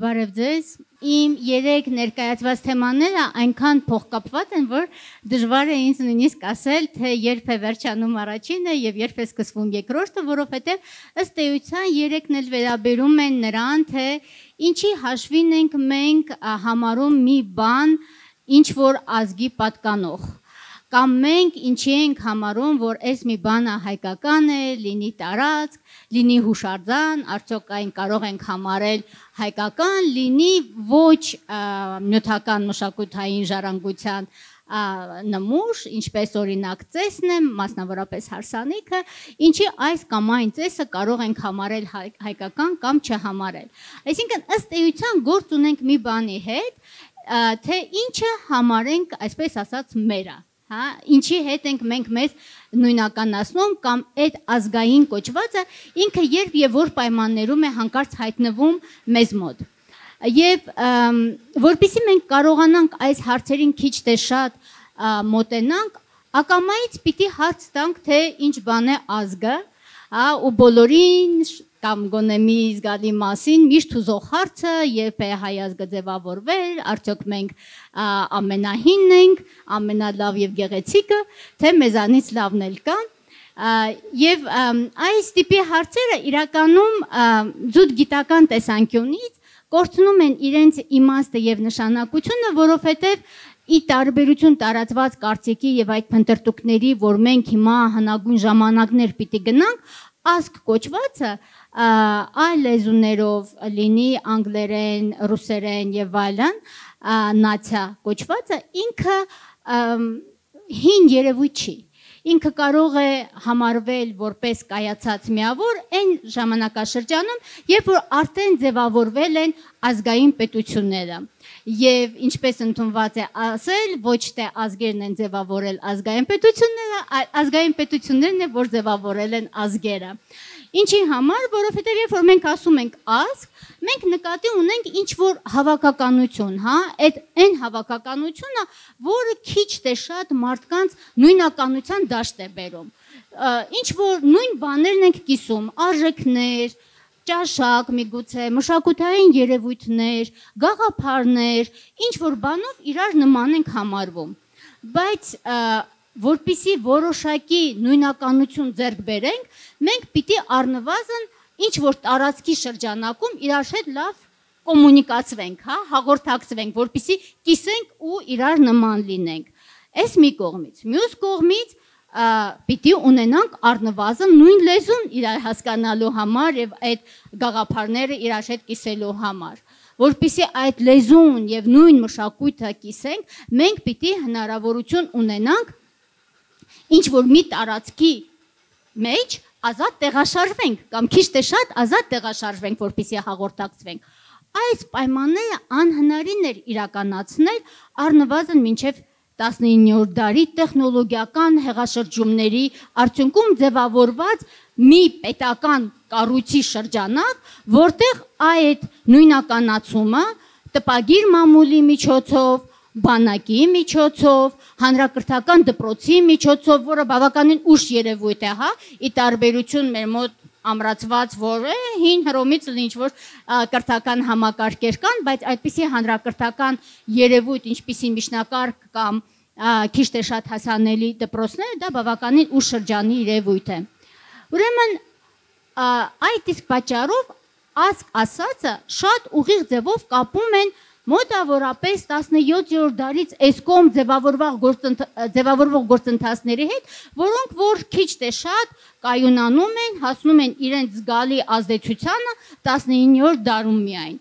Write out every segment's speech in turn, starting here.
Բարև ձեզ, իմ երեք ներկայացված թեմաները այնքան փոխկապված են, որ դժվար է ինձ նույնիսկ ասել, թե երբ է վերջանում առաջինը եւ երբ է սկսվում երկրորդը, որովհետեւ ըստ էության երեքն էլ վերաբերում են նրան, թե ինչի հաշվին ենք մենք համարում մի բան, ինչ որ ազգի պատկանող։ Կամ մենք ինչի ենք համարում, որ այս մի բանը հայկական է, լինի տարածք, լինի հուշարձան, արդյոք այն կարող ենք համարել հայկական, լինի ոչ նյութական մշակութային ժառանգության նմուշ, ինչպես օրինակ ծեսն է, մասնավորապես հարսանիքը, ինչի այս կամ այն ծեսը կարող ենք համարել հայկական կամ չհամարել։ Այսինքն ըստ էության գործ ունենք մի բանի հետ, թե ինչը համարենք, այսպես ասած, մերը։ Ինչի հետ ենք մենք մեզ նույնականացնում կամ այդ ազգային կոչվածը ինքը երբ եւ որ պայմաններում է հանկարծ հայտնվում մեզ մոտ։ Եվ որpիսի մենք կարողանանք այս հարցերին քիչ թե շատ մոտենանք, ակամայից պիտի հարց տանք, թե ինչ բան է ազգը, ու բոլորին կամ գոնե մի զգալի մասին միշտ հուզող հարցը, երբ է հայ ազգը ձևավորվել, արդյոք մենք ամենահինն ենք, ամենալավ եւ գեղեցիկը, թե մեզանից լավն էլ կա։ Եվ այս տիպի հարցերը իրականում զուտ գիտական տեսանկյունից կորցնում են իրենց իմաստը եւ նշանակությունը, որովհետեւ ի տարբերություն տարածված կարծիքի եւ այդ փնտրտուքների, որ մենք հիմա հնագույն ժամանակներ պիտի գնանք, ազգ կոչվածը այլ լեզուներով լինի անգլերեն, ռուսերեն եւ այլն, նացիա կոչվածը ինքը հին երևույթ չի։ Ինքը կարող է համարվել որպես կայացած միավոր այն ժամանակաշրջանում, երբ որ արդեն ձևավորվել են ազգային պետությունները։ Եվ ինչպես ընդունված է ասել, ոչ թե ազգերն են ձևավորել ազգային պետությունները, այլ ազգային պետություններն են, որ ձևավորել են ազգերը։ Ինչի համար, որովհետև երբ որ մենք ասում ենք ազգ, մենք նկատի ունենք ինչ-որ հավաքականություն, այն հավաքականությունը, որը քիչ թե շատ մարդկանց նույնականության դաշտ է բերում։ Ինչ-որ նույն բաներն ենք կիսում, արժեքներ, ճաշակ միգուցե, մշակութային երևույթներ, գաղափարներ, ինչ-որ բանով իրար նման ենք համարվում։ Բայց որպիսի որոշակի նույնականություն ձեռք բերենք, մենք պիտի առնվազն ինչ-որ տարածքի շրջանակում իրար հետ լավ կոմունիկացվենք, հաղորդակցվենք, որպիսի կիսենք ու իրար նման լինենք։ Այս մի կողմից, մյուս կողմից պիտի ունենանք առնվազն նույն լեզուն իրար հասկանալու համար եւ այդ գաղափարները իրար հետ կիսելու համար։ Որպիսի այդ լեզուն եւ նույն մշակույթը կիսենք, մենք պիտի հնարավորություն ունենանք ինչ որ մի տարածքի մեջ ազատ տեղաշարժվենք կամ քիչ թե շատ ազատ տեղաշարժվենք, որպեսզի հաղորդակցվենք։ Այս պայմանները անհնարին էր իրականացնել առնվազն մինչև 19-րդ դարի տեխնոլոգիական հեղաշրջումների արդյունքում ձևավորված մի պետական կառույցի շրջանակ, որտեղ այդ նույնականացումը տպագիր մամուլի միջոցով, բանակի միջոցով, հանրակրթական դպրոցի միջոցով, որը բավականին ուշ երևույթ է, ի տարբերություն մեր մոտ ամրացված, որ հին Հռոմից ինչ-որ կրթական համակարգեր կան, բայց այդպիսի հանրակրթական երևույթ, ինչպիսի միջնակարգ կամ քիչ թե շատ հասանելի դպրոցները, դա բավականին ուշ շրջանի երևույթ է։ Ուրեմն այդ իսկ պատճառով ազգ ասածը շատ ուղիղ ձևով կապում են մոտավորապես 17-րդ դարից այս կողմ ձևավորվող գործընթացների հետ, որոնք որ քիչ թե շատ կայունանում են, հասնում են իրենց զգալի ազդեցությանը 19-րդ դարում միայն։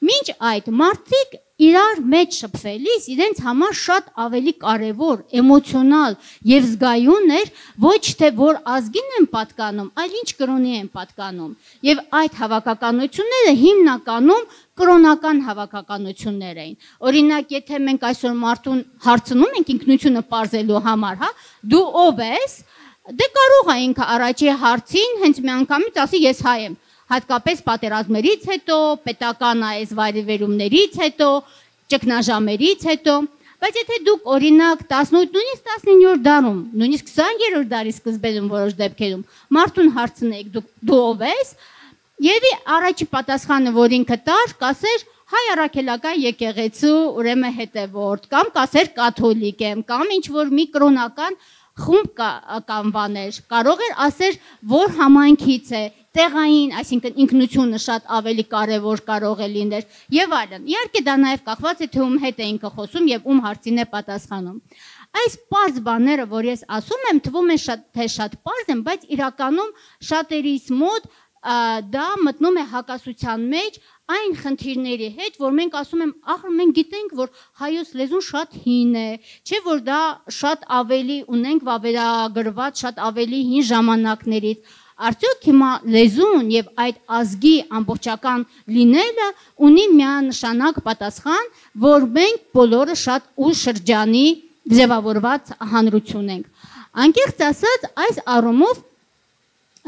Մինչ այդ մարդիկ իրար մեջ շփվելիս իրենց համար շատ ավելի կարևոր, էմոցիոնալ եւ զգայուն էր ոչ թե որ ազգին են պատկանում, այլ ինչ կրոնի են պատկանում։ Եվ այդ հավաքականությունները հիմնականում կրոնական հավաքականություններ էին։ Օրինակ, եթե մենք այսօր մարդուն հարցնում ենք ինքնությունը պարզելու համար, դու ով ես, դե կարող է ինքը առաջի հարցին հենց միանգամից ասի ես հայ եմ։ Հատկապես պատերազմներից հետո, պետական այս վայրիվերումներից հետո, ճգնաժամերից հետո, բայց եթե դուք օրինակ 18, նույնիսկ 19-րդ դարում, նույնիսկ 20-րդ դարի սկզբում որոշ դեպքերում մարդուն հարցնեք դու ով ես, եւ առաջի պատասխանը, որ ինքը տար, կասեր հայ առաքելական եկեղեցու ուրեմն հետևորդ, կամ կասեր կաթոլիկ եմ, կամ ինչ որ մի կրոնական խումբ կամ բաներ, կարող էր ասել, որ համայնքից է, տեղային, այսինքն ինքնությունը շատ ավելի կարևոր կարող է լինել եւ այլն։ Իհարկե դա նաեւ կախված է թե ում հետ է ինքը խոսում եւ ում հարցին է պատասխանում։ Այս պարզ բաները, որ ես ասում եմ, թվում է շատ պարզ են, բայց իրականում շատերիս մոտ դա մտնում է հակասության մեջ այն խնդիրների հետ, որ մենք ասում եմ, ախր մենք գիտենք, որ հայոց լեզուն շատ հին է, չէ՞ որ դա շատ ավելի ունենք վավերագրված, շատ ավելի հին ժամանակներից։ Արդյոք հիմա լեզուն եւ այդ ազգի ամբողջական լինելը ունի միանշանակ պատասխան, որ մենք բոլորը շատ ուշ շրջանի ձևավորված հանրություն ենք։ Անկեղծ ասած, այս առումով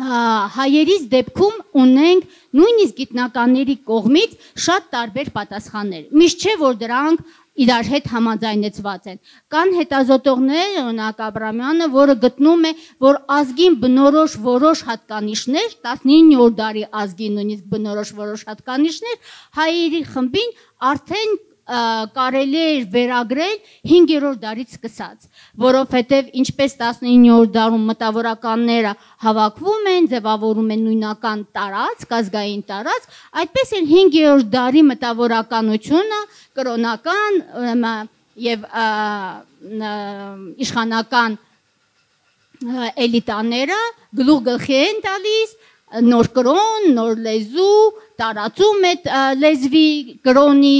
հայերիս դեպքում ունենք նույնիսկ գիտնականների կողմից շատ տարբեր պատասխաններ։ Միշտ չէ, որ դրանք իրար հետ համաձայնեցված են։ Կան հետազոտողներ, օրինակ Աբրամյանը, որը գտնում է, որ ազգին բնորոշ որոշ հատկանիշներ, 19-րդ դարի ազգին նույնիսկ բնորոշ որոշ հատկանիշներ, հայերի խմբին արդեն կարելի է վերագրել 5-րդ դարից սկսած, որովհետև ինչպես 19-րդ դարում մտավորականները հավաքվում են, ձևավորում են նույնական տարածք, ազգային տարածք, այդպես էլ 5-րդ դարի մտավորականությունը կրոնական եւ իշխանական էլիտաները գլուխ գլխի են տալիս նոր կրոն, նոր լեզու, տարածում է լեզվի, կրոնի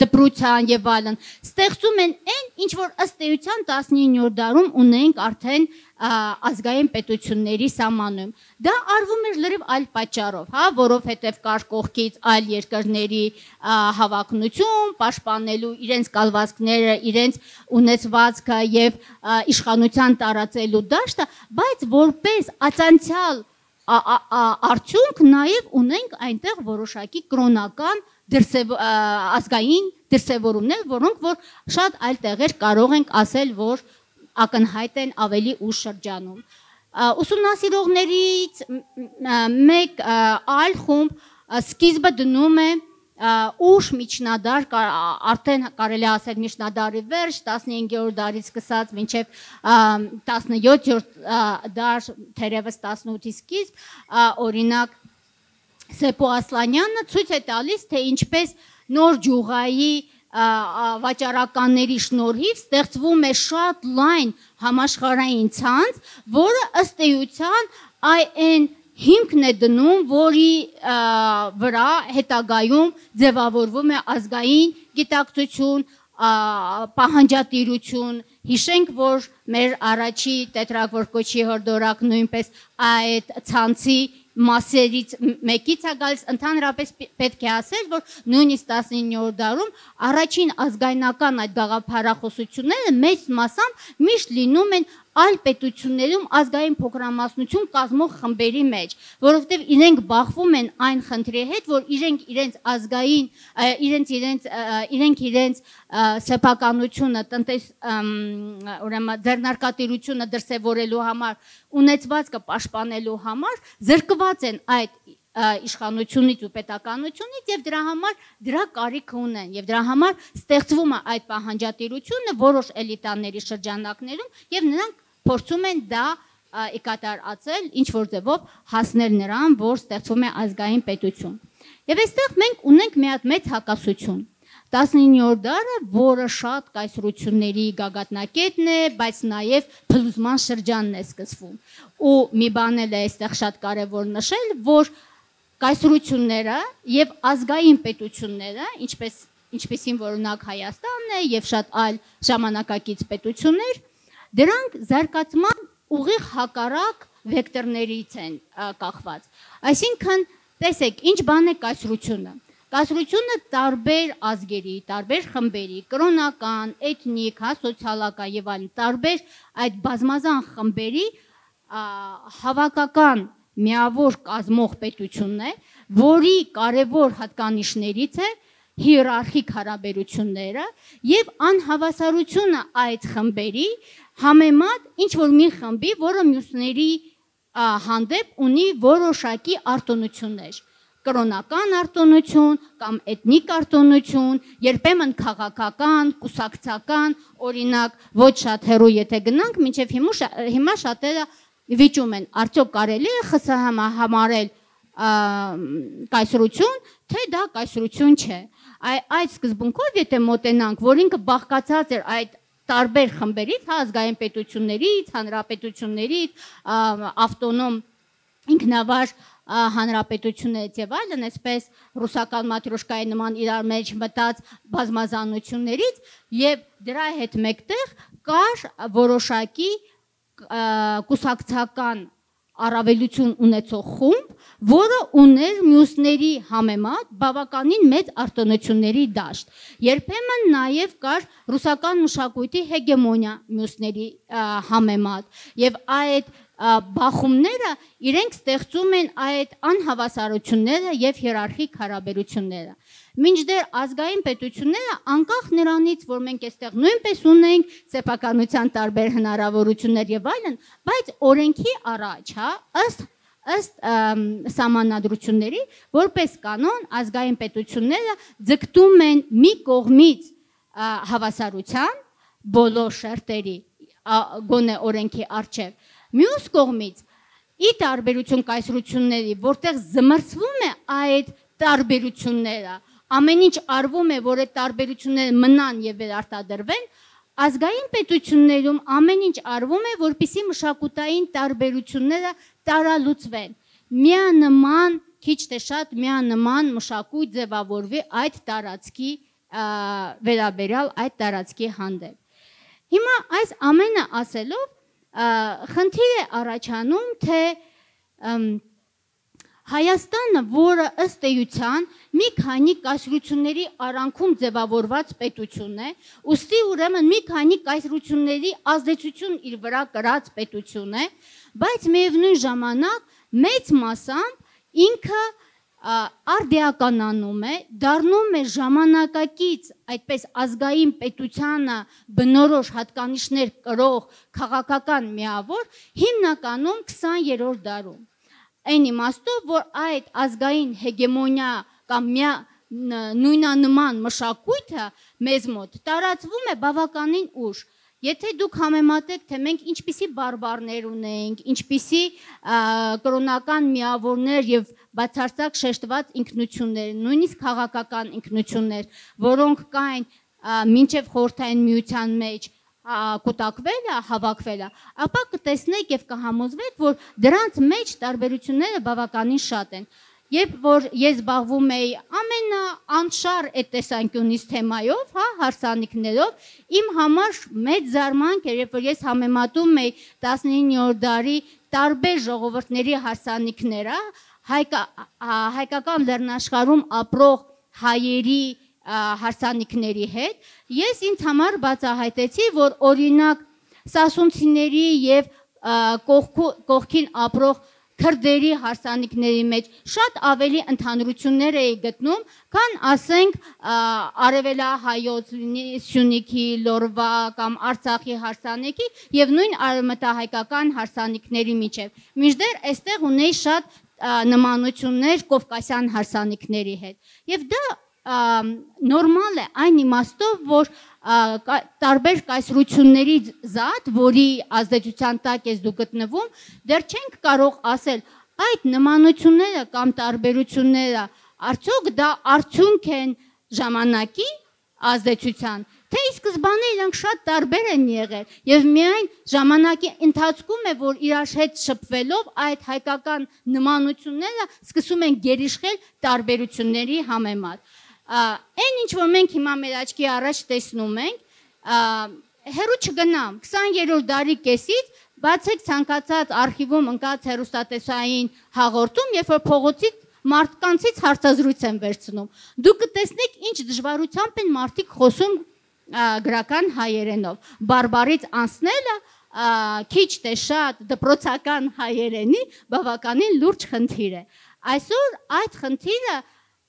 դպրության եւ այլն, ստեղծում են այն, ինչ որ ըստ էության 19-րդ դարում ունենք արդեն ազգային պետությունների սահմանում։ Դա արվում էր լրիվ այլ պատճառով, հա, որովհետեւ կար կողքից այլ երկրների հավակնություն, պաշտպանելու իրենց կալվածքները, իրենց ունեցվածքը եւ իշխանության տարածելու դաշտը, բայց որպես ածանցյալ արդյունք նաև ունենք այնտեղ որոշակի կրոնական ազգային դրսևորումներ, որոնք որ շատ այլ տեղեր կարող ենք ասել, որ ակնհայտ են ավելի ուշ շրջանում։ Ուսումնասիրողներից մեկ այլ խումբ սկիզբը դնում է ուշ միջնադար, արդեն կարելի ասել միջնադարի վերջ, 15-րդ դարից սկսած մինչև 17-րդ դար, թերևս 18-ի սկիզբ, օրինակ Սեպո Ասլանյանը ցույց է տալիս, թե ինչպես նոր ջուղայի վաճառականների շնորհիվ ստեղծվում է շատ լայն համաշխարհային ցանց, որը ըստ էության այն հիմքն է դնում, որի վրա հետագայում ձևավորվում է ազգային գիտակցություն, պահանջատիրություն, հիշենք, որ մեր առաջի տետրագորկոչի հորդորակ նույնպես այդ ցանցի մասերից մեկից է գալիս, ընդհանրապես պետք է ասել, որ նույնիսկ 19-րդ դարում առաջին ազգայնական այդ գաղափարախոսությունները մեծ մասամբ միշտ լինում են այլ պետություններում ազգային փոքրամասնություն կազմող խմբերի մեջ, որովհետև իրենք բախվում են այն խնդրի հետ, որ իրենք իրենց ազգային, իրենց սեփականությունը, ուրեմն ձեռնարկատիրությունը դրսևորելու համար, ունեցվածքը պաշտպանելու համար զրկված են այդ իշխանությունից ու պետականությունից եւ դրա համար դրա կարիքը ունեն եւ դրա համար ստեղծվում է այդ պահանջատիրությունը որոշ էլիտաների շրջանակներում եւ նրանք փորձում են դա կատարածել ինչ որ ձևով հասնել նրան, որ ստեղծվում է ազգային պետություն։ Եվ այստեղ մենք ունենք մի հատ մեծ հակասություն։ 19-րդ դարը, որը շատ կայսրությունների գագաթնակետն է, բայց նաև փլուզման շրջանն է սկսվում։ Ու մի բան էլ է այստեղ շատ կարևոր նշել, որ կայսրությունները եւ ազգային պետությունները, ինչպեսին որ օրինակ Հայաստանն է եւ շատ այլ ժամանակակից պետություններ, դրանք զարգացման ուղիղ հակառակ վեկտորներից են կախված։ Այսինքն, տեսեք, ինչ բան է կայսրությունը։ Կայսրությունը տարբեր ազգերի, տարբեր խմբերի, կրոնական, էթնիկ, սոցիալական եւ այլն տարբեր այդ բազմազան խմբերի հավաքական միավոր կազմող պետությունն է, որի կարևոր հատկանիշներից է հիերարխիկ հարաբերությունները եւ անհավասարությունը այդ խմբերի համեմատ ինչ որ մի խմբի, որը մյուսների հանդեպ ունի որոշակի արտոնություններ։ կրոնական արտոնություն կամ էթնիկ արտոնություն, երբեմն քաղաքական, կուսակցական, օրինակ ոչ շատ հեռու եթե գնանք, մինչև հիմա շատերը վիճում են, արդյոք կարելի է ԽՍՀՄ համարել կայսրություն, թե դա կայսրություն չէ։ Այդ սկզբունքով եթե մոտենանք, որ ինքը բաղկացած էր այդ տարբեր խմբերից, ազգային պետություններից, հանրապետություններից, ավտոնոմ ինքնավար հանրապետություններից եւ այլն, այսպես ռուսական մատրոշկայի նման իրար մեջ մտած բազմազանություններից, եւ դրա հետ մեկտեղ կար որոշակի կուսակցական առավելություն ունեցող խումբ, որը ուներ մյուսների համեմատ բավականին մեծ արտոնությունների դաշտ։ Երբեմն նաև կար ռուսական մշակույթի հեգեմոնիա մյուսների համեմատ, եւ այդ բախումները իրենք ստեղծում են այդ անհավասարությունները եւ հիերարխիկ հարաբերությունները։ Մինչդեռ ազգային պետությունները անկախ նրանից, որ մենք այստեղ նույնպես ունենք սեփականության տարբեր հնարավորություններ եւ այլն, բայց օրենքի առաջ, ըստ սահմանադրությունների, որպես կանոն ազգային պետությունները ձգտում են մի կողմից հավասարության բոլոր շերտերի գոնե օրենքի առջև, մյուս կողմից ի տարբերություն կայսրությունների, որտեղ զմռսվում է այդ տարբերությունները, ամեն ինչ արվում է, որ այդ տարբերությունները մնան եւ վերարտադրվեն, ազգային պետություններում ամեն ինչ արվում է, որպեսզի մշակութային տարբերությունները տարալուծվեն։ Միանման, քիչ թե շատ միանման մշակույթ ձևավորվի այդ տարածքի վերաբերյալ այդ տարածքի հանդեպ։ Հիմա այս ամենը ասելով խնդիր է առաջանում, թե Հայաստանը, որը ըստ էության մի քանի կայսրությունների արանքում ձևավորված պետություն է, ուստի ուրեմն մի քանի կայսրությունների ազդեցություն իր վրա կրած պետություն է, բայց միևնույն ժամանակ մեծ մասամբ ինքը արդիականանում է, դառնում է ժամանակակից այդպես ազգային պետությանը բնորոշ հատկանիշներ կրող քաղաքական միավոր, հիմնականում 20-րդ դարում։ Այն իմաստով, որ այդ ազգային հեգեմոնիա կամ նույնանման մշակույթը մեզ մոտ տարածվում է բավականին ուշ։ Եթե դուք համեմատեք, թե մենք ինչպիսի բարբարներ ունենք, ինչպիսի կրոնական միավորներ եւ բացարձակ շեշտված ինքնություններ, նույնիսկ քաղաքական ինքնություններ, որոնք կային մինչև խորհրդային միության մեջ կուտակվելը, հավաքվելը, ապա կտեսնեք եւ կհամոզվեք, որ դրանց մեջ տարբերությունները բավականին շատ են։ Երբ որ ես զբաղվում էի ամենաանշար այդ տեսանկյունից թեմայով, հարսանիքներով, իմ համար մեծ զարմանք էր, երբ որ ես համեմատում էի 19-րդ դարի տարբեր ժողովուրդների հարսանիքները, հայկական լեռնաշխարհում ապրող հայերի հարսանիքների հետ, ես ինձ համար բացահայտեցի, որ օրինակ սասունցիների եւ կողքին ապրող քրդերի հարսանիքների մեջ շատ ավելի ընդհանրություններ էի գտնում, քան ասենք արևելահայոց Սյունիքի, Լորվա կամ Արցախի հարսանիքի եւ նույն արևմտահայկական հարսանիքների միջև։ Մինչդեռ այստեղ ունեի շատ նմանություններ կովկասյան հարսանիքների հետ։ Եվ դա նորմալ է այն իմաստով, որ տարբեր կայսրությունների զատ, որի ազդեցության տակ ես դու գտնվում, դեռ չենք կարող ասել այդ նմանությունները կամ տարբերությունները արդյոք դա արդյունք են ժամանակի ազդեցության, թե ի սկզբանե իրանք շատ տարբեր են եղել եւ միայն ժամանակի ընթացքում է, որ իրար հետ շփվելով այդ հայկական նմանությունները սկսում են գերիշխել տարբերությունների համեմատ։ Այն ինչ որ մենք հիմա մեր աչքի առաջ տեսնում ենք, հերու չգնամ 20-րդ դարի կեսից բացեք ցանկացած արխիվում ընկած հեռուստատեսային հաղորդում, երբ որ փողոցից մարդկանցից հարցազրույց են վերցնում, դուք կտեսնեք ինչ դժվարությամբ են մարդիկ խոսում գրական հայերենով, բարբարից անցնելը քիչ թե շատ դպրոցական հայերենի բավականին լուրջ խնդիր է։ Այսօր այդ խնդիրը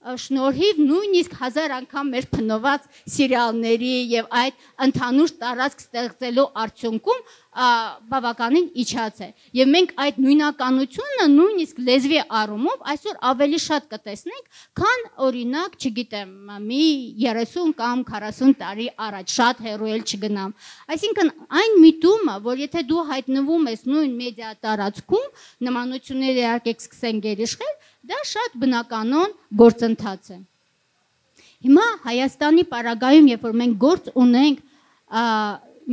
շնորհիվ նույնիսկ 1000 անգամ մեր փնոված սերիալների եւ այդ ընդհանուր տարածք ստեղծելու արդյունքում բավականին իջած է եւ մենք այդ նույնականությունը նույնիսկ լեզվի առումով այսօր ավելի շատ կտեսնենք, քան օրինակ, չգիտեմ, մի 30 կամ 40 տարի առաջ, շատ հեռու էլ չգնամ։ Այսինքն այն միտումը, որ եթե դու հայտնվում ես նույն մեդիա տարածքում, նմանությունները իհարկե կսկսեն գերիշխել, դա շատ բնականon գործընթաց է։ Հիմա Հայաստանի պարագայում, երբ որ մենք գործ ունենք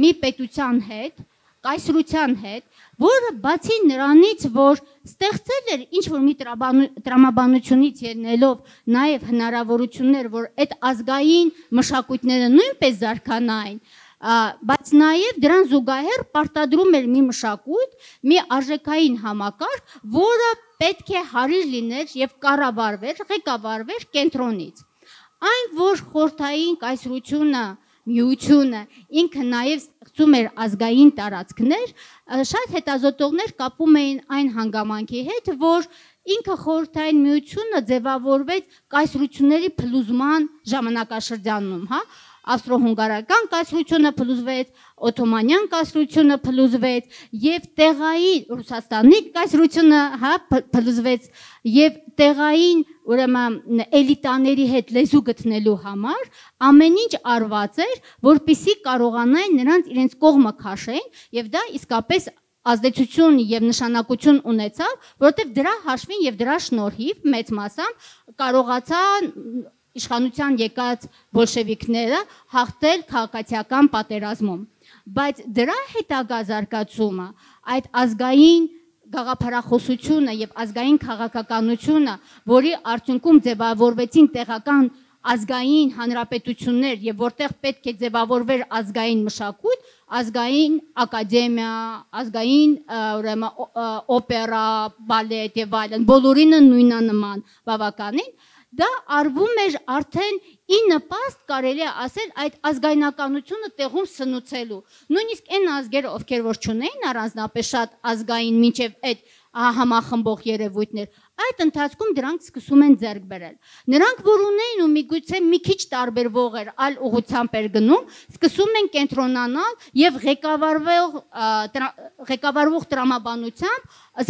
մի պետության հետ, կայսրության հետ, որը բացի նրանից, որ ստեղծել էր ինչ-որ մի տրամաբանությունից ելնելով նաև հնարավորություններ, որ այդ ազգային մշակույթները նույնպես զարգանային, բայց նաև դրան զուգահեռ պարտադրում էր մի մշակույթ, մի արժեքային համակարգ, որը պետք է հարիր լիներ եւ կառավարվեր, ղեկավարվեր կենտրոնից։ Այն, որ խորհրդային կայսրությունը, միությունը ինքը նաև ստեղծում էր ազգային տարածքներ, շատ հետազոտողներ կապում էին այն հանգամանքի հետ, որ ինքը խորհրդային միությունը ձևավորվեց կայսրությունների փլուզման ժամանակաշրջանում, հա, ավստրո-հունգարական կայսրությունը փլուզվեց, օթոմանյան կայսրությունը փլուզվեց եւ տեղային Ռուսաստանի կայսրությունը, հա, փլուզվեց եւ տեղային ուրեմն էլիտաների հետ լեզու գտնելու համար ամեն ինչ արված էր, որպեսզի կարողանային նրանց իրենց կողմը քաշեն եւ դա իսկապես ազդեցություն եւ նշանակություն ունեցավ, որովհետեւ դրա հաշվին եւ դրա շնորհիվ մեծ մասամբ կարողացան իշխանության եկած բոլշևիկները հաղթել քաղաքացիական պատերազմում, բայց դրա հետագա զարգացումը, այդ ազգային գաղափարախոսությունը եւ ազգային քաղաքականությունը, որի արդյունքում ձևավորվեցին տեղական ազգային հանրապետություններ եւ որտեղ պետք է ձևավորվեր ազգային մշակույթ, ազգային ակադեմիա, ազգային օպերա, բալետ եւ այլն, բոլորինը նույնանման բավականին, դա արվում էր արդեն ի նպաստ կարելի է ասել այդ ազգայնականությունը տեղում սնուցելու։ Նույնիսկ այն ազգերը, ովքեր որ չունեին առանձնապես շատ ազգային մինչև այդ համախմբող երևույթներ, այդ ընթացքում դրանք սկսում են ձեռք բերել։ Նրանք, որ ունեին ու միգուցե մի քիչ տարբերվող էր, այլ ուղղությամբ էր գնում, սկսում են կենտրոնանալ եւ ղեկավարվող տրամաբանությամբ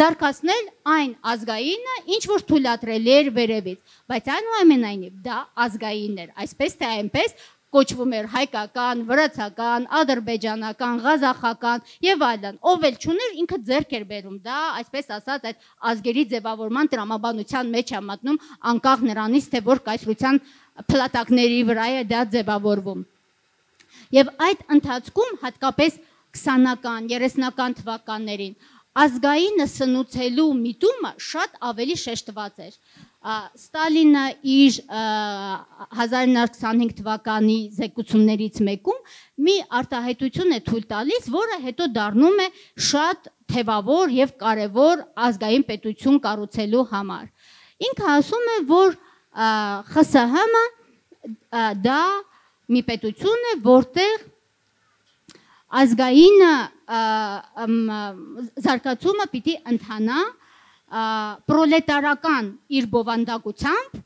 զարգացնել այն ազգայինը, ինչ որ թույլատրելի էր վերևից, բայց այնուամենայնիվ դա ազգային էր, այսպես թե այնպես կոչվում էր հայկական, վրացական, ադրբեջանական, ղազախական եւ այլն, ով էլ չուներ ինքը ձեռք էր բերում, դա այսպես ասած այդ ազգերի ձևավորման տրամաբանության մեջ է մտնում, անկախ նրանից թե որ կայսրության փլատակների վրա է դա ձևավորվում։ Եվ այդ ընթացքում հատկապես 20-ական, 30-ական թվականներին ազգայինը սնուցելու միտումը շատ ավելի շեշտված էր։ Ստալինը իր 1925 թվականի զեկուցումներից մեկում մի արտահայտություն է թույլ տալիս, որը հետո դառնում է շատ թևավոր եւ կարեւոր ազգային պետություն կառուցելու համար։ Ինքը ասում է, որ ԽՍՀՄ-ը դա մի պետություն է, որտեղ ազգային զարգացումը պիտի ընթանա պրոլետարական իր բովանդակությամբ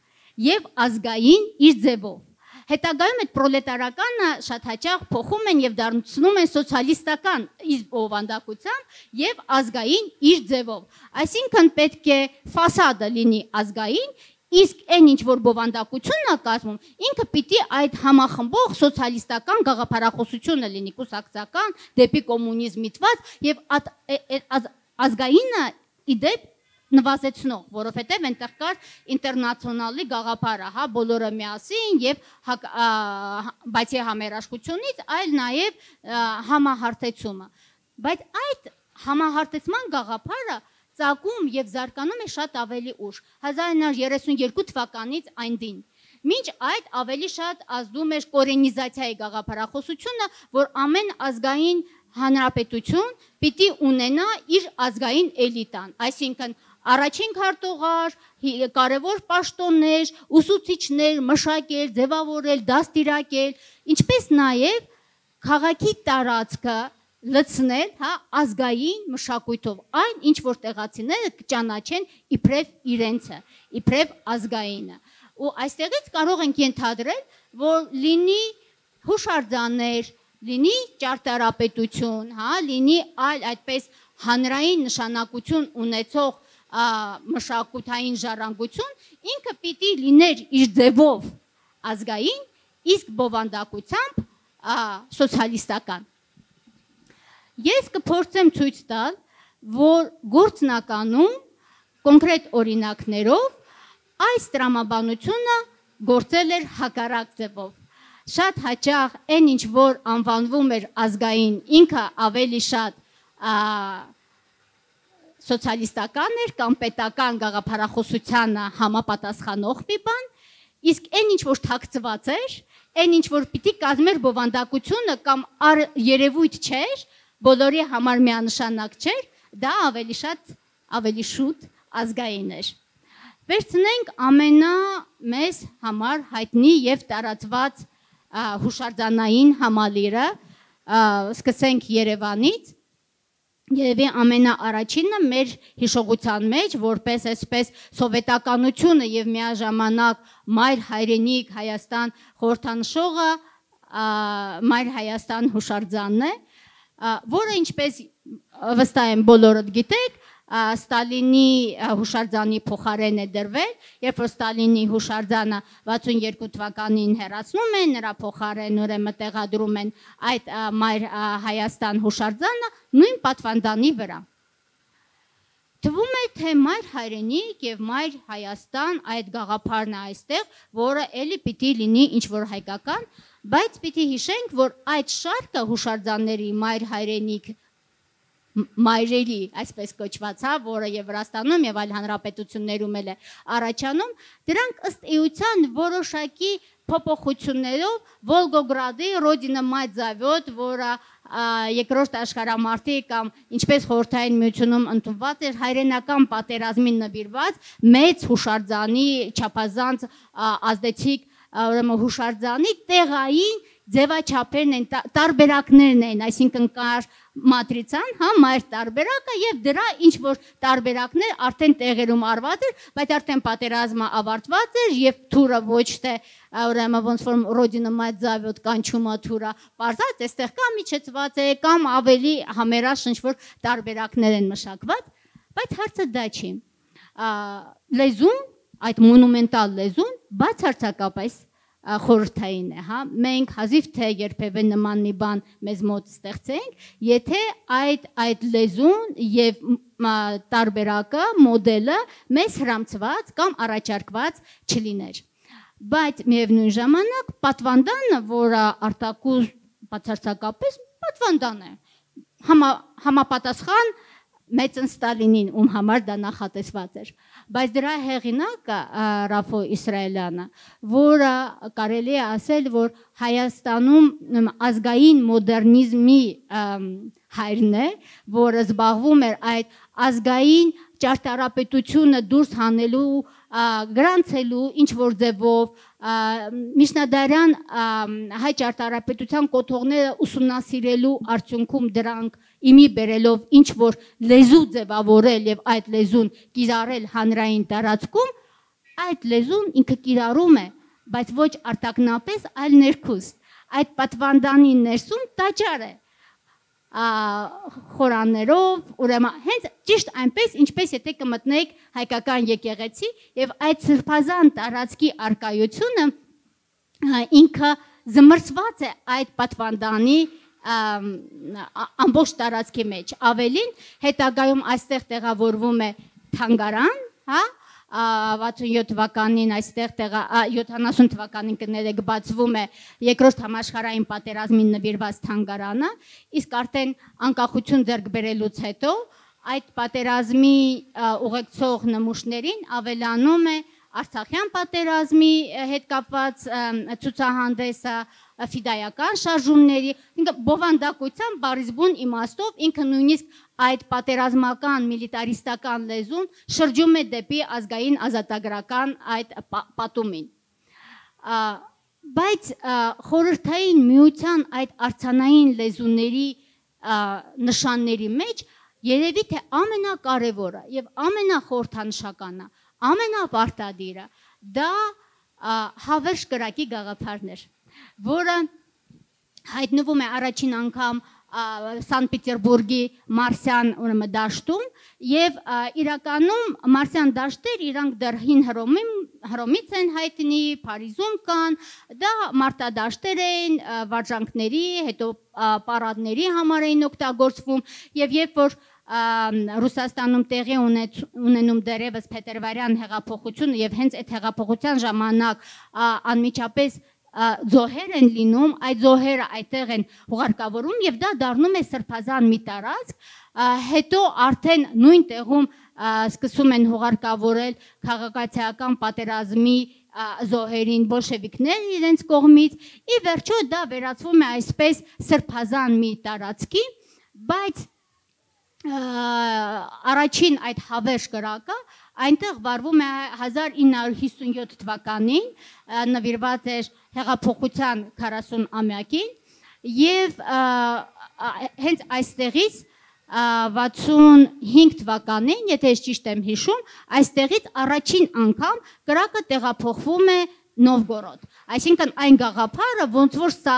եւ ազգային իր ձևով։ Հետագայում այդ պրոլետարականը շատ հաճախ փոխում են եւ դարձնում են սոցիալիստական իր բովանդակությամբ եւ ազգային իր ձևով։ Այսինքն պետք է ֆասադը լինի ազգային, իսկ այն ինչ որ բովանդակությունն է կազմում, ինքը պիտի այդ համախմբող սոցիալիստական գաղափարախոսությունը լինի, կուսակցական, դեպի կոմունիզմ միտված եւ ազգայինը իդեպ նվազեցնող, որովհետև այնտեղ կար ինտերնացիոնալի գաղափարը, հա, բոլորը միասին եւ բացի համերաշխությունից, այլ նաեւ համահարթեցումը։ Բայց այդ համահարթեցման գաղափարը ծագում եւ զարգանում է շատ ավելի ուշ, 1932 թվականից այն դին։ Մինչ այդ ավելի շատ ազդում էր կորենիզացիայի գաղափարախոսությունը, որ ամեն ազգային հանրապետություն պիտի ունենա իր ազգային էլիտան, այսինքն առաջին քարտուղար, կարևոր պաշտոններ, ուսուցիչներ, մշակել, ձևավորել, դաստիարակել, ինչպես նաև քաղաքի տարածքը լցնել, հա, ազգային մշակույթով, այն ինչ որ տեղացիները կճանաչեն իբրև իրենցը, իբրև ազգայինը։ ու այստեղից կարող ենք ենթադրել, որ լինի հուշարձաններ, լինի ճարտարապետություն, հա, լինի այլ այդպես հանրային նշանակություն ունեցող մշակութային ժառանգություն, ինքը պիտի լիներ իր ձևով ազգային, իսկ բովանդակությամբ սոցիալիստական։ Ես կփորձեմ ցույց տալ, որ գործնականում կոնկրետ օրինակներով այս տրամաբանությունը գործել էր հակառակ ձևով։ Շատ հաճախ այն ինչ որ անվանվում էր ազգային, ինքը ավելի շատ սոցիալիստական էր կամ պետական գաղափարախոսությանը համապատասխանող մի բան, իսկ այն ինչ որ թաքցված էր, այն ինչ որ պիտի կազմեր բովանդակությունը կամ երևույթ չէր, բոլորի համար միանշանակ չէր, դա ավելի շուտ ազգային էր։ Վերցնենք ամենամեծ համար հայտնի եւ տարածված հուշարձանային համալիրը, սկսենք Երևանից, Երևի ամենաառաջինը մեր հիշողության մեջ, որպես այսպես սովետականությունը եւ միաժամանակ Մայր հայրենիք Հայաստան խորհրդանշողը Մայր Հայաստան հուշարձանն է, որը ինչպես վստահ եմ բոլորդ գիտեք, Ստալինի հուշարձանի փոխարեն է դրվել, երբ որ Ստալինի հուշարձանը 62 թվականին հեռացնում են, նրա փոխարեն ուրեմն տեղադրում են այդ Մայր Հայաստան հուշարձանը նույն պատվանդանի վրա։ Թվում է, թե Մայր հայրենիք եւ Մայր Հայաստան այդ գաղափարն է այստեղ, որը էլի պիտի լինի ինչ որ հայկական, բայց պիտի հիշենք, որ այդ շարքը հուշարձանների Մայր հայրենիք մայրերի, այսպես կոչված, որը եւ Վրաստանում եւ այլ հանրապետություններում էլ է առաջանում, դրանք ըստ էության որոշակի փոփոխություններով Վոլգոգրադի Ռոդինա Մայր Զավոդ, որը երկրորդ աշխարհամարտի կամ ինչպես խորհրդային միությունում ընդունված էր հայրենական պատերազմին նվիրված մեծ հուշարձանի չափազանց ազդեցիկ ուրեմն հուշարձանի տեղային ձևաչափերն են, տարբերակներն են, այսինքն կար մատրիցան, հա, մայր տարբերակը եւ դրա ինչ որ տարբերակներ արդեն տեղերում արված էր, բայց արդեն պատերազմը ավարտված էր եւ թուրը ոչ թե ուրեմն ոնց որ Ռոդինա Մայր Զավոդ կանչումը թուրը բարձած, այստեղ կամ իջեցված է, կամ ավելի համերաշխ ինչ որ տարբերակներ են մշակված, բայց հարցը դա չի։ Լեզուն, այդ մոնումենտալ լեզուն բացարձակապես խորհրդային է, հա, մենք հազիվ թե երբևէ նման մի բան մեզ մոտ ստեղծենք, եթե այդ լեզուն եւ տարբերակը, մոդելը մեզ հրամցված կամ առաջարկված չլիներ։ Բայց միևնույն ժամանակ պատվանդանը, որը արտակուս բացարձակապես պատվանդան է, համապատասխան մեծն Ստալինին, ում համար դա նախատեսված էր, բայց դրա հեղինակը Ռաֆո Իսրայելյանը, որը կարելի է ասել, որ Հայաստանում ազգային մոդեռնիզմի հայրն է, որը զբաղվում էր այդ ազգային ճարտարապետությունը դուրս հանելու, գրանցելու ինչ որ ձևով, միջնադարյան հայ ճարտարապետության կոթողները ուսումնասիրելու արդյունքում դրանք իմի բերելով ինչ որ լեզու ձևավորել եւ այդ լեզուն կիրառել հանրային տարածքում, այդ լեզուն ինքը կիրառում է, բայց ոչ արտակնապես, այլ ներքուստ։ Այդ պատվանդանի ներսում տաճար է, խորաններով, ուրեմն հենց ճիշտ այնպես, ինչպես եթե կմտնեք հայկական եկեղեցի եւ այդ սրբազան տարածքի արկայությունը ինքը զմրցված է այդ պատվանդանի ամբողջ տարածքի մեջ։ Ավելին, հետագայում այստեղ տեղավորվում է թանգարան, հա, 67 թվականին այստեղ 70 թվականին կներեք բացվում է երկրորդ համաշխարհային պատերազմին նվիրված թանգարանը, իսկ արդեն անկախություն ձեռք բերելուց հետո այդ պատերազմի ուղեկցող նմուշներին ավելանում է Արցախյան պատերազմի հետ կապված ցուցահանդեսը, ֆիդայական շարժումների, ինքը բովանդակության բառիզբուն իմաստով ինքը նույնիսկ այդ պատերազմական միլիտարիստական լեզուն շրջում է դեպի ազգային ազատագրական այդ պատումին։ Բայց խորհրդային միության այդ արձանային լեզուների նշանների մեջ երևի թե ամենակարևորը եւ ամենախորհրդանշականը, ամենապարտադիրը դա հավերժ կրակի գաղափարն էր, որը հայտնվում է առաջին անգամ Սանտ Պետերբուրգի Մարսյան դաշտում եւ իրականում Մարսյան դաշտեր իրանք դեռ հին Հռոմից են հայտնի, Փարիզում կան, դա մարտադաշտեր են, վարժանքների, հետո պարադների համար էին օգտագործվում եւ երբ որ Ռուսաստանում տեղի ունենում դերևս Փետրվարյան հեղափոխությունը եւ հենց այդ հեղափոխության ժամանակ անմիջապես զոհեր են լինում, այդ զոհերը այդտեղ են հուղարկավորում եւ դա դառնում է սրբազան մի տարածք, հետո արդեն նույն տեղում սկսում են հուղարկավորել քաղաքացիական պատերազմի զոհերին բոլշևիկներ իրենց կողմից, ի վերջո դա վերածվում է այսպես սրբազան մի տարածքի, բայց առաջին այդ հավերժ կրակը այնտեղ վարվում է 1957 թվականին, նվիրված էր հեղափոխության 40-ամյակին եւ հենց այստեղից 65 թվականին, եթե ես ճիշտ եմ հիշում, այստեղից առաջին անգամ կրակը տեղափոխվում է Նովգորոդ, այսինքն այն գաղափարը ոնց որ սա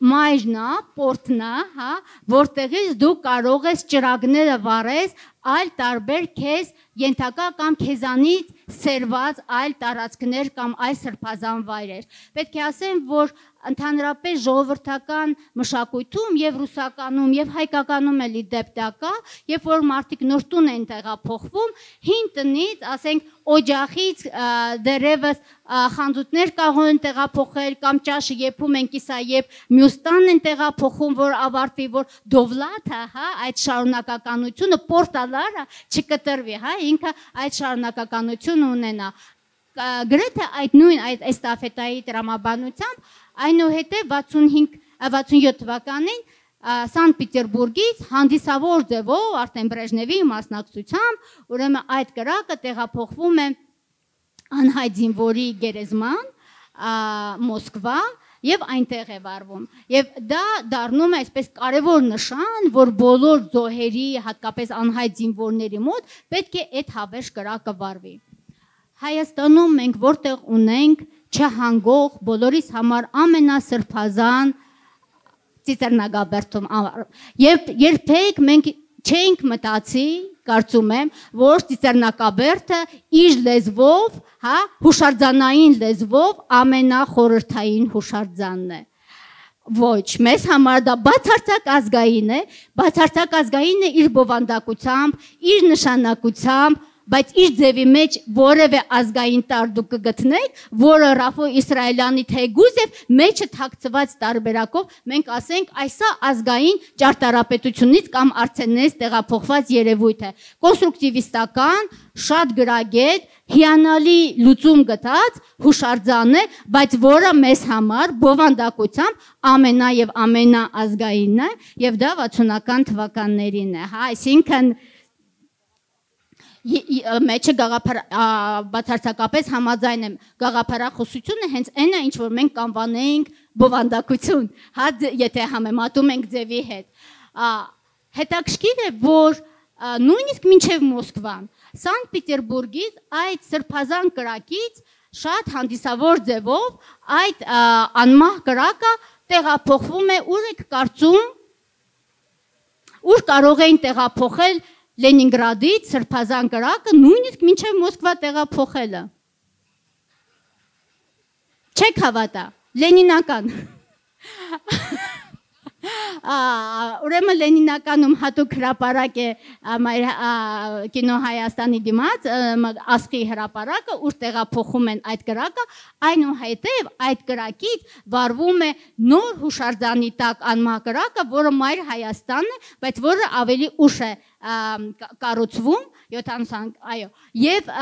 մայրն է, պորտն է, որտեղից դու կարող ես ճրագները վառես այլ տարբեր քեզ ենթակա կամ քեզանից սերված այլ տարածքներ կամ այլ սրբազան վայրեր։ Պետք է ասեմ, որ ընդհանրապես ժողովրդական մշակույթում եւ ռուսականում եւ հայկականում էլի դեպ դա կա, երբ որ մարդիկ նոր տուն են տեղափոխվում, հին տնից, ասենք օջախից դերևս խանձուտներ կարող են տեղափոխել կամ ճաշը եփում են կիսա եւ մյուս տան են տեղափոխում, որ ավարտվի, որ դովլաթը, այդ շարունակականությունը պորտալարը չկտրվի, ինքը այդ շարունակականությունը ունենա։ Գրեթե այդ նույն այդ էստաֆետայի տրամաբանությամբ այնուհետև 67 թվականին Սանտ Պետերբուրգից հանդիսավոր ձևով արդեն Բրեժնևի մասնակցությամբ ուրեմն այդ կրակը տեղափոխվում է անհայտ զինվորի գերեզման Մոսկվա եւ այնտեղ է վարվում եւ դա դառնում է այսպես կարևոր նշան, որ բոլոր զոհերի, հատկապես անհայտ զինվորների մոտ պետք է այդ հավերժ կրակը վարվի։ Հայաստանում մենք որտեղ ունենք չհանգող բոլորիս համար ամենասրբազան Ծիծեռնագաբերդում երբեք մենք չենք մտածի, կարծում եմ, որ Ծիծեռնակաբերդը իր լեզվով, հուշարձանային լեզվով ամենախորհրդային հուշարձանն է։ Ոչ, մեզ համար դա բացարձակ ազգային է, բացարձակ ազգային է իր բովանդակությամբ, իր նշանակությամբ, բայց իր ձևի մեջ որևէ ազգային տար դուք կգտնեք, որը Ռաֆո Իսրայելյանի թեգուզ է, մեջը թաքցված տարբերակով մենք ասենք այսա ազգային ճարտարապետությունից կամ արդենից տեղափոխված երևույթ է։ Կոնստրուկտիվիստական, շատ գրագետ, հիանալի լուծում գտած հուշարձան է, բայց որը մեզ համար բովանդակությամբ ամենա եւ ամենաազգայինն է եւ դա 60-ական թվականներին է, այսինքն մեջը բացարձակապես համաձայն եմ գաղափարախոսությունը հենց այն է, ինչ որ մենք կանվանեինք բովանդակություն, եթե համեմատում ենք ձևի հետ։ Հետաքրքիր է, որ նույնիսկ մինչև Մոսկվան, Սանտ Պետերբուրգից այդ սրբազան կրակից շատ հանդիսավոր ձևով այդ անմահ կրակը տեղափոխվում է, ուր եք կարծում, ուր կարող էին տեղափոխել Լենինգրադից սրբազան կրակը նույնիսկ մինչև Մոսկվա տեղափոխելը։ Չեք հավատա, լենինական։ Ուրեմն Լենինականում հատուկ հրապարակ է կինո Հայաստանի դիմաց, ասխի հրապարակը, ուր տեղափոխում են այդ կրակը, այնուհետև այդ կրակից վարվում է նոր հուշարձանի տակ անմահ կրակը, որը մայր Հայաստանն է, բայց որը ավելի ուշ է կառուցվում, 70, այո, եւ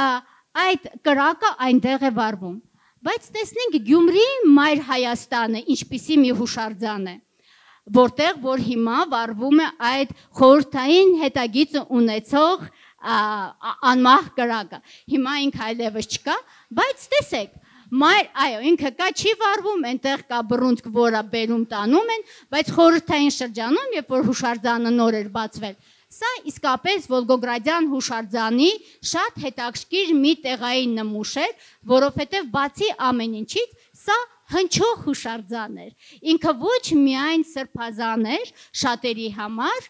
այդ կրակը այնտեղ է վարվում։ Բայց տեսնենք Գյումրի մայր Հայաստանը ինչպիսի մի հուշարձան է, որտեղ որ հիմա վարվում է այդ խորհրդային հետագիծը ունեցող անմահ կրակը։ Հիմա ինքը այլևս չկա, բայց տեսեք, այո, ինքը կա, չի վարվում, այնտեղ կա բռունցք, որը բերում տանում են, բայց խորհրդային շրջանում, երբ որ հուշարձանը նոր էր բացվել, Սա իսկապես Վոլգոգրադյան հուշարձանի շատ հետաքրքիր մի տեղային նմուշ էր, որովհետև բացի ամեն ինչից, սա հնչող հուշարձան էր։ Ինքը ոչ միայն սրբազան էր շատերի համար,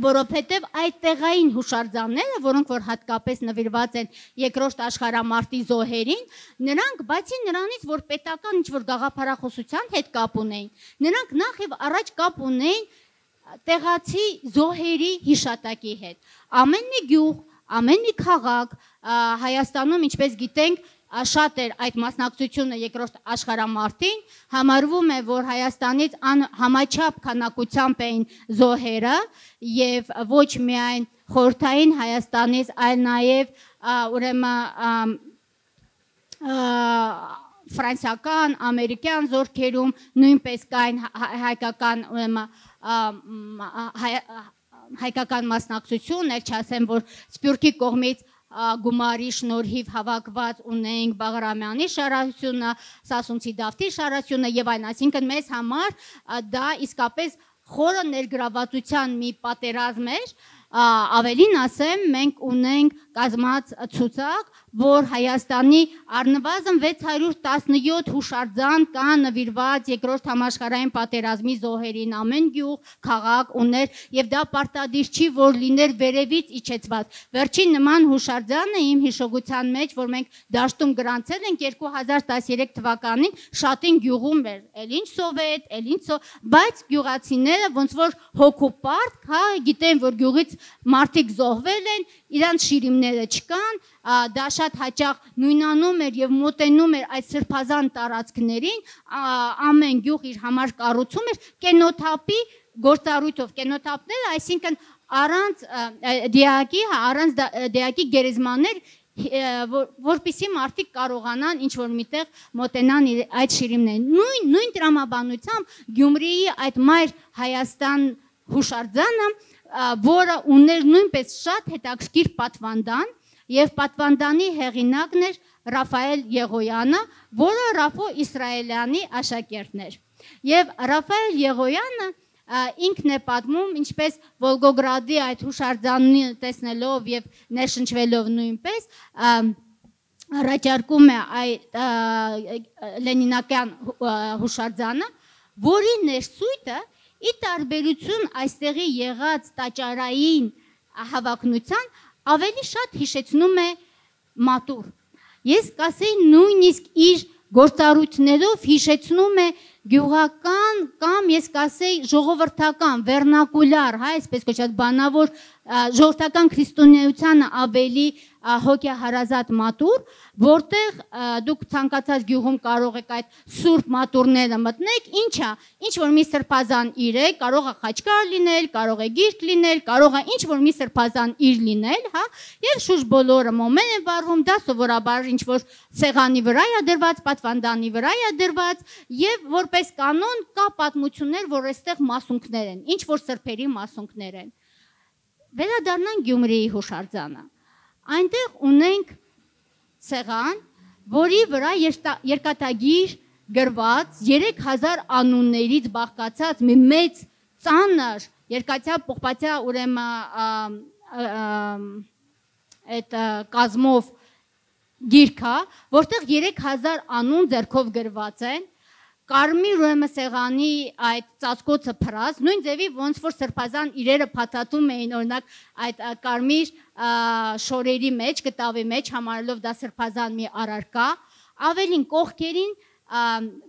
որովհետև այդ տեղային հուշարձանները, որոնք որ հատկապես նվիրված են երկրորդ աշխարհամարտի զոհերին, նրանք բացի նրանից, որ պետական ինչ-որ գաղափարախոսության հետ կապ ունեին, նրանք նախ եւ առաջ կապ ունեին տեղացի զոհերի հիշատակի հետ։ Ամեն մի գյուղ, ամեն մի քաղաք Հայաստանում, ինչպես գիտենք, շատ էր այդ մասնակցությունը երկրորդ աշխարհամարտին, համարվում է, որ Հայաստանից համաչափ քանակությամբ էին զոհերը եւ ոչ միայն խորհրդային Հայաստանից, այլ նաեւ ուրեմն ֆրանսիական, ամերիկյան զորքերում նույնպես կային հայկական հայկական մասնակցություններ, չասեմ, որ Սփյուռքի կողմից գումարի շնորհիվ հավաքված ունենք Բաղրամյանի շարասյունը, Սասունցի Դավթի շարասյունը եւ այլն, այսինքն մեզ համար դա իսկապես խորը ներգրավվածության մի պատերազմ էր, ավելին ասեմ, մենք ունենք կազմած ցուցակ, որ Հայաստանի առնվազն 617 հուշարձան կա նվիրված երկրորդ համաշխարհային պատերազմի զոհերին, ամեն գյուղ, քաղաք ուներ եւ դա պարտադիր չի, որ լիներ վերևից իջեցված։ Վերջին նման հուշարձանը իմ հիշողության մեջ, որ մենք դաշտում գրանցել ենք 2013 թվականին, Շատին գյուղում էր, էլ ինչ սովետ, էլ ինչ բայց գյուղացիները ոնց որ հոգուպարտ, հա, գիտեն, որ գյուղից մարդիկ զոհվել են, իրանց շիրիմները չկան, դա շատ հաճախ նույնանում էր եւ մոտենում էր այդ սրբազան տարածքներին, ամեն գյուղ իր համար կառուցում էր կենոթափի գործառույթով, կենոթափները, այսինքն առանց դիակի, առանց դիակի գերեզմաներ, որպեսզի մարդիկ կարողանան ինչ-որ միտեղ մոտենան այդ շիրիմներին։ Նույն տրամաբանությամբ Գյումրիի այդ մայր Հայաստան հուշարձանը, որը ուներ նույնպես շատ հետաքրքիր պատվանդան, եւ պատվանդանի հեղինակն էր Ռաֆայել Եղոյանը, որը Ռաֆո Իսրայելյանի աշակերտն էր։ Եվ Ռաֆայել Եղոյանը ինքն է պատմում, ինչպես Վոլգոգրադի այդ հուշարձանն տեսնելով եւ ներշնչվելով նույնպես առաջարկում է այդ լենինակյան հուշարձանը, որի ներսույթը ի տարբերություն այստեղի եղած տաճարային հավակնության ավելի շատ հիշեցնում է մատուռ։ Ես կասեի նույնիսկ իր գործառույթներով հիշեցնում է գյուղական կամ ես կասեի ժողովրդական, վերնակուլար, հա, այսպես կոչված բանավոր ժողովրդական քրիստոնեությանը ավելի հոգեհարազատ մատուռ, որտեղ դուք ցանկացած գյուղում կարող եք այդ սուրբ մատուռները մտնեք, ինչա, ինչ որ մի սրբազան իր է, կարող է խաչկար լինել, կարող է գիրք լինել, կարող է ինչ որ մի սրբազան իր լինել, հա, եւ շուրջ բոլորը մոմեն են վառվում, դա սովորաբար ինչ որ սեղանի վրա է դրված, պատվանդանի վրա է դրված եւ որպես կանոն կա պատմություններ, որ այստեղ մասունքներ են, ինչ որ սրբերի մասունքներ են։ Վերադառնանք Գյումրիի հուշարձանը։ Այնտեղ ունենք սեղան, որի վրա երկաթագիր գրված 3000 անուններից բաղկացած մի մեծ ծանր երկաթյա պողպատյա ուրեմն այդ կազմով գիրք է, որտեղ 3000 անուն ձեռքով գրված են, կարմիր ուրեմն սեղանի այդ ծածկոցը փռած, նույն ձևի ոնց որ սրբազան իրերը փաթաթում էին, օրինակ այդ կարմիր շորերի մեջ, կտավի մեջ, համարելով դա սրբազան մի առարկա, ավելին կողքերին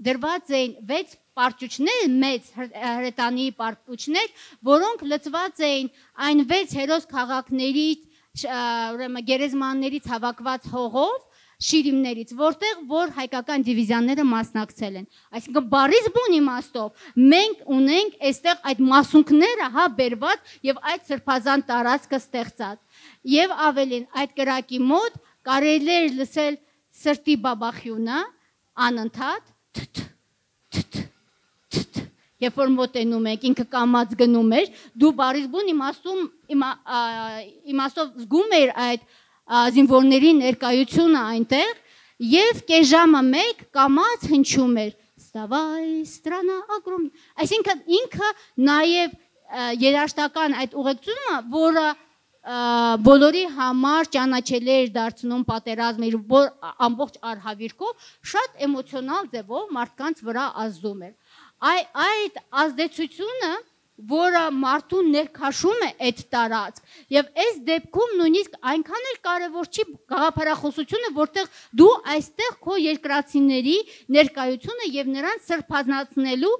դրված էին 6 պարճուճներ, մեծ հրետանի պարճուճներ, որոնք լցված էին այն 6 հերոս քաղաքներից, ուրեմն գերեզմաններից հավաքված հողով, շիրիմներից, որտեղ որ հայկական դիվիզիաները մասնակցել են։ Այսինքն բարից բուն իմաստով մենք ունենք այստեղ այդ մասունքները, հա, բերված եւ այդ սրբազան տարածքը ստեղծած։ Եվ ավելին, այդ կրակի մոտ կարելի էր լսել սրտի բաբախյունը անընդհատ երբ որ մոտենում եք, ինքը կամած գնում էր, դու բարից բուն իմաստով զգում էր այդ զինվորների ներկայությունը այնտեղ եւ կես ժամը մեկ կամած հնչում էր Ստավայ ստրանա ագրում, այսինքն ինքը նաեւ երաշտական այդ ուղեկցումը, որը բոլորի համար ճանաչելի էր դարձնում պատերազմը իր ամբողջ արհավիրքով, շատ էմոցիոնալ ձևով մարդկանց վրա ազդում էր։ Այդ ազդեցությունը, որը մարդուն ներքաշում է այդ տարածք, եւ այս դեպքում նույնիսկ այնքան էլ կարևոր չի գաղափարախոսությունը, որտեղ դու այստեղ քո երկրացիների ներկայությունը եւ նրանց սրբազանցնելու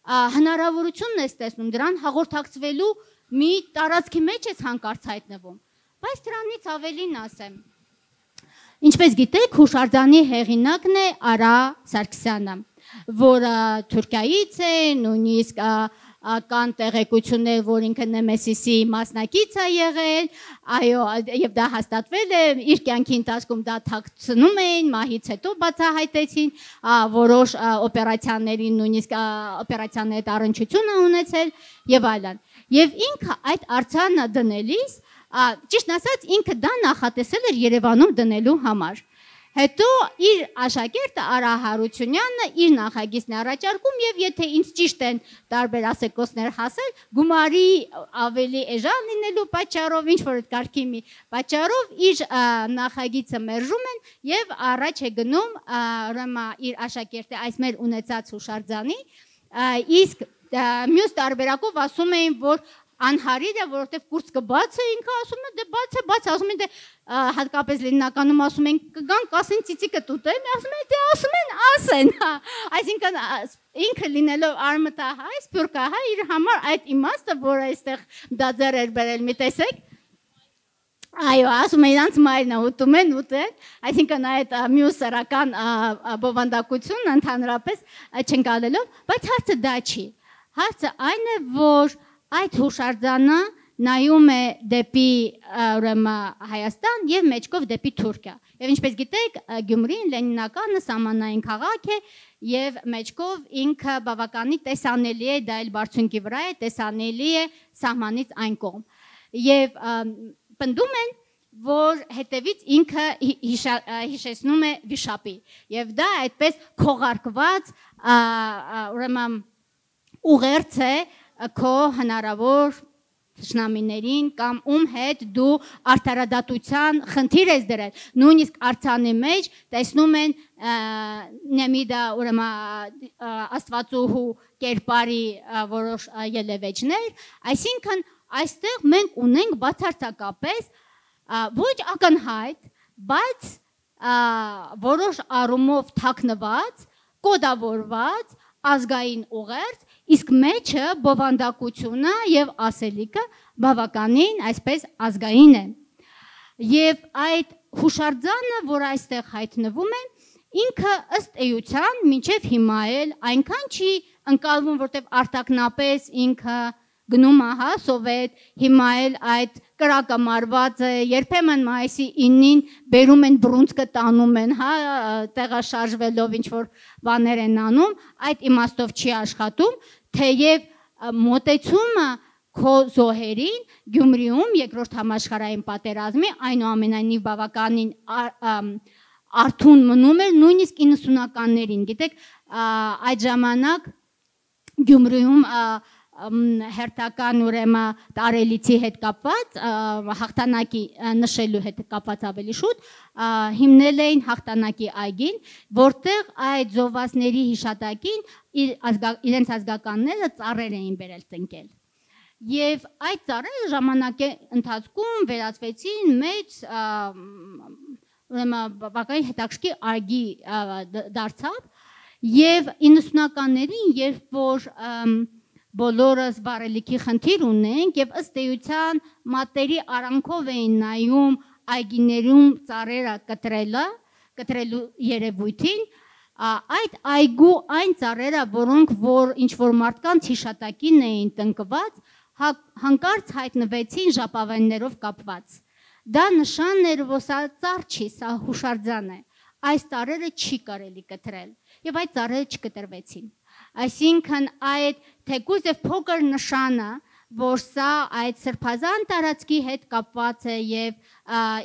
հնարավորությունն ես տեսնում, դրան հաղորդակցվելու մի տարածքի մեջ ես հանկարծ հայտնվում։ Բայց դրանից ավելին ասեմ, ինչպես գիտեք, հուշարձանի հեղինակն է Արա Սարգսյանը, որը Թուրքիայից է, նույնիսկ կան տեղեկություններ, որ ինքը Նեմեսիսի մասնակից է եղել, այո, եւ դա հաստատվել է, իր կյանքի ընթացքում դա թաքցնում էին, մահից հետո բացահայտեցին, որոշ օպերացիաների, նույնիսկ օպերացիաների առնչություն ունեցել եւ այլն։ Եւ ինքը այդ արձանը դնելիս, ճիշտ ասած, ինքը դա նախատեսել էր Երևանում դնելու համար։ Հետո իր աշակերտը Արա Հարությունյանը իր նախագիծն առաջարկում եւ եթե ինձ ճիշտ են տարբեր ասեկոսներ հասել, գումարի ավելի էժան լինելու պատճառով, ինչ որ կարգի մի պատճառով իր նախագիծը մերժում են եւ առաջ է գնում ուրեմն իր աշակերտը այս մեր ունեցած հուշարձանի, իսկ մյուս տարբերակով ասում էին, որ անհարիր է, որովհետև կուրծքը բաց է, ինքը ասում է, դե բաց է, ասում են, դե հատկապես Լենինականում ասում են, կգան կասեն ծիծիկը տուտեն, ասում են, դե ասում են, ասեն, այսինքն ինքը լինելով արմտահայ, սփյուռքահայ, իր համար այդ իմաստը, որ այստեղ դա ձեռ էր բերել, մի տեսեք, այո, ասում են, իրանց մայրն է ուտում են, այսինքն այդ մյուս սեռական բովանդակությունը ընդհանրապես չընկալելով, բայց հարցը դա չի, հարցը այն է, որ այդ հուշարձանը նայում է դեպի Հայաստան եւ մեջքով դեպի Թուրքիա։ Եվ ինչպես գիտեք, Գյումրին Լենինականը սահմանային քաղաք է եւ մեջքով ինքը բավականի տեսանելի է, դա էլ բարձունքի վրա է, տեսանելի է սահմանից այն կողմ։ Եվ պնդում են, որ հետևից ինքը հիշեցնում է վիշապի։ Եվ դա այդպես քողարկված ուրեմն ուղերձ է քո հնարավոր թշնամիներին կամ ում հետ դու արդարադատության խնդիր ես դրել, նույնիսկ արձանի մեջ տեսնում են Նեմիդա ուրեմն աստվածուհու կերպարի որոշ ելևէջներ, այսինքն այստեղ մենք ունենք բացարձակապես ոչ ակնհայտ, բայց որոշ առումով թաքնված, կոդավորված ազգային ուղերձ, իսկ մեջը բովանդակությունը եւ ասելիքը բավականին այսպես ազգային է։ Եվ այդ հուշարձանը, որ այստեղ հայտնվում է, ինքը ըստ էության մինչև հիմա էլ այնքան չի ընկալվում, որտեղ արտակնապես ինքը գնում ահա սովետ, հիմա էլ այդ կրակը մարված է, երբեմն մայիսի 9-ին բերում են բռունցքը տանում են, հա, տեղաշարժվելով ինչ որ բաներ են անում, այդ իմաստով չի աշխատում, թեև մոտեցումը քո զոհերին Գյումրիում երկրորդ համաշխարհային պատերազմի այնուամենայնիվ բավականին արթուն մնում էր նույնիսկ 90-ականներին, գիտեք, այդ ժամանակ Գյումրիում հերթական ուրեմն տարելիցի հետ կապված, հաղթանակի նշելու հետ կապված ավելի շուտ, հիմնել էին հաղթանակի այգին, որտեղ այդ զոհվածների հիշատակին իրենց ազգականները ծառեր էին բերել տնկել։ Եվ այդ ծառերը ժամանակի ընթացքում վերածվեցին մեծ ուրեմն բավականին հետաքրքիր այգի դարձավ, եւ 90-ականներին, երբ որ բոլորս բարելիքի խնդիր ունենք եւ ըստ էության մատերի արանքով էին նայում այգիներում ծառերը կտրելու երևույթին, այդ այգու այն ծառերը, որոնք որ ինչ որ մարդկանց հիշատակին էին տնկված, հանկարծ հայտնվեցին ժապավեններով կապված։ Դա նշան էր, որ սա ծառ չի, սա հուշարձան է։ Այս ծառերը չի կարելի կտրել եւ այդ ծառերը չկտրվեցին։ Այսինքն այդ թեկուզ եւ փոքր նշանը, որ սա այդ սրբազան տարածքի հետ կապված է եւ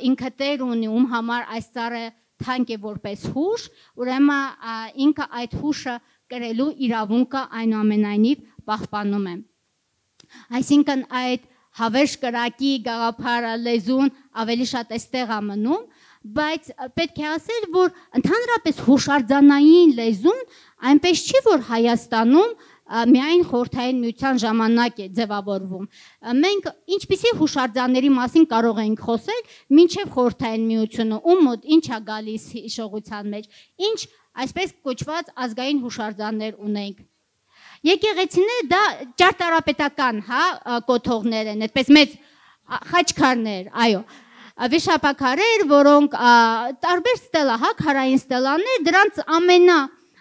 ինքը տեր ունի, ում համար այս ծառը թանկ է որպես հուշ, ուրեմն ինքը այդ հուշը կրելու իրավունքը այնուամենայնիվ պահպանում է։ Այսինքն այդ հավերժ կրակի գաղափարը լեզուն ավելի շատ էստեղ է մնում, բայց պետք է ասել, որ ընդհանրապես հուշարձանային լեզուն այնպես չի, որ Հայաստանում միայն խորհրդային միության ժամանակ է ձևավորվում։ Մենք ինչպիսի հուշարձանների մասին կարող ենք խոսել, մինչև խորհրդային միությունը, ում մոտ ինչ է գալիս հիշողության մեջ, ինչ այսպես կոչված ազգային հուշարձաններ ունենք։ Եկեղեցիները դա ճարտարապետական, կոթողներ են, այդպես մեծ խաչքարներ, այո, վիշապաքարեր, որոնք տարբեր ստելա, քարային ստելաներ, դրանց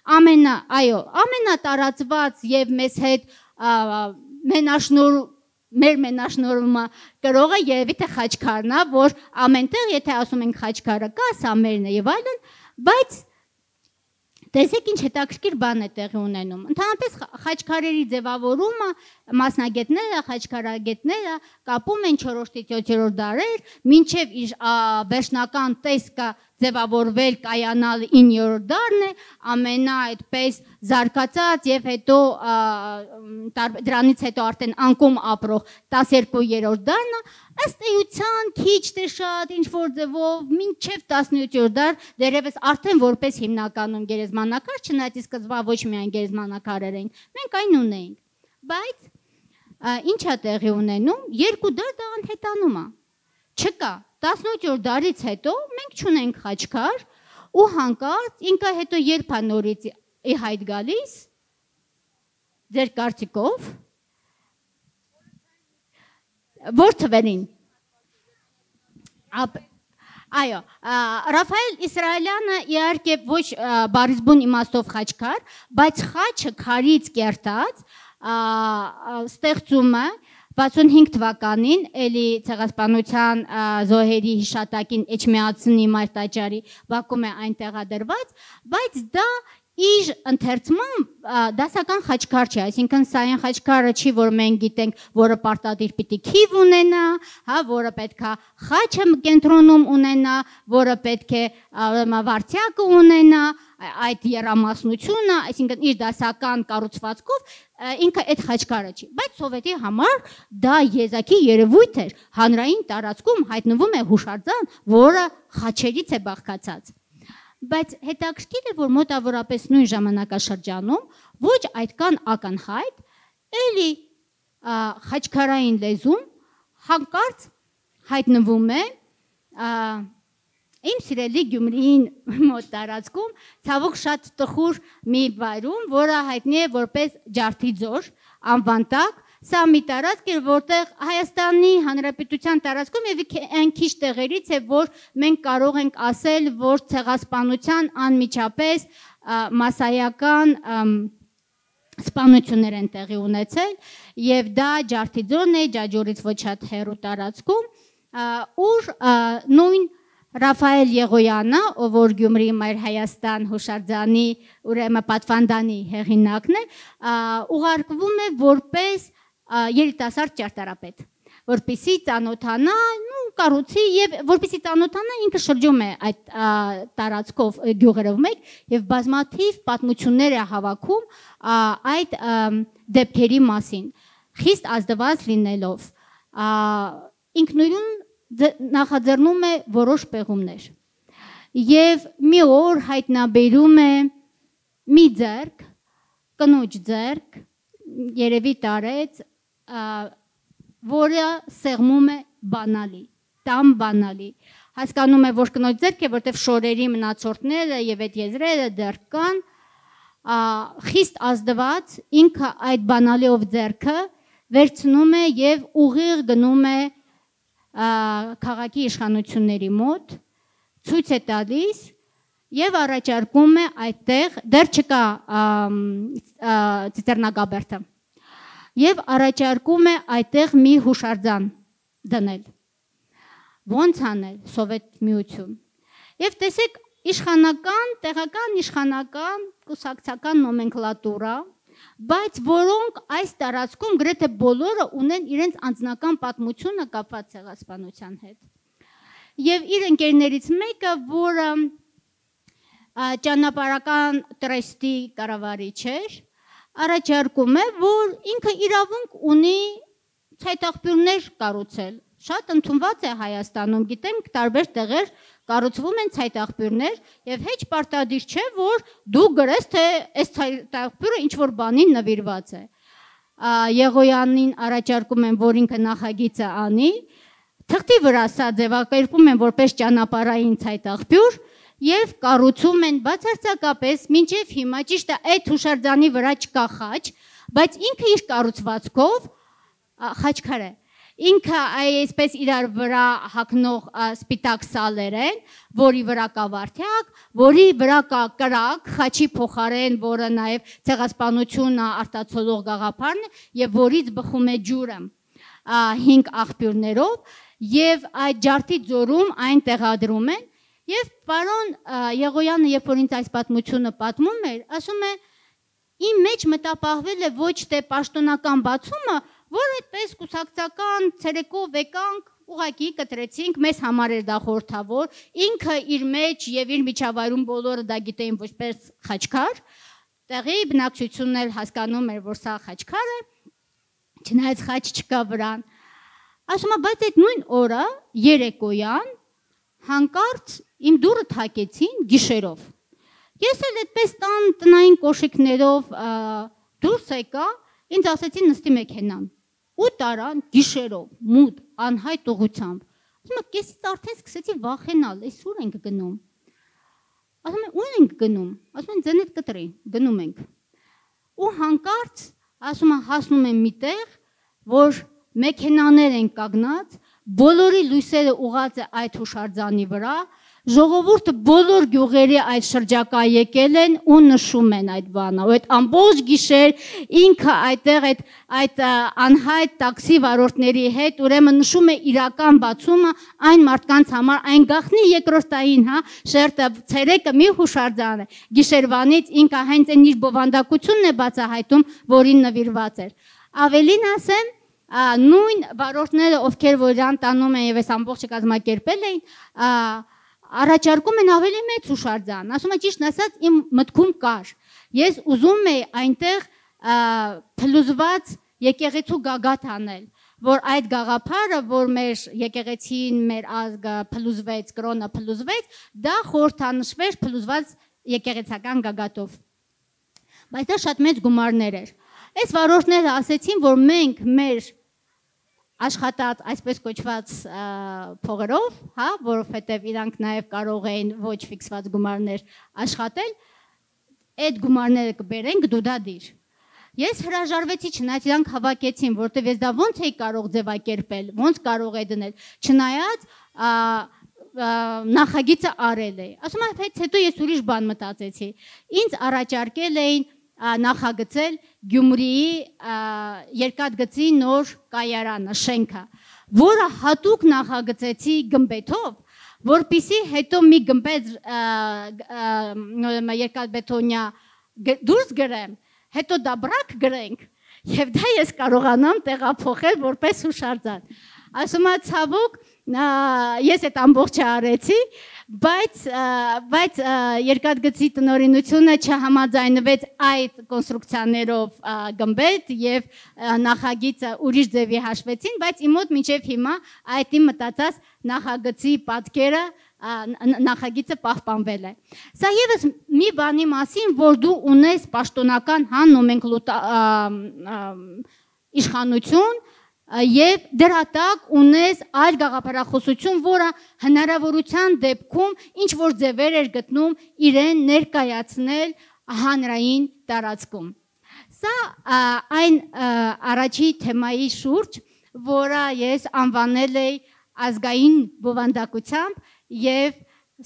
ամենատարածված եւ մեզ հետ մեր մենաշնորհումը կրողը երևի թե խաչքարն է, որ ամենտեղ եթե ասում ենք խաչքարը կա, սա մերն է եւ այլն, բայց տեսեք ինչ հետաքրքիր բան է տեղի ունենում։ Ընդհանրապես խաչքարերի ձևավորումը մասնագետները, խաչքարագետները կապում են 4-ից 7-րդ դարեր, մինչև վերջնական տեսքը ձևավորվել կայանալ 9-րդ դարն է, ամենա այդպես զարգացած եւ հետո դրանից հետո արդեն անկում ապրող 12-րդ դարն է, ըստ էության քիչ թե շատ ինչ որ ձևով մինչև 17-րդ դար դերևս արդեն որպես հիմնականում գերեզմանակար, չնայած սկզբա ոչ միայն գերեզմանակարեր էին, մենք այն ունեինք, բայց ինչ է տեղի ունենում, երկու դար դա անհետանում է, չկա, 18-րդ դարից հետո մենք չունենք խաչքար ու հանկարծ ինքը հետո երբ է նորից ի հայտ գալիս, ձեր կարծիքով, որ թվերին, այո, Ռաֆայել Իսրայելյանը իհարկե ոչ բարիզբուն իմաստով խաչքար, բայց խաչը քարից կերտած ստեղծումը 65 թվականին էլի ցեղասպանության զոհերի հիշատակին Էջմիածնի մարտաճարի Բաքվում է այն տեղադրված, բայց դա իր ընթերցմամբ դասական խաչքար չի, այսինքն սա այն խաչքարը չի, որ մենք գիտենք, որը պարտադիր պիտի քիվ ունենա, որը պետք է խաչը կենտրոնում ունենա, որը պետք է վարդյակը ունենա, այդ եռամասնությունը, այսինքն իր դասական կառուցվածքով ինքը այդ խաչքարը չի, բայց սովետի համար դա եզակի երևույթ էր, հանրային տարածքում հայտնվում է հուշարձան, որը խաչերից է բաղկացած։ Բայց հետաքրքիր է, որ մոտավորապես նույն ժամանակաշրջանում ոչ այդքան ակնհայտ, էլի խաչքարային լեզուն հանկարծ հայտնվում է իմ սիրելի Գյումրիին մոտ տարածքում, ցավոք շատ տխուր մի վայրում, որը հայտնի է որպես Ջարդի ձոր, անվան տակ, սա մի տարածք է, որտեղ Հայաստանի Հանրապետության տարածքում եւ այն քիչ տեղերից է, որ մենք կարող ենք ասել, որ ցեղասպանության անմիջապես մասսայական սպանություններ են տեղի ունեցել եւ դա Ջարդի ձորն է, Ջաջորից ոչ շատ հեռու տարածքում, ուր նույն Ռաֆայել Եղոյանը, ով որ Գյումրի Մայր Հայաստան հուշարձանի ուրեմն պատվանդանի հեղինակն է, ուղարկվում է որպես երիտասարդ ճարտարապետ, որպեսզի ծանոթանա, կառուցի եւ որպեսզի ծանոթանա ինքը շրջում է այդ տարածքով գյուղերով մեկ եւ բազմաթիվ պատմություններ է հավաքում այդ դեպքերի մասին, խիստ ազդված լինելով, ինքնուրույն նախաձեռնում է որոշ պեղումներ եւ մի օր հայտնաբերում է մի ձեռք, կնոջ ձեռք, երևի տարեց, որը սեղմում է բանալի, տամ բանալի, հասկանում է, որ կնոջ ձեռք է, որտեվ շորերի մնացորդները եւ այդ եզրերը դեռ կան, խիստ ազդված ինքը այդ բանալիով ձեռքը վերցնում է եւ ուղիղ գնում է քաղաքի իշխանությունների մոտ, ցույց է տալիս եւ առաջարկում է այդտեղ, դեռ չկա ծիծեռնագաբերդը, եւ առաջարկում է այդտեղ մի հուշարձան դնել, ոնց անել Սովետ միություն, եւ տեսեք իշխանական, տեղական իշխանական, կուսակցական նոմենկլատուրա, բայց որոնք այս տարածքում գրեթե բոլորը ունեն իրենց անձնական պատմությունը կապված ցեղասպանության հետ։ Եվ իր ընկերներից մեկը, որը ճանապարհական տրեստի կառավարիչ էր, առաջարկում է, որ ինքը իրավունք ունի ցայտաղբյուրներ կառուցել։ Շատ ընդունված է Հայաստանում, գիտենք տարբեր տեղեր կառուցվում են ցայտաղբյուրներ եւ հեչ պարտադիր չէ, որ դու գրես, թե այս ցայտաղբյուրը ինչ որ բանին նվիրված է։ Եղոյանին առաջարկում են, որ ինքը նախագիծը անի, թղթի վրա սա ձևակերպում են որպես ճանապարհային ցայտաղբյուր եւ կառուցում են բացարձակապես մինչեւ հիմա ճիշտ է այդ հուշարձանի վրա չկա խաչ, բայց ինքը իր կառուցվածքով խաչքար է։ Ինքը այսպես իրար վրա հագնող սպիտակ սալեր են, որի վրա կա վարդյակ, որի վրա կա կրակ, խաչի փոխարեն, որը նաև ցեղասպանությունը արտացոլող գաղափարն է, եւ որից բխում է ջուրը 5 աղբյուրներով, եւ այդ ջարդի ձորում այն տեղադրում են, եւ պարոն Եղոյանը, երբ որ ինձ այս պատմությունը պատմում էր, ասում է, իմ մեջ մտապահվել է ոչ թե պաշտոնական բացումը, որ այդպես կուսակցական ցերեկով եկանք, ուղակի կտրեցինք, մեզ համար էր դա խորհրդավոր, ինքը իր մեջ եւ իր միջավայրում բոլորը դա գիտեին որպես խաչքար, տեղի բնակչությունն էլ հասկանում էր, որ սա խաչքար է, չնայած խաչ չկա վրան։ Ասում է, բայց այդ նույն օրը երեկոյան հանկարծ իմ դուռը թակեցին գիշերով։ Ես էլ այդպես տան տնային կոշիկներով դուրս եկա, ինձ ասեցին նստի մեքենան։ Ու տարան գիշերով, մութ, անհայտ ուղղությամբ։ Ասում եմ, կեսից արդեն սկսեցի վախենալ, այս ուր ենք գնում։ Ասում եմ, ուր ենք գնում։ Ասում են, ձենդ կտրի, գնում ենք։ Ու հանկարծ, ասում եմ, հասնում եմ մի տեղ, որ մեքենաներ են կանգնած, բոլորի լույսերը ուղղած է այդ հուշարձանի վրա, ժողովուրդը բոլոր գյուղերի այդ շրջակա եկել են ու նշում են այդ բանը, ու այդ ամբողջ գիշեր ինքը այդտեղ այդ անհայտ տաքսի վարորդների հետ ուրեմն նշում է իրական բացումը այն մարդկանց համար, այն գախնի երկրորդային, հա, շերտը ցերեկը մի հուշարձան է, գիշերվանից ինքը հենց այն իր բովանդակությունն է բացահայտում, որին նվիրված էր։ Ավելին ասեմ, նույն վարորդները, ովքեր որ իրան տանում են եւ այս ամբողջը կազմակերպել էին, առաջարկում են ավելի մեծ հուշարձան, ասում է ճիշտ ասած իմ մտքում կար, ես ուզում եի այնտեղ փլուզված եկեղեցու գագաթ անել, որ այդ գաղափարը, որ մեր եկեղեցին, մեր ազգը փլուզվեց, կրոնը փլուզվեց, դա խորհրդանշվեր փլուզված եկեղեցական գագաթով, բայց դա շատ մեծ գումարներ էր։ Այս վարորդները ասեցին, որ մենք մեր աշխատած այսպես կոչված փողերով, հա, որովհետև իրանք նաև կարող էին ոչ ֆիքսված գումարներ աշխատել, այդ գումարները կբերենք դու դա դիր։ Ես հրաժարվեցի, չնայած իրանք հավաքեցին, որտեղ ես դա ոնց էի կարող ձևակերպել, ոնց կարող է դնել, չնայած նախագիծը արել է։ Ասում եմ, հետո ես ուրիշ բան մտածեցի։ Ինձ առաջարկել էին նախագծել Գյումրիի երկաթգծի նոր կայարանը, շենքը, որը հատուկ նախագծեցի գմբեթով, որպեսզի հետո մի գմբեթ երկաթբետոնյա դուրս գրեմ, հետո դա բրակ գրենք, եւ դա ես կարողանամ տեղափոխել որպես հուշարձան։ Ասում եմ, ցավոք, ես այդ ամբողջը արեցի, բայց երկաթգծի տնօրինությունը չհամաձայնվեց այդ կոնստրուկցիաներով գմբեթ եւ նախագիծը ուրիշ ձևի հաշվեցին, բայց իմ մոտ մինչեւ հիմա այդ իմ մտածած նախագծի պատկերը նախագիծը պահպանվել է։ Սա եւս մի բանի մասին, որ դու ունես պաշտոնական իշխանություն եւ դրա տակ ունես այլ գաղափարախոսություն, որը հնարավորության դեպքում ինչ որ ձևեր էր գտնում իրեն ներկայացնել հանրային տարածքում։ Սա այն առաջի թեմայի շուրջ, որը ես անվանել էի ազգային բովանդակությամբ եւ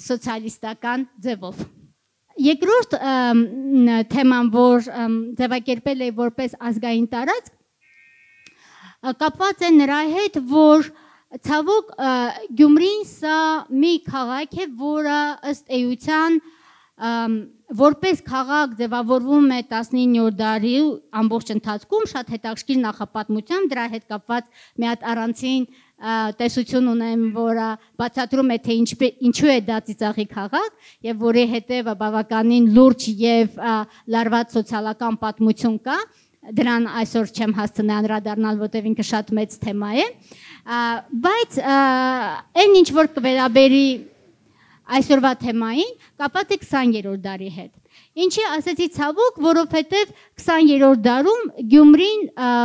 սոցիալիստական ձևով։ Երկրորդ թեման, որ ձևակերպել է որպես ազգային տարածք, կապված է նրա հետ, որ ցավոք Գյումրին սա մի քաղաք է, որը ըստ էության որպես քաղաք ձևավորվում է 19-րդ դարի ամբողջ ընթացքում, շատ հետաքրքիր նախապատմությամբ, դրա հետ կապված մի հատ առանցին տեսություն ունեմ, որը բացատրում է, թե ինչու է դա ծիծաղի քաղաք եւ որի հետեւը բավականին լուրջ եւ լարված սոցիալական պատմություն կա։ դրան այսօր չեմ հասցնի անդրադառնալ, որտեղ ինքը շատ մեծ թեմա է, բայց այն ինչ որ կվերաբերի այսօրվա թեմային, կապված է 20-րդ դարի հետ։ Ինչի ասեցի ցավոք, որովհետև 20-րդ դարում Գյումրին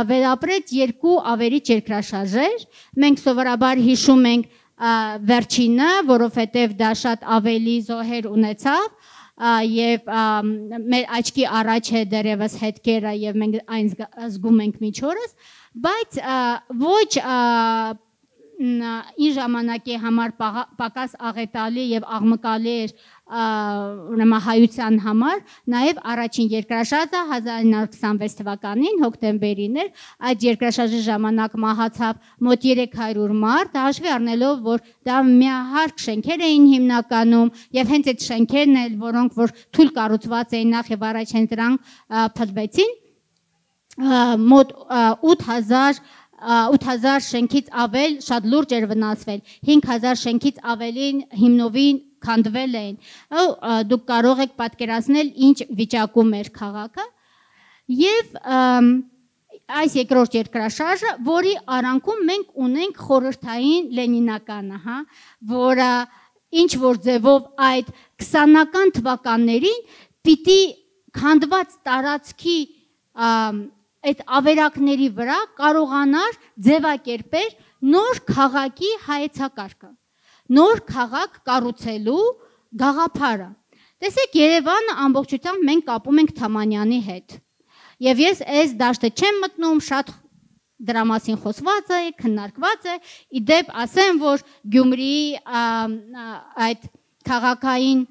վերապրեց երկու ավերիչ երկրաշարժեր, մենք սովորաբար հիշում ենք վերջինը, որովհետև դա շատ ավելի զոհեր ունեցավ, եւ մեր աչքի առաջ է դերևս հետքերը եւ մենք այն զգում ենք միջորս, բայց ոչ ի ժամանակի համար պակաս աղետալի եւ աղմկալի էր հայության համար, նաեւ առաջին երկրաշարժը 1926 թվականին հոկտեմբերին էր, այդ երկրաշարժի ժամանակ մահացավ մոտ 300 մարդ, հաշվի առնելով, որ դա միահարկ շենքեր էին հիմնականում եւ հենց այդ շենքերն էլ, որոնք որ թույլ կառուցված էին նախ եւ առաջ հենց դրանք փլվեցին, մոտ 8000 շենքից ավել շատ լուրջ էր վնասվել, 5000 շենքից ավելին հիմնովին քանդվել էին, դուք կարող եք պատկերացնել ինչ վիճակում էր քաղաքը եւ այս երկրորդ երկրաշարժը, որի արանքում մենք ունենք խորհրդային լենինականը, որը ինչ որ ձևով այդ 20-ական թվականներին պիտի քանդված տարածքի այդ ավերակների վրա կարողանար ձևակերպել նոր քաղաքի հայեցակարգը, նոր քաղաք կառուցելու գաղափարը։ Տեսեք, Երևանը ամբողջությամբ մենք կապում ենք Թամանյանի հետ։ Եվ ես այս դաշտը չեմ մտնում, շատ դրա մասին խոսված է, քննարկված է, իդեպ ասեմ, որ Գյումրիի այդ քաղաքային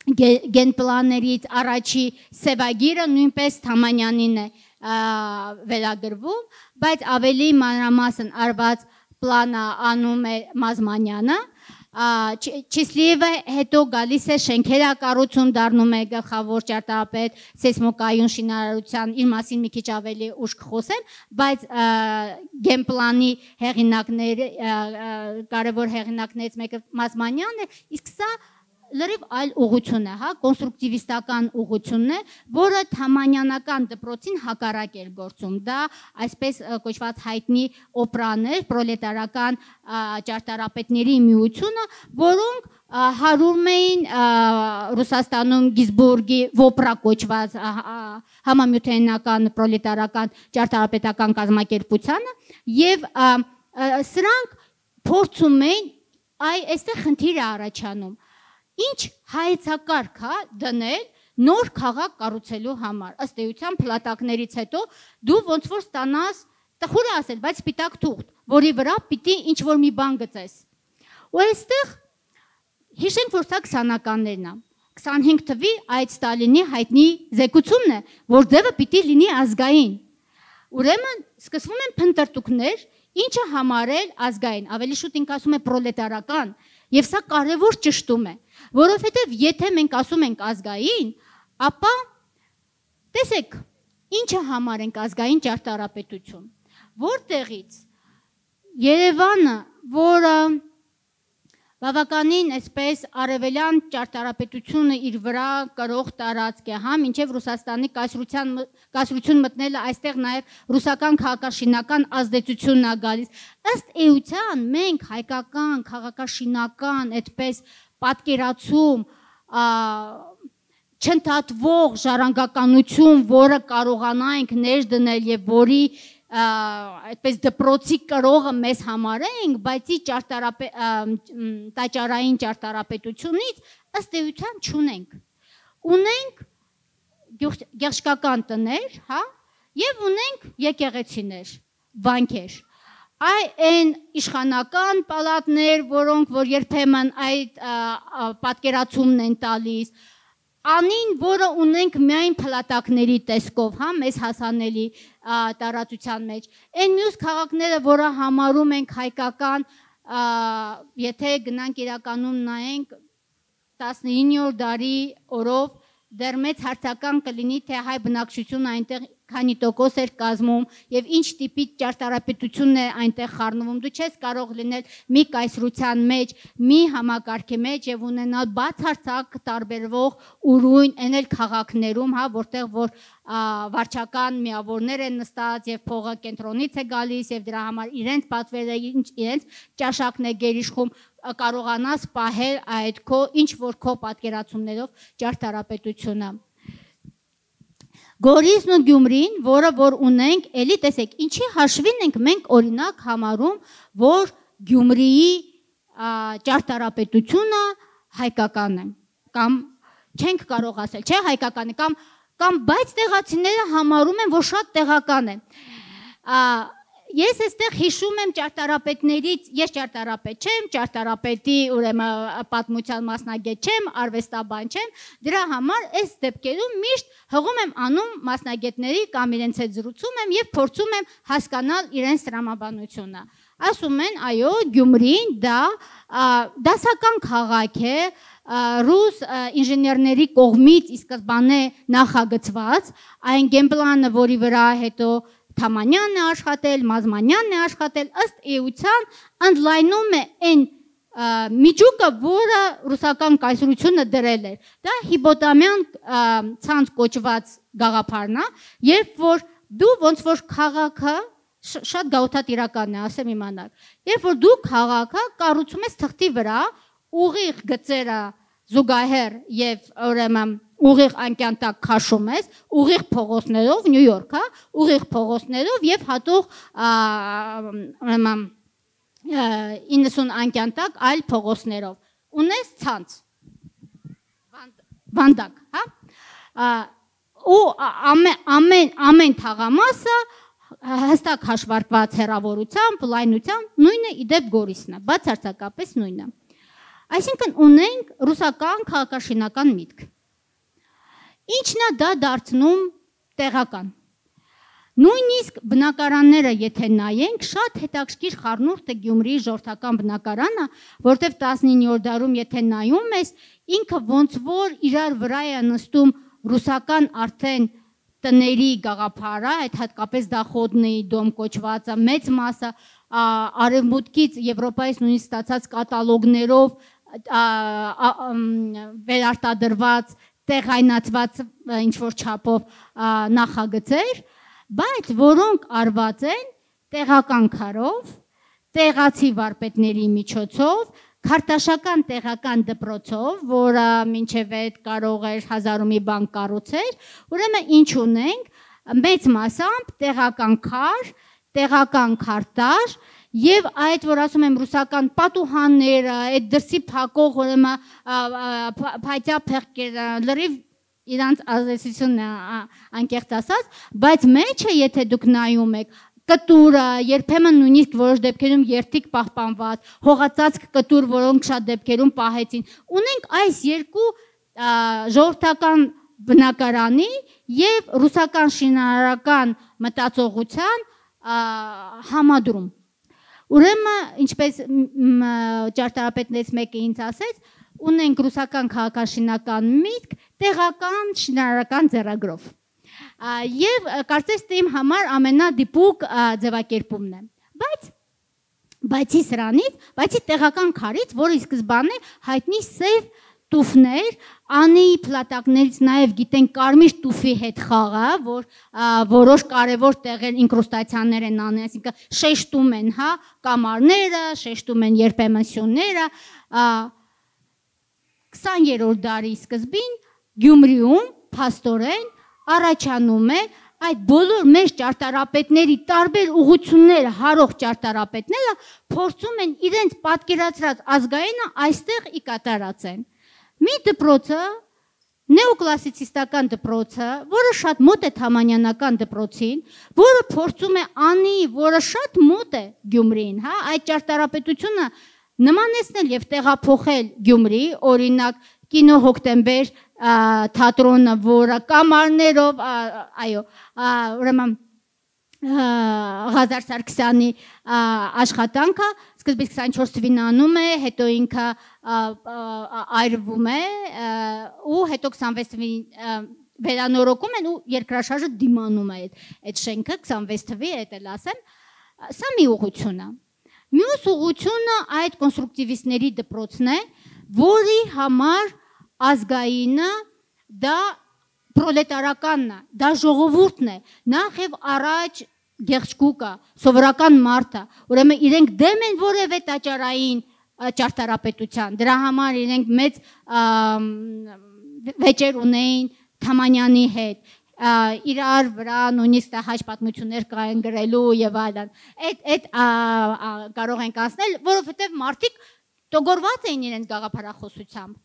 գենպլաններից առաջի սևագիրը նույնպես Թամանյանին է վերագրվում, բայց ավելի մանրամասն արված պլանը անում է Մազմանյանը, Չիսլիևը հետո գալիս է շենքերակառուցում, դառնում է գլխավոր ճարտարապետ սեյսմոկայուն շինարարության, իր մասին մի քիչ ավելի ուշ կխոսեմ, բայց գենպլանի հեղինակներ, կարևոր հեղինակներից մեկը Մազմանյանն է, իսկ սա լրիվ այլ ուղղություն է, կոնստրուկտիվիստական ուղղությունն է, որը Թամանյանական դպրոցին հակառակ էր գործում։ Դա այսպես կոչված հայտնի օպրաներ, պրոլետարական ճարտարապետների միությունը, որոնք հարում էին Ռուսաստանում Գիզբուրգի Վոպրա կոչված համամիութենական պրոլետարական ճարտարապետական կազմակերպությանը եւ սրանք փորձում էին այստեղ խնդիր է առաջանում ինչ հայեցակարգ է դնել նոր քաղաք կառուցելու համար, ըստ էության փլատակներից հետո դու ոնց որ ստանաս, տխուր է ասել, բայց սպիտակ թուղթ, որի վրա պիտի ինչ որ մի բան գծես։ Ու այստեղ հիշենք, որ սա 20-ականներն է, 25 թվի այդ Ստալինի հայտնի զեկուցումն է, որ ձևը պիտի լինի ազգային։ Ուրեմն սկսվում են փնտրտուքներ, ինչը համարել ազգային, ավելի շուտ ինք ասում է պրոլետարական, եւ սա կարևոր ճշտում է, որովհետեւ եթե մենք ասում ենք ազգային, ապա տեսեք, ինչը համարենք ազգային ճարտարապետություն, որտեղից Երևանը, որը բավականին այսպես արևելյան ճարտարապետությունը իր վրա կրող տարածք է, մինչև Ռուսաստանի կայսրություն մտնելը այստեղ նաև ռուսական քաղաքաշինական ազդեցությունն է գալիս։ Ըստ էության մենք հայկական քաղաքաշինական այդպես պատկերացում չընդհատվող ժառանգականություն, որը կարողանանք ներդնել եւ որի այդպես դպրոցի կրողը մեզ համարենք, բայց տաճարային ճարտարապետությունից ըստ էության չունենք։ Ունենք գեղչկական տներ, եւ ունենք եկեղեցիներ, վանքեր։ Այն իշխանական պալատներ, որոնք որ երբեմն այդ պատկերացումն են տալիս, անին, որը ունենք միայն փլատակների տեսքով, մեզ հասանելի տարածության մեջ։ Այն մյուս քաղաքները, որը համարում ենք հայկական, եթե գնանք իրականում նայենք 19-րդ դարի օրով դեռ մեծ հարցական կլինի, թե հայ բնակչությունը այնտեղ քանի տոկոս էր կազմում եւ ինչ տիպի ճարտարապետությունն է այնտեղ խառնվում։ Դու չես կարող լինել մի կայսրության մեջ, մի համակարգի մեջ եւ ունենալ բացարձակ տարբերվող ուրույն այլ քաղաքներում, հա, որտեղ որ վարչական միավորներ են նստած եւ փողը կենտրոնից է գալիս եւ դրա համար իրենց պատվերը, իրենց ճաշակն է գերիշխում, կարողանաս պահել այդ քո ինչ որ քո պատկերացումներով ճարտարապետությունը։ Գորիսն ու Գյումրին, որը որ ունենք, էլի տեսեք, ինչի հաշվին ենք մենք օրինակ համարում, որ Գյումրիի ճարտարապետությունը հայկական է, կամ չենք կարող ասել, չէ, հայկական է, կամ բայց տեղացիները համարում են, որ շատ տեղական է։ Ես այստեղ հիշում եմ ճարտարապետներից, ես ճարտարապետ չեմ, ճարտարապետի ուրեմն պատմության մասնագետ չեմ, արվեստաբան չեմ, դրա համար այս դեպքերում միշտ հղում եմ անում մասնագետների կամ իրենց հետ զրուցում եմ եւ փորձում եմ հասկանալ իրենց տրամաբանությունը։ Ասում են, այո, Գյումրին դա դասական քաղաք է, ռուս ինժեներների կողմից ի սկզբանե նախագծված, այն գեմպլանը, որի վրա հետո Թամանյանն է աշխատել, Մազմանյանն է աշխատել, ըստ էության ընդլայնում է այն միջուկը, որը ռուսական կայսրությունը դրել էր։ Դա հիպոտամյան ցանց կոչված գաղափարն է, երբ որ դու ոնց որ քաղաքը շատ գաղութատիրական է, ասեմ իմանալ, երբ որ դու քաղաքը կառուցում ես թղթի վրա, ուղիղ գծերը զուգահեռ եւ ուրեմն ուղիղ անկյան տակ քաշում ես, ուղիղ փողոցներով, Նյու Յորք, հա, ուղիղ փողոցներով եւ հատող ուրեմն 90 անկյան տակ այլ փողոցներով։ Ունես ցանց։ Վանդակ, հա։ Ու ամեն թաղամասը հստակ հաշվարկված հեռավորությամբ, լայնությամբ, նույնը իդեպ Գորիսն է, բացարձակապես նույնը։ Այսինքն ունենք ռուսական քաղաքաշինական միտք։ Ինչն է դա դարձնում տեղական։ Նույնիսկ բնակարանները, եթե նայենք, շատ հետաքրքիր խառնուրդ է Գյումրիի ժողովրդական բնակարանը, որտեղ 19-րդ դարում եթե նայում ես, ինքը ոնց որ իրար վրա է նստում ռուսական արդեն տների գաղափարը, այդ հատկապես դախոդնի դոմ կոչվածը, մեծ մասը արևմուտքից Եվրոպայից նույնիսկ ստացած կատալոգներով վերարտադրված տեղայնացված ինչ-որ չափով նախագծեր, բայց որոնք արված են տեղական քարով, տեղացի վարպետների միջոցով, քարտաշական տեղական դպրոցով, որը մինչև այդ կարող էր հազարումի բան կառուցել, ուրեմն ինչ ունենք, մեծ մասամբ տեղական քար, տեղական քարտաշ, եւ այդ որ ասում եմ ռուսական պատուհանները, այդ դրսի փակող ուրեմն փայտյա փեղկերը, լրիվ իրանց ազդեցությունն է անկեղծ ասած, բայց մեջը եթե դուք նայում եք, կտուրը, երբեմն նույնիսկ որոշ դեպքերում երթիկ պահպանված, հողածածկ կտուր, որոնք շատ դեպքերում պահեցին, ունենք այս երկու ժողովրդական բնակարանի եւ ռուսական շինարարական մտածողության համադրում։ Ուրեմն, ինչպես ճարտարապետներից մեկը ինձ ասեց, ունենք ռուսական քաղաքաշինական միտք տեղական շինարարական ձեռագրով։ Եվ կարծես թե իմ համար ամենադիպուկ ձևակերպումն է։ Բայց բացի սրանից, բացի տեղական քարից, որը ի սկզբանե հայտնի սև տուֆներ, անի փլատակներից նաև գիտեն կարմիր տուֆի հետ խաղը, որ որոշ կարևոր տեղեր ինկրուստացիաներ են անում, այսինքն շեշտում են, հա, կամարները, շեշտում են երբեմն սյունները, 20-րդ դարի սկզբին Գյումրիում փաստորեն առաջանում է այդ բոլոր մեր ճարտարապետների տարբեր ուղղությունները հարող ճարտարապետները փորձում են իրենց պատկերացրած ազգայինը այստեղ ի կատարածեն։ Մի դպրոցը, նեոկլասիցիստական դպրոցը, որը շատ մոտ է թամանյանական դպրոցին, որը փորձում է անի, որը շատ մոտ է Գյումրիին, հա, այդ ճարտարապետությունը նմանեցնել եւ տեղափոխել Գյումրի, օրինակ Կինո Հոկտեմբեր թատրոնը, որը կամարներով, այո, ուրեմն Ղազար Սարգսյանի աշխատանքը սկզբից 24 թվին անում է, հետո ինքը այրվում է ու հետո 26 թվականին վերանորոգում են ու երկրաշարժը դիմանում է այդ շենքը 26 թվականի հետ էլ ասեմ սա մի ուղղություն է մյուս ուղղությունը այդ կոնստրուկտիվիստների դպրոցն է որի համար ազգայինը դա պրոլետարականն է դա ժողովուրդն է նախ եւ առաջ գեղեցկուկա սովորական մարդը ուրեմն իրենք դեմ են որևէ տաճարային ճարտարապետության դրա համար իրենք մեծ վեճեր ունեին Թամանյանի հետ իրար վրա նույնիսկ հաճ պատմություններ կային գրելու եւ այլն այդ կարող ենք ասնել որովհետեւ մարդիկ տոգորված էին իրենց գաղափարախոսությամբ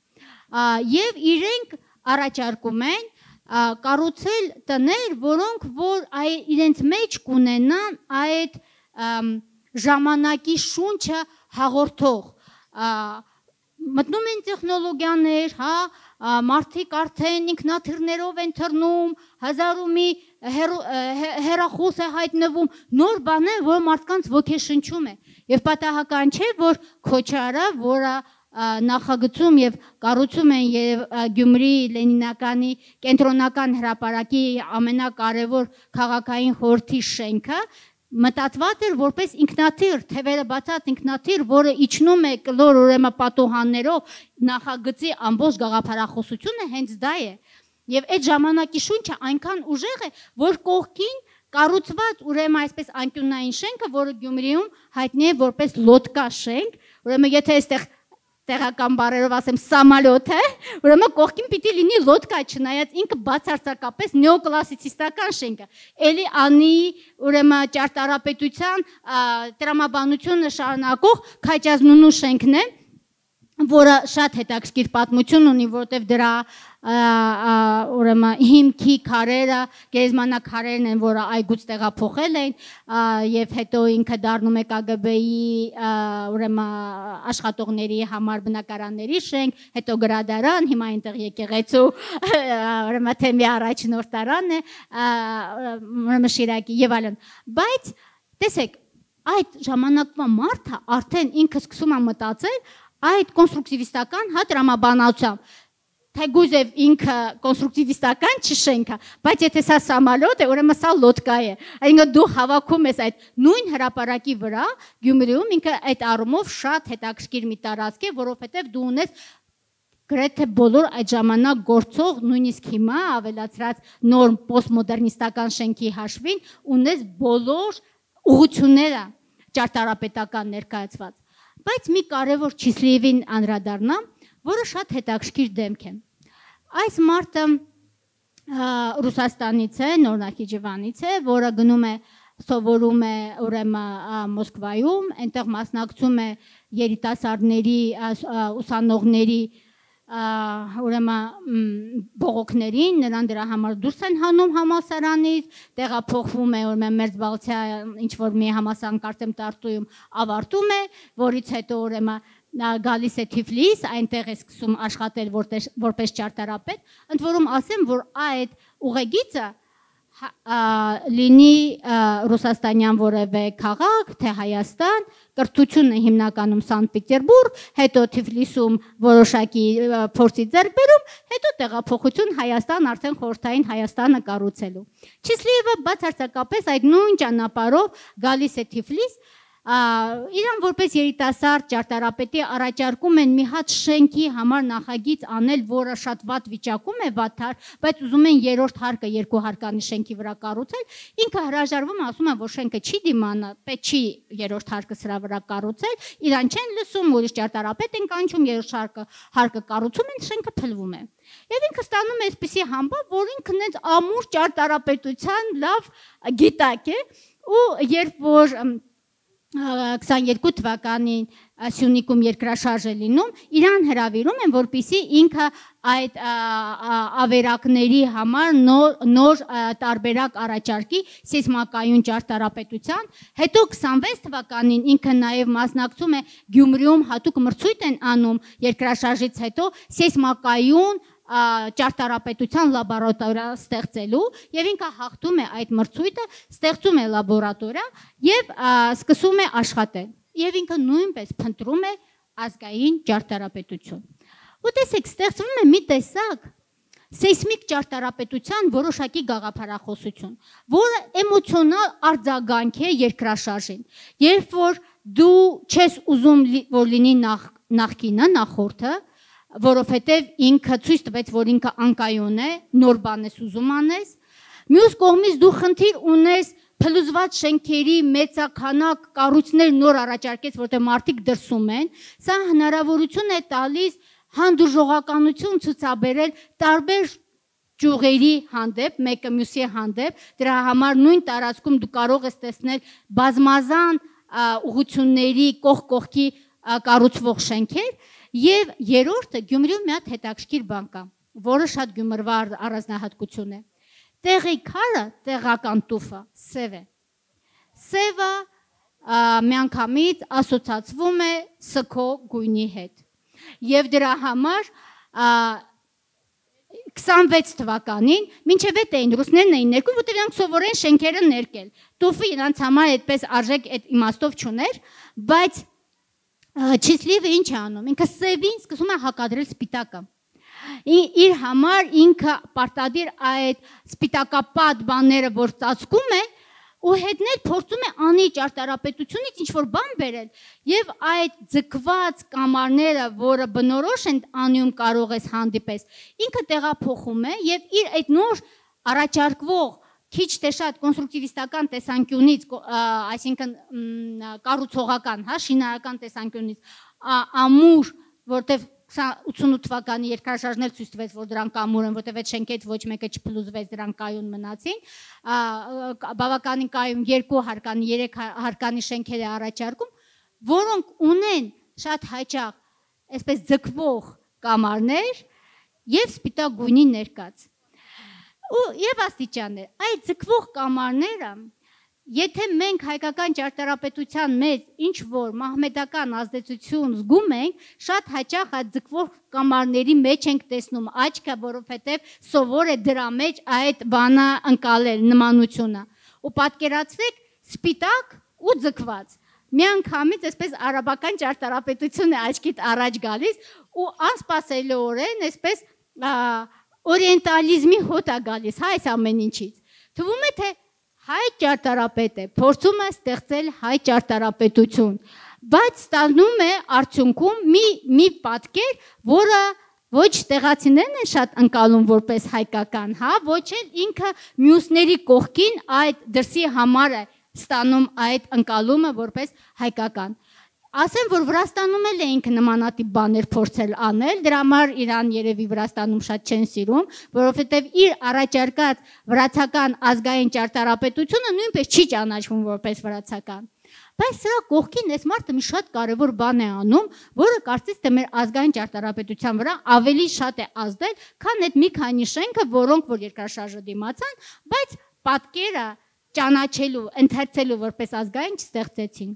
եւ իրենք առաջարկում են կառուցել տներ որոնք որ իրենց մեջ կունենան այդ ժամանակի շունչը հաղորդող մտնում են տեխնոլոգիաներ, հա, մարդիկ արդեն ինքնաթիռներով են թռնում, հազար ու մի հեռախոս է հայտնվում, նոր բան է, որ մարդկանց ոգեշնչում է։ Եվ պատահական չէ, որ Քոչարը, որը նախագծում եւ կառուցում են եւ Գյումրի Լենինականի կենտրոնական հրապարակի ամենակարևոր քաղաքային խորհրդի շենքը մտածված էր որպես ինքնաթիռ, թևերը բացած ինքնաթիռ, որը իջնում է կլոր ուրեմն պատուհաններով նախագծի ամբողջ գաղափարախոսությունը հենց դա է։ Եվ այդ ժամանակի շունչը այնքան ուժեղ է, որ կողքին կառուցված ուրեմն այսպես անկյունային շենքը, որը Գյումրիում հայտնի է որպես լոդկա շենք, ուրեմն եթե այստեղ տեղական բառերով ասեմ սամալյոտ է, ուրեմն կողքին պիտի լինի լոդկա, չնայած ինքը բացարձակապես նեոկլասիցիստական շենք է։ Էլի անի ուրեմն ճարտարապետության տրամաբանությունը շարունակող Քաջազնունու շենքն է, որը շատ հետաքրքիր պատմություն ունի, որտեղ դրա ուրեմն հիմքի քարերը, գերեզմանակարերն են, որը այգուց տեղափոխել են, եւ հետո ինքը դառնում է KGB-ի ուրեմն աշխատողների համար բնակարանների շենք, հետո գրադարան, հիմա այնտեղ եկեղեցու ուրեմն թեմի առաջնորդարանն է, ուրեմն Շիրակի եւ այլն։ Բայց տեսեք, այդ ժամանակվա մարդը արդեն ինքը սկսում է մտածել այդ կոնստրուկտիվիստական տրամաբանությամբ թեգուզև ինքը կոնստրուկտիվիստական չշենքը, բայց եթե սա սամալյոտ է, ուրեմն սա լոդկա է։ Այսինքն դու հավաքում ես այդ նույն հրապարակի վրա Գյումրիում ինքը այդ առումով շատ հետաքրքիր մի տարածք է, որովհետև դու ունես գրեթե բոլոր այդ ժամանակ գործող, նույնիսկ հիմա ավելացրած նոր պոստմոդեռնիստական շենքի հաշվին ունես բոլոր ուղղությունները ճարտարապետական ներկայացված։ Բայց մի կարևոր Չիսլիևին անդրադառնամ, որը շատ հետաքրքիր դեմք է։ Այս մարդը Ռուսաստանից է, Նոր Նախիջևանից է, որը գնում է սովորում է ուրեմն Մոսկվայում, այնտեղ մասնակցում է երիտասարդների, ուսանողների ուրեմն բողոքներին, նրան դրա համար դուրս են հանում համալսարանից, տեղափոխվում է ուրեմն Մերձբալթիա ինչ որ մի համալսարան Արտեմ Տարտույում ավարտում է, որից հետո ուրեմն գալիս է Թիֆլիս, այնտեղ է սկսում աշխատել որպես ճարտարապետ, ընդ որում ասեմ, որ այդ ուղեգիծը լինի ռուսաստանյան որևէ քաղաք, թե Հայաստան, կրթությունը հիմնականում Սանտ Պետերբուրգ, հետո Թիֆլիսում որոշակի փորձի ձեռք բերում, հետո տեղափոխություն Հայաստան, արդեն խորհրդային Հայաստանը կառուցելու։ Չիսլիևը բացարձակապես այդ նույն ճանապարհով գալիս է Թիֆլիս, իրան որպես երիտասարդ ճարտարապետի առաջարկում են մի հատ շենքի համար նախագիծ անել, որը շատ վատ վիճակում է, վատար, բայց ուզում են երրորդ հարկը երկու հարկանի շենքի վրա կառուցել, ինքը հրաժարվում, ասում է, որ շենքը չի դիմանա, պետք չի երրորդ հարկը սրա վրա կառուցել, իրան չեն լսում, ուրիշ ճարտարապետ են կանչում, երրորդ հարկը կառուցում են, շենքը փլվում է։ Եվ ինքը ստանում է այսպիսի համբավ, որ ինքն է ամուր ճարտարապետության լավ գիտակ է, ու երբ որ 22 թվականին Սյունիքում երկրաշարժ է լինում, իրան հրավիրում են, որպեսզի ինքը այդ ավերակների համար նոր տարբերակ առաջարկի սեյսմակայուն ճարտարապետության, հետո 26 թվականին ինքը նաև մասնակցում է Գյումրիում հատուկ մրցույթ են անում երկրաշարժից հետո սեյսմակայուն ճարտարապետության լաբորատորիա ստեղծելու եւ ինքը հաղթում է այդ մրցույթը, ստեղծում է լաբորատորիա եւ սկսում է աշխատել։ Եվ ինքը նույնպես փնտրում է ազգային ճարտարապետություն։ Ու տեսեք, ստեղծվում է մի տեսակ սեյսմիկ ճարտարապետության որոշակի գաղափարախոսություն, որը էմոցիոնալ արձագանք է երկրաշարժին։ Երբ որ դու չես ուզում որ լինի նախկինը, նախորդը, որովհետև ինքը ցույց տվեց, որ ինքը անկայուն է, նոր բան ես ուզում անես, մյուս կողմից դու խնդիր ունես փլուզված շենքերի մեծաքանակ կառույցներ նոր առաջարկեց, որտեղ մարդիկ դրսում են, սա հնարավորություն է տալիս հանդուրժողականություն ցուցաբերել տարբեր ճյուղերի հանդեպ, մեկը մյուսի հանդեպ, դրա համար նույն տարածքում դու կարող ես տեսնել բազմազան ուղղությունների կողքի կառուցվող շենքեր, եւ երրորդը Գյումրիում մի հատ հետաքրքիր բան կա, որը շատ Գյումրվա առանձնահատկություն է։ Տեղի քարը, տեղական տուֆը սև է։ Սևը միանգամից ասոցացվում է սքո գույնի հետ։ Եվ դրա համար 26 թվականին մինչև այդ էին ռուսներն էին ներկում, որտեղ իրանք սովորեն շենքերը ներկել։ Տուֆը իրանք համար այդպես արժեք այդ իմաստով չուներ, բայց Չիսլիվը ինչ է անում։ Ինքը սևին սկսում է հակադրել սպիտակը։ Իր համար ինքը պարտադիր այդ սպիտակապատ բաները, որ ծածկում է, ու հետնել փորձում է անի ճարտարապետությունից ինչ-որ բան բերել, եւ այդ ձգված կամարները, որը բնորոշ են անում կարող ես հանդիպես, ինքը տեղափոխում է եւ իր այդ նոր առաջարկվող քիչ թե շատ կոնստրուկտիվիստական տեսանկյունից, այսինքն կառուցողական, շինարարական տեսանկյունից ամուր, որտեղ 88 թվականի երկրաշարժներ ցույց տվեց, որ դրանք ամուր են, որտեղ այդ շենքից ոչ մեկը չփլուզվեց, դրանք կայուն մնացին, բավականին կայուն 2 հարկանի, 3 հարկանի շենքեր է առաջարկում, որոնք ունեն շատ հաճախ այսպես ձգվող կամարներ եւ սպիտակ գույնի ներկած։ Եվ աստիճաններ, այդ ձգվող կամարները, եթե մենք հայկական ճարտարապետության մեջ ինչ-որ մահմեդական ազդեցություն զգում ենք, շատ հաճախ այդ ձգվող կամարների մեջ ենք տեսնում աչքը, որովհետև սովոր է դրա մեջ այդ բանը ընկալել, նմանությունը։ Ու պատկերացրեք սպիտակ ու ձգված։ Միանգամից այսպես արաբական ճարտարապետություն է աչքիդ առաջ գալիս ու անսպասելիորեն այսպես օրիենտալիզմի հոտ է գալիս, այս ամեն ինչից։ Թվում է, թե հայ ճարտարապետ է, փորձում է ստեղծել հայ ճարտարապետություն, բայց ստանում է արդյունքում մի պատկեր, որը ոչ տեղացիներն են շատ ընկալում որպես հայկական, ոչ էլ ինքը մյուսների կողքին այդ դրսի համար է ստանում այդ ընկալումը որպես հայկական։ Ասեմ, որ Վրաստանում էլ էինք նմանատիպ բաներ փորձել անել, դրա համար Իրան երևի Վրաստանում շատ չեն սիրում, որովհետև իր առաջարկած վրացական ազգային ճարտարապետությունը նույնպես չի ճանաչվում որպես վրացական։ Բայց սրա կողքին այս մարդը մի շատ կարևոր բան է անում, որը կարծես թե մեր ազգային ճարտարապետության վրա ավելի շատ է ազդել, քան այդ մի քանի շենքը, որոնք որ երկրաշարժը դիմացան, բայց պատկերը ճանաչելու, ընթերցելու որպես ազգային չստեղծեցին։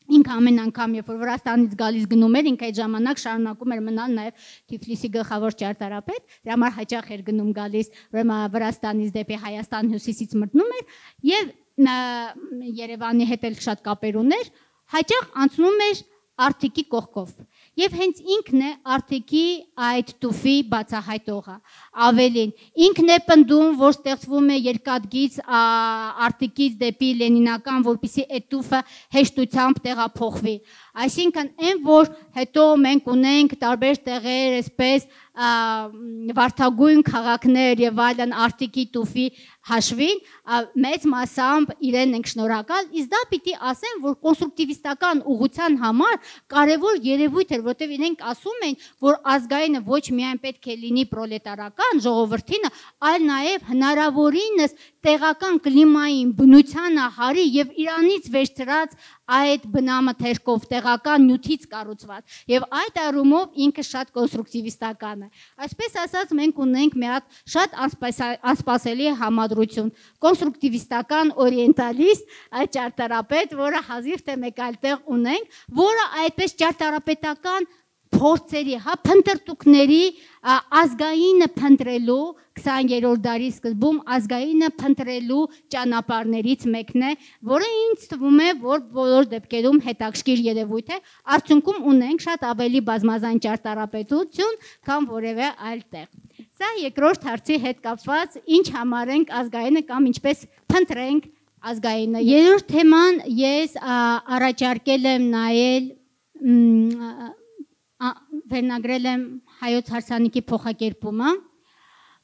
Ինքը ամեն անգամ, երբ որ Վրաստանից գալիս գնում էր, ինքը այդ ժամանակ շարունակում էր մնալ նաև Թիֆլիսի գլխավոր ճարտարապետ, դրա համար հաճախ էր գնում գալիս, ուրեմն Վրաստանից դեպի Հայաստան հյուսիսից մտնում էր եւ Երևանի հետ էլ շատ կապեր ուներ, հաճախ անցնում էր Արթիկի կողքով։ Եվ հենց ինքն է Արթիկի այդ տուֆի բացահայտողը։ Ավելին, ինքն է պնդում, որ ստեղծվում է երկաթգիծ Արթիկից դեպի Լենինական, որպեսզի այդ տուֆը հեշտությամբ տեղափոխվի։ Այսինքն, այն որ հետո մենք ունենք տարբեր տեղեր, այսպես վարդագույն քաղաքներ եւ այլն Արթիկի տուֆի հաշվին, մեծ մասամբ իրեն ենք շնորհակալ, իսկ դա պիտի ասեմ, որ կոնստրուկտիվիստական ուղղության համար կարևոր երևույթ էր, որտեղ իրենք ասում են, որ ազգայինը ոչ միայն պետք է լինի պրոլետարական ժողովրդինը, այլ նաեւ հնարավորինս տեղական կլիմային բնությանը հարի եւ Իրանից վերցրած այդ բնամթերքով տեղական նյութից կառուցված եւ այդ առումով ինքը շատ կոնստրուկտիվիստական է։ Այսպես ասած մենք ունենք մի հատ շատ անսպասելի համադրություն, կոնստրուկտիվիստական օրիենտալիստ ճարտարապետ, որը հազիվ թե մեկ այլ տեղ ունենք, որը այդպես ճարտարապետական փորձերի, հա, փնտրտուքների ազգայինը փնտրելու 20-րդ դարի սկզբում ազգայինը փնտրելու ճանապարհներից մեկն է, որը ինձ թվում է, որ բոլոր դեպքերում հետաքրքիր երևույթ է, արդյունքում ունենք շատ ավելի բազմազան ճարտարապետություն, քան որևէ այլ տեղ։ Սա երկրորդ հարցի հետ կապված, ինչ համարենք ազգայինը կամ ինչպես փնտրենք ազգայինը։ Երրորդ թեման ես առաջարկել եմ նայել վերնագրել եմ հայոց հարսանիքի փոխակերպումը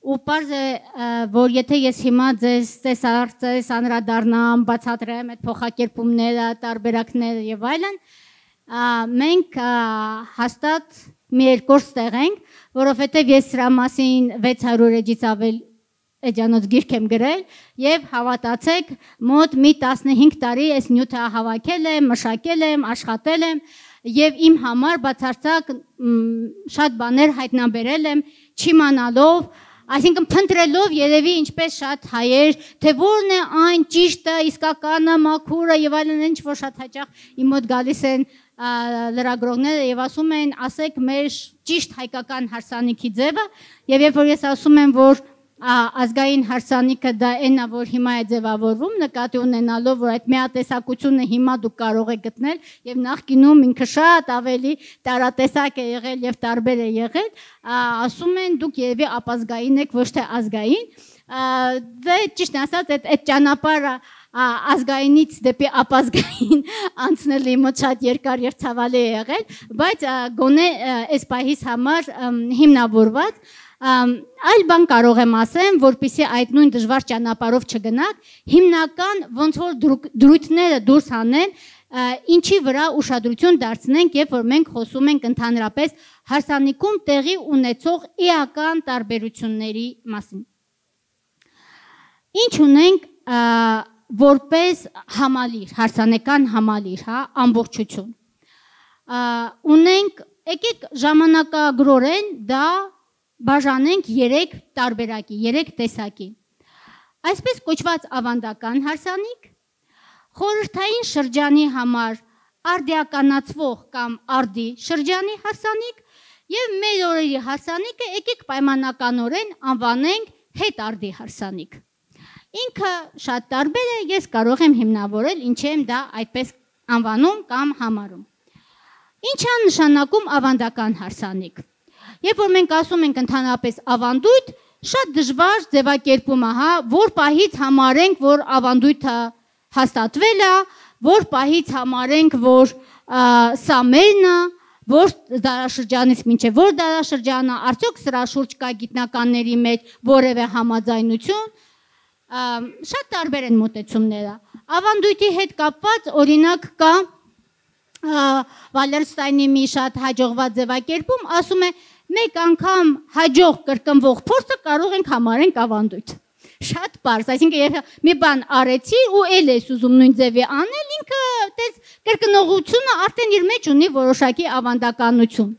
ու պարզ է, որ եթե ես հիմա ձեզ անդրադառնամ, բացատրեմ այդ փոխակերպումները, տարբերակները եւ այլն, մենք հաստատ մի երկրորդ տեղ ենք, որովհետեւ ես սրա մասին 600 էջից ավել էջանոց գիրք եմ գրել եւ հավատացեք, մոտ մի 15 տարի այս նյութը հավաքել եմ, մշակել եմ, աշխատել եմ եւ իմ համար բացարձակ շատ բաներ հայտնաբերել եմ, չիմանալով, այսինքն փնտրելով երևի ինչպես շատ հայեր, թե որն է այն ճիշտը, իսկականը, մաքուրը եւ այլն, ինչ որ շատ հաճախ իմ մոտ գալիս են լրագրողները եւ ասում են, ասեք մեր ճիշտ հայկական հարսանիքի ձևը, եւ երբ որ ես ասում եմ, որ ազգային հարսանիքը դա այն է, որ հիմա է ձևավորվում, նկատի ունենալով, որ այդ միատեսակությունը հիմա դուք կարող եք գտնել եւ նախկինում ինքը շատ ավելի տարատեսակ է եղել եւ տարբեր է եղել, ասում են դուք երևի ապազգային եք, ոչ թե ազգային։ Դե ճիշտ ասած, այդ ճանապարհը ազգայինից դեպի ապազգային անցնելը մոտ շատ երկար եւ ցավալի է եղել, բայց գոնե այս պահից համար հիմնավորված այլ բան կարող եմ ասեմ, որպեսզի այդ նույն դժվար ճանապարհով չգնաք, հիմնական ոնց որ դրույթները դուրս հանեն, ինչի վրա ուշադրություն դարձնենք, երբ որ մենք խոսում ենք ընդհանրապես հարսանիքում տեղի ունեցող էական տարբերությունների մասին։ Ինչ ունենք որպես համալիր, հարսանեկան համալիր, հա, ամբողջություն։ Ունենք, եկեք ժամանակագրորեն դա բաժանենք 3 տարբերակի, 3 տեսակի։ Այսպես կոչված ավանդական հարսանիք, խորհրդային շրջանի համար արդիականացվող կամ արդի շրջանի հարսանիք եւ մեր օրերի հարսանիքը եկեք պայմանականորեն անվանենք հետարդի հարսանիք։ Ինքը շատ տարբեր է, ես կարող եմ հիմնավորել, ինչի եմ դա այդպես անվանում կամ համարում։ Ինչ է նշանակում ավանդական հարսանիք։ Երբ որ մենք ասում ենք ընդհանրապես ավանդույթ, շատ դժվար ձևակերպում է, հա, որ պահից համարենք, որ ավանդույթը հաստատվել է, որ պահից համարենք, որ սա մերն է, որ դարաշրջանից մինչև որ դարաշրջանը, արդյոք սրա շուրջ կա գիտնականների մեջ որևէ համաձայնություն, շատ տարբեր են մոտեցումները։ Ավանդույթի հետ կապված օրինակ կա Վալերստայնի մի շատ հաջողված ձևակերպում, ասում է մեկ անգամ հաջող կրկնվող փորձը կարող ենք համարենք ավանդույթ։ Շատ պարզ, այսինքն երբ մի բան արեցի ու էլ ես ուզում նույն ձևի անել, ինքը այդպես կրկնողությունը արդեն իր մեջ ունի որոշակի ավանդականություն։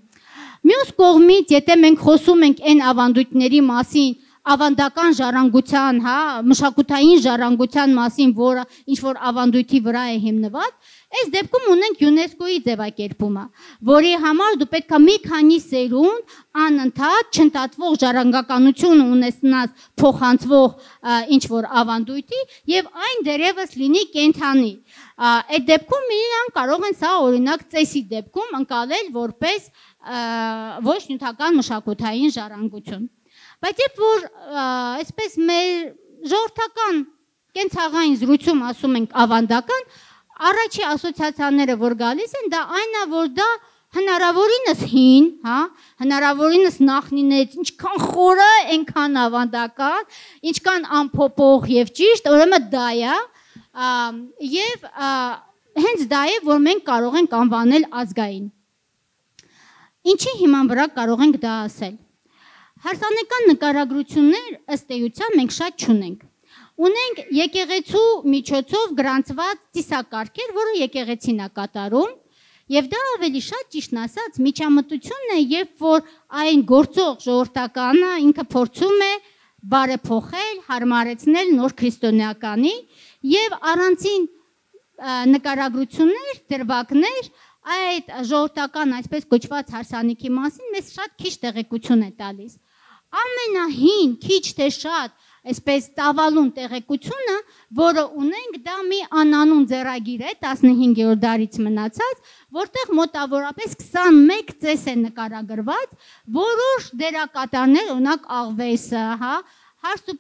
Մյուս կողմից, եթե մենք խոսում ենք այն ավանդույթների մասին, ավանդական ժառանգության, հա, մշակութային ժառանգության մասին, որը ինչ որ ավանդույթի վրա է հիմնված, այս դեպքում ունենք ՅՈՒՆԵՍԿՕ-ի ձևակերպումը, որի համար դու պետք է մի քանի սերունդ անընդհատ չընդհատվող ժառանգականություն ունենաս փոխանցվող ինչ որ ավանդույթի եւ այն դերևս լինի կենթանի։ Այդ դեպքում իրան կարող են սա օրինակ ծեսի դեպքում ընկալել որպես ոչ նյութական մշակութային ժառանգություն։ Բայց երբ որ այսպես մեր ժողովրդական կենցաղային զրույցում ասում ենք ավանդական, առաջի ասոցիացիաները որ գալիս են, դա այն է, որ դա հնարավորինս հին, հա, հնարավորինս նախնինից, ինչքան խորը, այնքան ավանդական, ինչքան անփոփոխ եւ ճիշտ, ուրեմն դա է, եւ հենց դա է, որ մենք կարող ենք անվանել ազգային։ Ինչի հիման վրա կարող ենք դա ասել։ Հարսանեկան նկարագրություններ ըստ էության մենք շատ չունենք։ Ունենք եկեղեցու միջոցով գրանցված ծիսակարգեր, որը եկեղեցին է կատարում, եւ դա ավելի շատ ճիշտն ասած միջամտությունն է, երբ որ այն գործող ժողովրդականը ինքը փորձում է բարեփոխել, հարմարեցնել նոր քրիստոնեականի եւ առանցին նկարագրություններ, դրվագներ այդ ժողովրդական այսպես կոչված հարսանիքի մասին մեզ շատ քիչ տեղեկություն է տալիս։ Ամենահին քիչ թե շատ այսպես տավալուն տեղեկությունը, որը ունենք, դա մի անանուն ձեռագիր է 15-րդ դարից մնացած, որտեղ մոտավորապես 21 ծես է նկարագրված, որոշ դերակատարներ, օրինակ Աղվեսը, հա, Հարս ու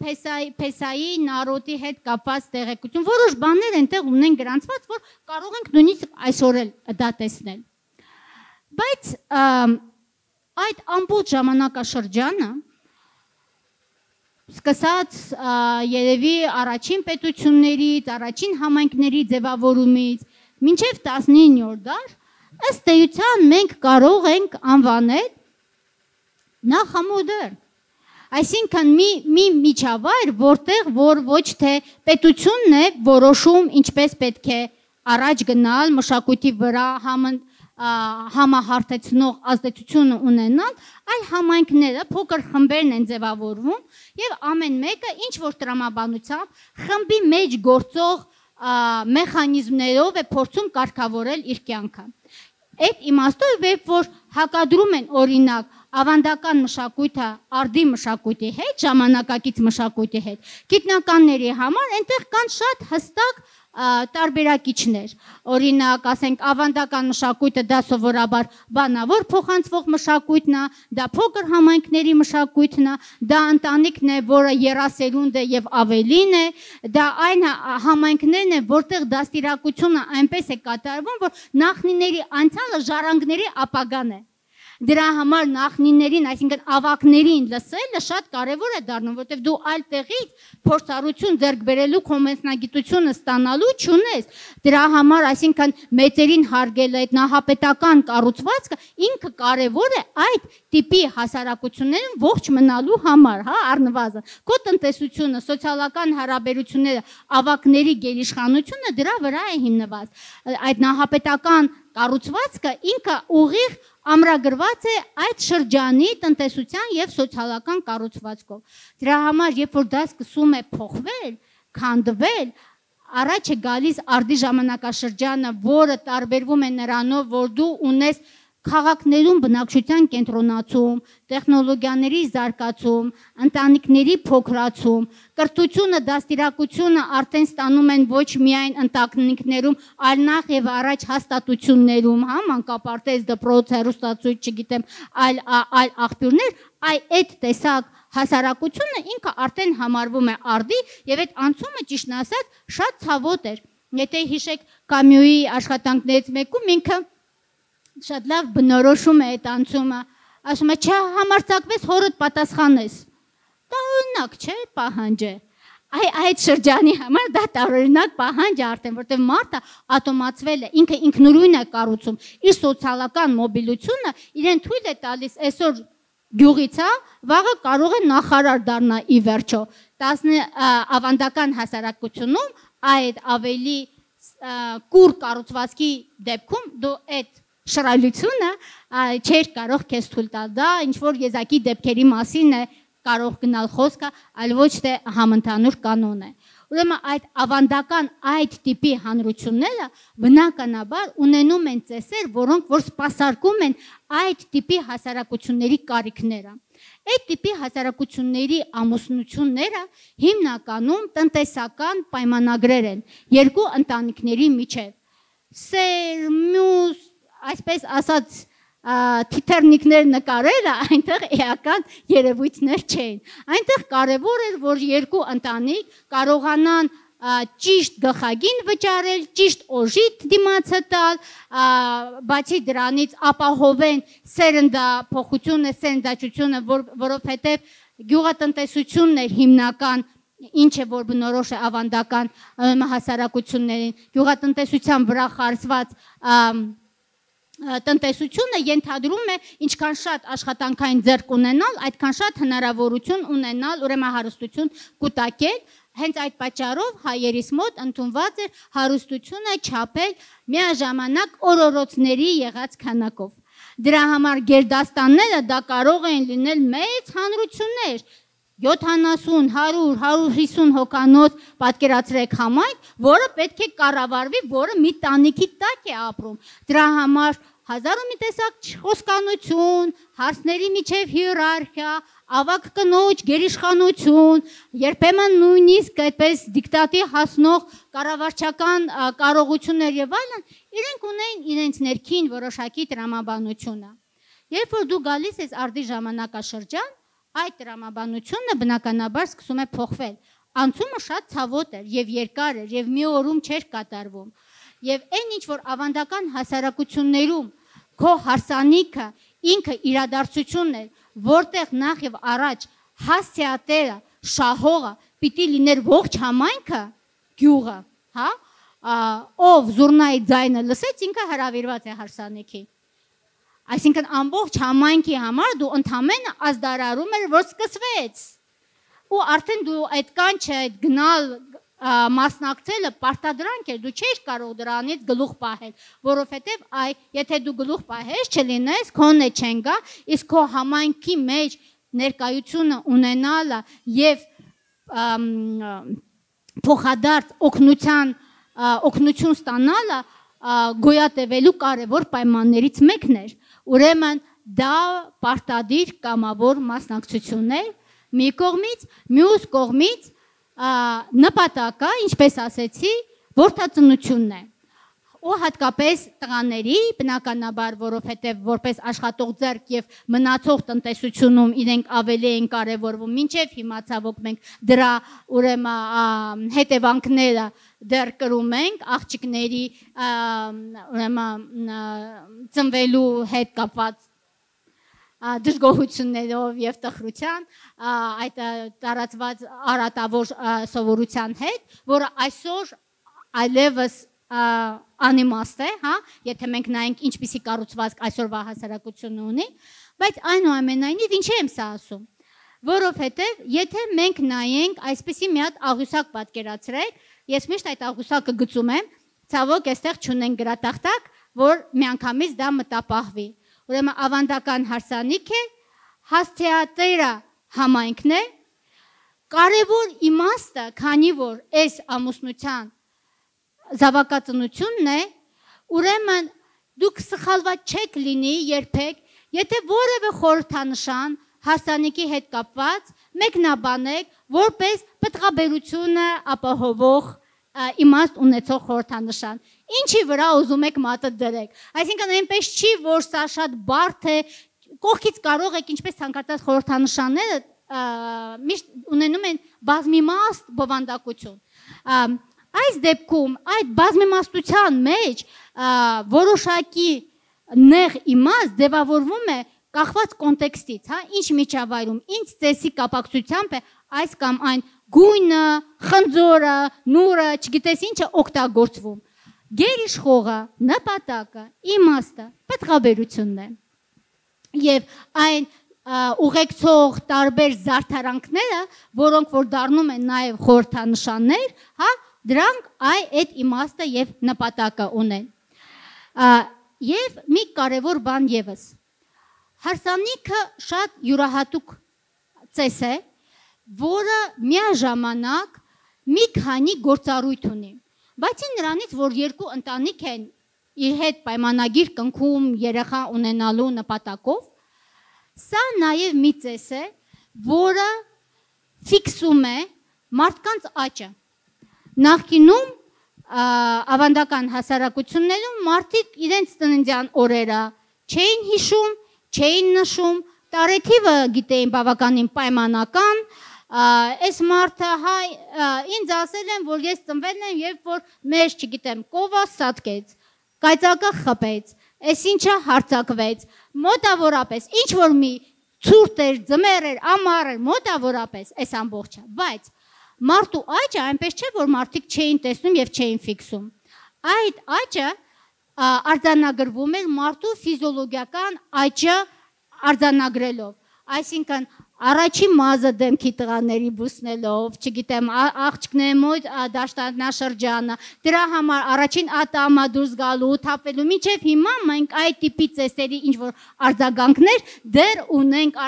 Փեսայի նարոտի հետ կապված տեղեկություն, որոշ բաներ այնտեղ ունեն գրանցված, որ կարող ենք նույնիսկ այսօր էլ դա տեսնել։ Բայց այդ ամբողջ ժամանակաշրջանը, սկսած երևի առաջին պետություններից, առաջին համայնքների ձևավորումից, մինչև 19-րդ դար, ըստ էության մենք կարող ենք անվանել նախամոդեռն։ Այսինքն մի միջավայր, որտեղ որ ոչ թե պետությունն է որոշում ինչպես պետք է առաջ գնալ, մշակույթի վրա համահարթեցնող ազդեցությունը ունենալ, այլ համայնքները փոքր խմբերն են ձևավորվում եւ ամեն մեկը ինչ որ տրամաբանությամբ խմբի մեջ գործող մեխանիզմներով է փորձում կարգավորել իր կյանքը։ Այդ իմաստով որ հակադրում են օրինակ ավանդական մշակույթը արդի մշակույթի հետ, ժամանակակից մշակույթի հետ, գիտնականների համար այնտեղ կան շատ հստակ տարբերակիչներ։ Օրինակ, ասենք, ավանդական մշակույթը դա սովորաբար բանավոր փոխանցվող մշակույթն է, դա փոքր համայնքների մշակույթն է, դա ընտանիքն է, որը երասերունդ է եւ ավելին է, դա այն համայնքներն են, որտեղ դաստիարակությունը այնպես է կատարվում, որ նախնիների անցյալը ժառանգների ապագան է։ Դրա համար նախնիներին, այսինքն ավակներին լսելը շատ կարևոր է դառնում, որտեղ դու այլ տեղից փորձառություն ձեռք բերելու քո մասնագիտությունը ստանալու չունես։ Դրա համար, այսինքն մեծերին հարգելը, այդ նահապետական կառուցվածքը ինքը կարևոր է այդ տիպի հասարակություններում ողջ մնալու համար, հա, առնվազն։ Քո տնտեսությունը, սոցիալական հարաբերությունները, ավակների գերիշխանությունը դրա վրա է հիմնված։ Այդ նահապետական կառուցվածքը ինքը ուղիղ ամրագրված է այդ շրջանի տնտեսության եւ սոցիալական կառուցվածքով։ Դրա համար, երբ որ դա սկսում է փոխվել, քանդվել, առաջ է գալիս արդի ժամանակաշրջանը, որը տարբերվում է նրանով, որ դու ունես քաղաքներում բնակչության կենտրոնացում, տեխնոլոգիաների զարգացում, ընտանիքների փոքրացում, կրթությունը, դաստիարակությունը արդեն ստանում են ոչ միայն ընտանիքներում, այլ նախ եւ առաջ հաստատություններում, հա, մանկապարտեզ, դպրոց, հեռուստացույց, չգիտեմ, այլ աղբյուրներ, այդ տեսակ հասարակությունը ինքը արդեն համարվում է արդի եւ այդ անցումը ճիշտն ասած շատ ցավոտ էր։ Եթե հիշեք Կամյուի աշխատանքներից մեկում ինքը շատ լավ բնորոշում է այդ անցումը, ասում է, չհամարձակվես հորդ պատասխանես։ Դա օրինակ չէ, պահանջ է։ Այդ շրջանի համար դա տարօրինակ պահանջ է արդեն, որտեղ մարդը ատոմացվել է, ինքը ինքնուրույն է կառուցում, իր սոցիալական մոբիլությունը իրեն թույլ է տալիս այսօր գյուղից, վաղը կարող է նախարար դառնա ի վերջո։ Ավանդական հասարակությունում այդ ավելի կուր կառուցվածքի դեպքում դու այդ շռայլությունը չէր կարող քեզ թույլ տալ, դա ինչ-որ եզակի դեպքերի մասին է կարող գնալ խոսքը, այլ ոչ թե համընդհանուր կանոն է։ Ուրեմն այդ ավանդական այդ տիպի հանրությունները բնականաբար ունենում են ծեսեր, որոնք որ սպասարկում են այդ տիպի հասարակությունների կարիքները։ Այդ տիպի հասարակությունների ամուսնությունները հիմնականում տնտեսական պայմանագրեր են երկու ընտանիքների միջև։ Սերմյուս այսպես ասած թիթեռնիկներ նկարելը այնտեղ էական երևույթներ չէին։ Այնտեղ կարևոր էր, որ երկու ընտանիք կարողանան ճիշտ գլխագին վճարել, ճիշտ օժիտ դիմացը տալ, բացի դրանից ապահովեն սերնդափոխությունը, սերնդաչությունը, որովհետև գյուղատնտեսությունն էր հիմնական ինչ է որ բնորոշ է ավանդական հասարակություններին, գյուղատնտեսության վրա խարսված տնտեսությունը ենթադրում է ինչքան շատ աշխատանքային ձեռք ունենալ, այդքան շատ հնարավորություն ունենալ, ուրեմն հարստություն կուտակել, հենց այդ պատճառով հայերիս մոտ ընդունված էր հարստությունը չափել միաժամանակ օրորոցների եղած քանակով։ Դրա համար գերդաստանները դա կարող են լինել մեծ հանրություններ, 70, 100, 150 հոգանոց պատկերացրեք համայնք, որը պետք է կառավարվի, որը մի տանիքի տակ է ապրում։ Դրա համար հազար ու մի տեսակ խոսկանություն, հարցների միջև հիերարխիա, ավագ կնոջ գերիշխանություն, երբեմն նույնիսկ այդպես դիկտատի հասնող կառավարչական կարողություններ եւ այլն, իրենք ունեն իրենց ներքին որոշակի տրամաբանությունը։ Երբ որ դու գալիս ես արդի ժամանակաշրջան, այդ տրամաբանությունը բնականաբար սկսում է փոխվել։ Անցումը շատ ցավոտ էր եւ երկար էր եւ մի օրում չէր կատարվում։ Եվ այն ինչ որ ավանդական հասարակություններում քո հարսանիքը ինքը իրադարձությունն է, որտեղ նախ եւ առաջ հասցեատերը, շահողը պիտի լիներ ողջ համայնքը, գյուղը, հա, ով զուռնայի ձայնը լսեց, ինքը հրավիրված է հարսանիքի։ Այսինքն ամբողջ համայնքի համար դու ընդամենը ազդարարում էր, որ սկսվեց։ Ու արդեն դու այդ կանչը, այդ գնալ մասնակցելը պարտադրանք էր, դու չէիր կարող դրանից գլուխ պահել, որովհետև եթե դու գլուխ պահես չլինես, քոնը չեն գա, իսկ քո համայնքի մեջ ներկայությունը ունենալը եւ փոխադարձ օգնություն ստանալը գոյատևելու կարևոր պայմաններից մեկն էր։ Ուրեմն դա պարտադիր կամավոր մասնակցություն էր մի կողմից, մյուս կողմից նպատակը, ինչպես ասեցի, որդածնությունն է։ Ու հատկապես տղաների, բնականաբար, որովհետև որպես աշխատող ձեռք եւ մնացող տնտեսությունում իրենք ավելի են կարևորվում, մինչև հիմա ցավոք մենք դրա ուրեմն հետևանքները դեռ կրում ենք, աղջիկների ուրեմն ծնվելու հետ կապված դժգոհություններով եւ տխրության, այդ տարածված արատավոր սովորության հետ, որը այսօր այլևս անիմաստ է, հա, եթե մենք նայենք ինչպիսի կառուցվածք այսօրվա հասարակությունը ունի, բայց այնուամենայնիվ ինչի եմ սա ասում, որովհետև եթե մենք նայենք այսպիսի մի հատ աղյուսակ պատկերացրեք, ես միշտ այդ աղյուսակը գծում եմ, ցավոք այստեղ չունենք գրատախտակ, որ միանգամից դա մտապահվի։ Ուրեմն ավանդական հարսանիք է, հասցեատերը համայնքն է, կարևոր իմաստը, քանի որ այս ամուսնության զավակածնությունն է, ուրեմն դուք սխալված չեք լինի երբեք, եթե որևէ խորհրդանշան հարսանիքի հետ կապված մեկնաբանեք, որպես պտղաբերությունը ապահովող իմաստ ունեցող խորհրդանշան։ Ինչի վրա ուզում եք մատը դրեք։ Այսինքն այնպես չի, որ սա շատ բարդ է, կողքից կարող եք ինչպես ցանկացած խորհրդանշանները միշտ ունենում են բազմիմաստ բովանդակություն։ Այս դեպքում այդ բազմիմաստության մեջ որոշակի նեղ իմաստ ձևավորվում է կախված կոնտեքստից, հա, ինչ միջավայրում, ինչ ծեսի կապակցությամբ է այս կամ այն գույնը, խնձորը, նուրը, չգիտես ինչը օգտագործվում։ Գերիշխողը, նպատակը, իմաստը, պտղաբերությունն է։ Եվ այն ուղեկցող տարբեր զարդարանքները, որոնք որ դառնում են նաև խորհրդանշաններ, հա, դրանք այդ իմաստը եւ նպատակը ունեն։ Եվ մի կարևոր բան եւս։ Հարսանիքը շատ յուրահատուկ ծես է, որը միաժամանակ մի քանի գործառույթ ունի։ Բացի նրանից, որ երկու ընտանիք են իր հետ պայմանագիր կնքում երեխա ունենալու նպատակով, սա նաև մի ծես է, որը ֆիքսում է մարդկանց աճը։ Նախկինում ավանդական հասարակություններում մարդիկ իրենց ծննդյան օրերը չէին հիշում, չէին նշում, տարեթիվը գիտեին բավականին պայմանական, այս մարդը ինձ ասել են, որ ես ծնվել եմ, երբ որ մեր, չգիտեմ, կովը սատկեց, կայծակը խփեց, այս ինչը հարձակվեց, մոտավորապես, ինչ որ մի ցուրտ էր, ձմեռ էր, ամառ էր, մոտավորապես այս ամբողջը, բայց մարդու աճը այնպես չէ, որ մարդիկ չէին տեսնում եւ չէին ֆիքսում։ Այդ աճը արձանագրվում էր մարդու ֆիզիոլոգիական աճը արձանագրելով։ Այսինքն Առաջին մազը դեմքի տղաների բուսնելով, չգիտեմ, աղջիկների մոտ դաշտանաշրջանը, դրա համար առաջին ատամը դուրս գալու, թափելու, մինչև հիմա մենք այդ տիպի ծեսերի ինչ որ արձագանքներ դեռ ունենք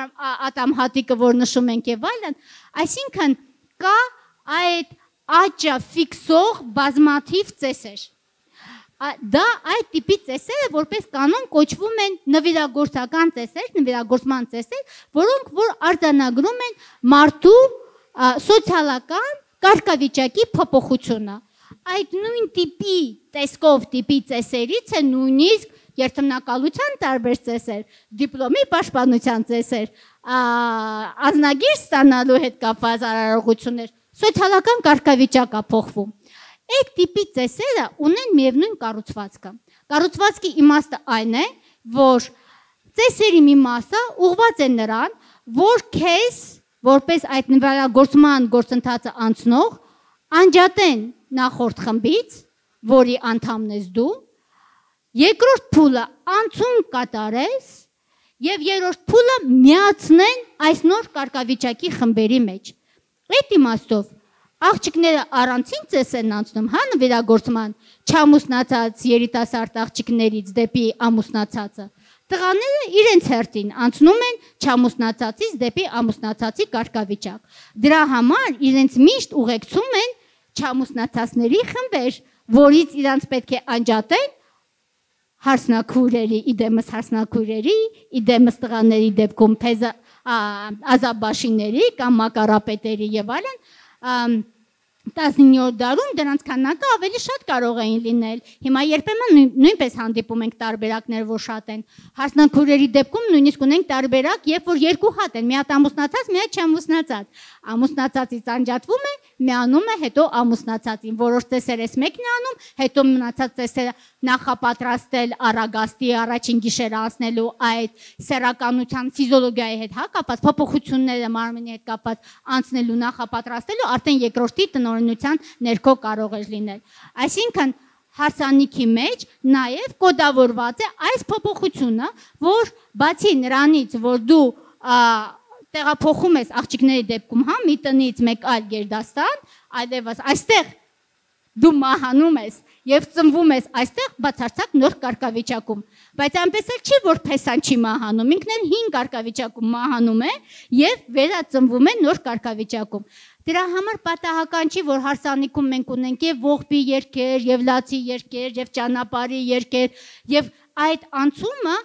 ատամհատիկը, որ նշում ենք եւ այլն, այսինքն կա այդ աճը ֆիքսող բազմաթիվ ծեսեր։ Դա այդ տիպի ծեսերը որպես կանոն կոչվում են նվիրագործական ծեսեր, նվիրագործման ծեսեր, որոնք որ արձանագրում են մարդու սոցիալական կարգավիճակի փոփոխությունը։ Այդ նույն տիպի տեսքով տիպի ծեսերից է նույնիսկ երթմնակալության տարբեր ծեսեր, դիպլոմի պաշտպանության ծեսեր, անձնագիր ստանալու հետ կապված արարողություններ, սոցիալական կարգավիճակը փոխվում։ Այդ տիպի ծեսերը ունեն միևնույն կառուցվածքը։ Կառուցվածքի իմաստը այն է, որ ծեսերի մի մասը ուղղված է նրան, որ քեզ որպես այդ նվիրագործման գործընթացը անցնող անջատեն նախորդ խմբից, որի անդամն ես դու, երկրորդ փուլը անցում կատարես եւ երրորդ փուլը միացնեն այս նոր կարգավիճակի խմբերի մեջ։ Այդ իմաստով աղջիկները առանցին ծես են անցնում, հա, նվիրագործման չամուսնացած երիտասարդ աղջիկներից դեպի ամուսնացածը։ Տղաները իրենց հերթին անցնում են չամուսնացածից դեպի ամուսնացածի կարգավիճակ։ Դրա համար իրենց միշտ ուղեկցում են չամուսնացածների խմբեր, որից իրանց պետք է անջատեն հարսնաքույրերի, իդեմս հարսնաքույրերի, իդեմս տղաների դեպքում ազաբաշիների կամ մակարապետերի եւ այլն 19-րդ դարում դրանց քանակը ավելի շատ կարող էին լինել։ Հիմա երբեմն նույնպես հանդիպում ենք տարբերակներ, որ շատ են։ Հարսնաքույրերի դեպքում նույնիսկ ունենք տարբերակ, երբ որ երկու հատ են, մի հատ ամուսնացած, մի հատ չամուսնացած։ Ամուսնացածից անջատվում է, միանում է, հետո ամուսնացածին։ Որոշ ծեսեր էս մեկն է անում, հետո մնացած ծեսերը նախապատրաստել առագաստի առաջին գիշերը անցնելու այդ սեռականության ֆիզիոլոգիայի հետ կապված փոփոխությունները մարմնի հետ կապված անցնելու նախապատրաստելու արդեն երկրորդի տնօրինության ներքո կարող է լինել։ Այսինքն հարսանիքի մեջ նաև կոդավորված է այս փոփոխությունը, որ բացի նրանից, որ դու տեղափոխում ես աղջիկների դեպքում, հա, մի տնից մեկ այլ գերդաստան, այլևս այստեղ դու մահանում ես եւ ծնվում ես այստեղ բացարձակ նոր կարգավիճակում, բայց այնպես էլ չի, որ փեսան չի մահանում, ինքն էլ հին կարգավիճակում մահանում է եւ վերածնվում է նոր կարգավիճակում։ Դրա համար պատահական չի, որ հարսանիքում մենք ունենք եւ ողբի երգեր, եւ լացի երգեր, եւ ճանապարհի երգեր, եւ այդ անցումը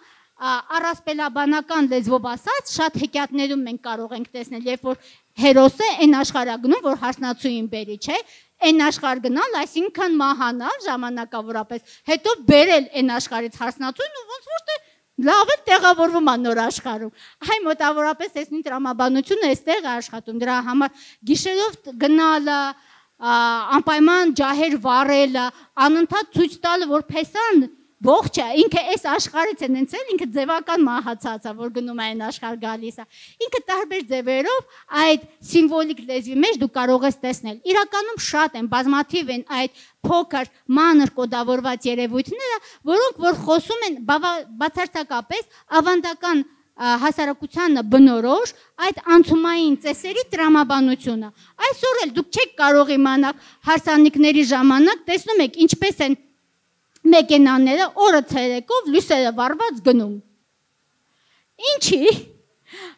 առասպելաբանական լեզվով ասած շատ հեքիաթներում մենք կարող ենք տեսնել, երբ որ հերոսը այն աշխարհագնում, որ հարսնացուին բերի, չէ, այն աշխարհ գնալ, այսինքն մահանալ ժամանակավորապես, հետո բերել այն աշխարհից հարսնացուին ու ոնց որ լավ է տեղավորվում է նոր աշխարհում։ Այ մոտավորապես այս նույն տրամաբանությունը այստեղ է աշխատում, դրա համար գիշերով գնալը, անպայման ջահեր վառելը, անընդհատ ցույց տալը, որ փեսան ողջ է, ինքը այս աշխարհից է նենցել, ինքը ձևական մահացած է, որ գնում է այն աշխարհ գալիս է։ Ինքը տարբեր ձևերով այդ սիմվոլիկ լեզվի մեջ դու կարող ես տեսնել։ Իրականում շատ են, բազմաթիվ են այդ փոքր մանր կոդավորված երևույթները, որոնք որ խոսում են բացարձակապես ավանդական հասարակությանը բնորոշ այդ անցումային ծեսերի տրամաբանությունը։ Այսօր էլ դուք չեք կարող իմանալ հարսանիքների ժամանակ, տեսնում եք ինչպես են մեքենաները օրը ցերեկով լույսերը վառված գնում։ Ինչի՞,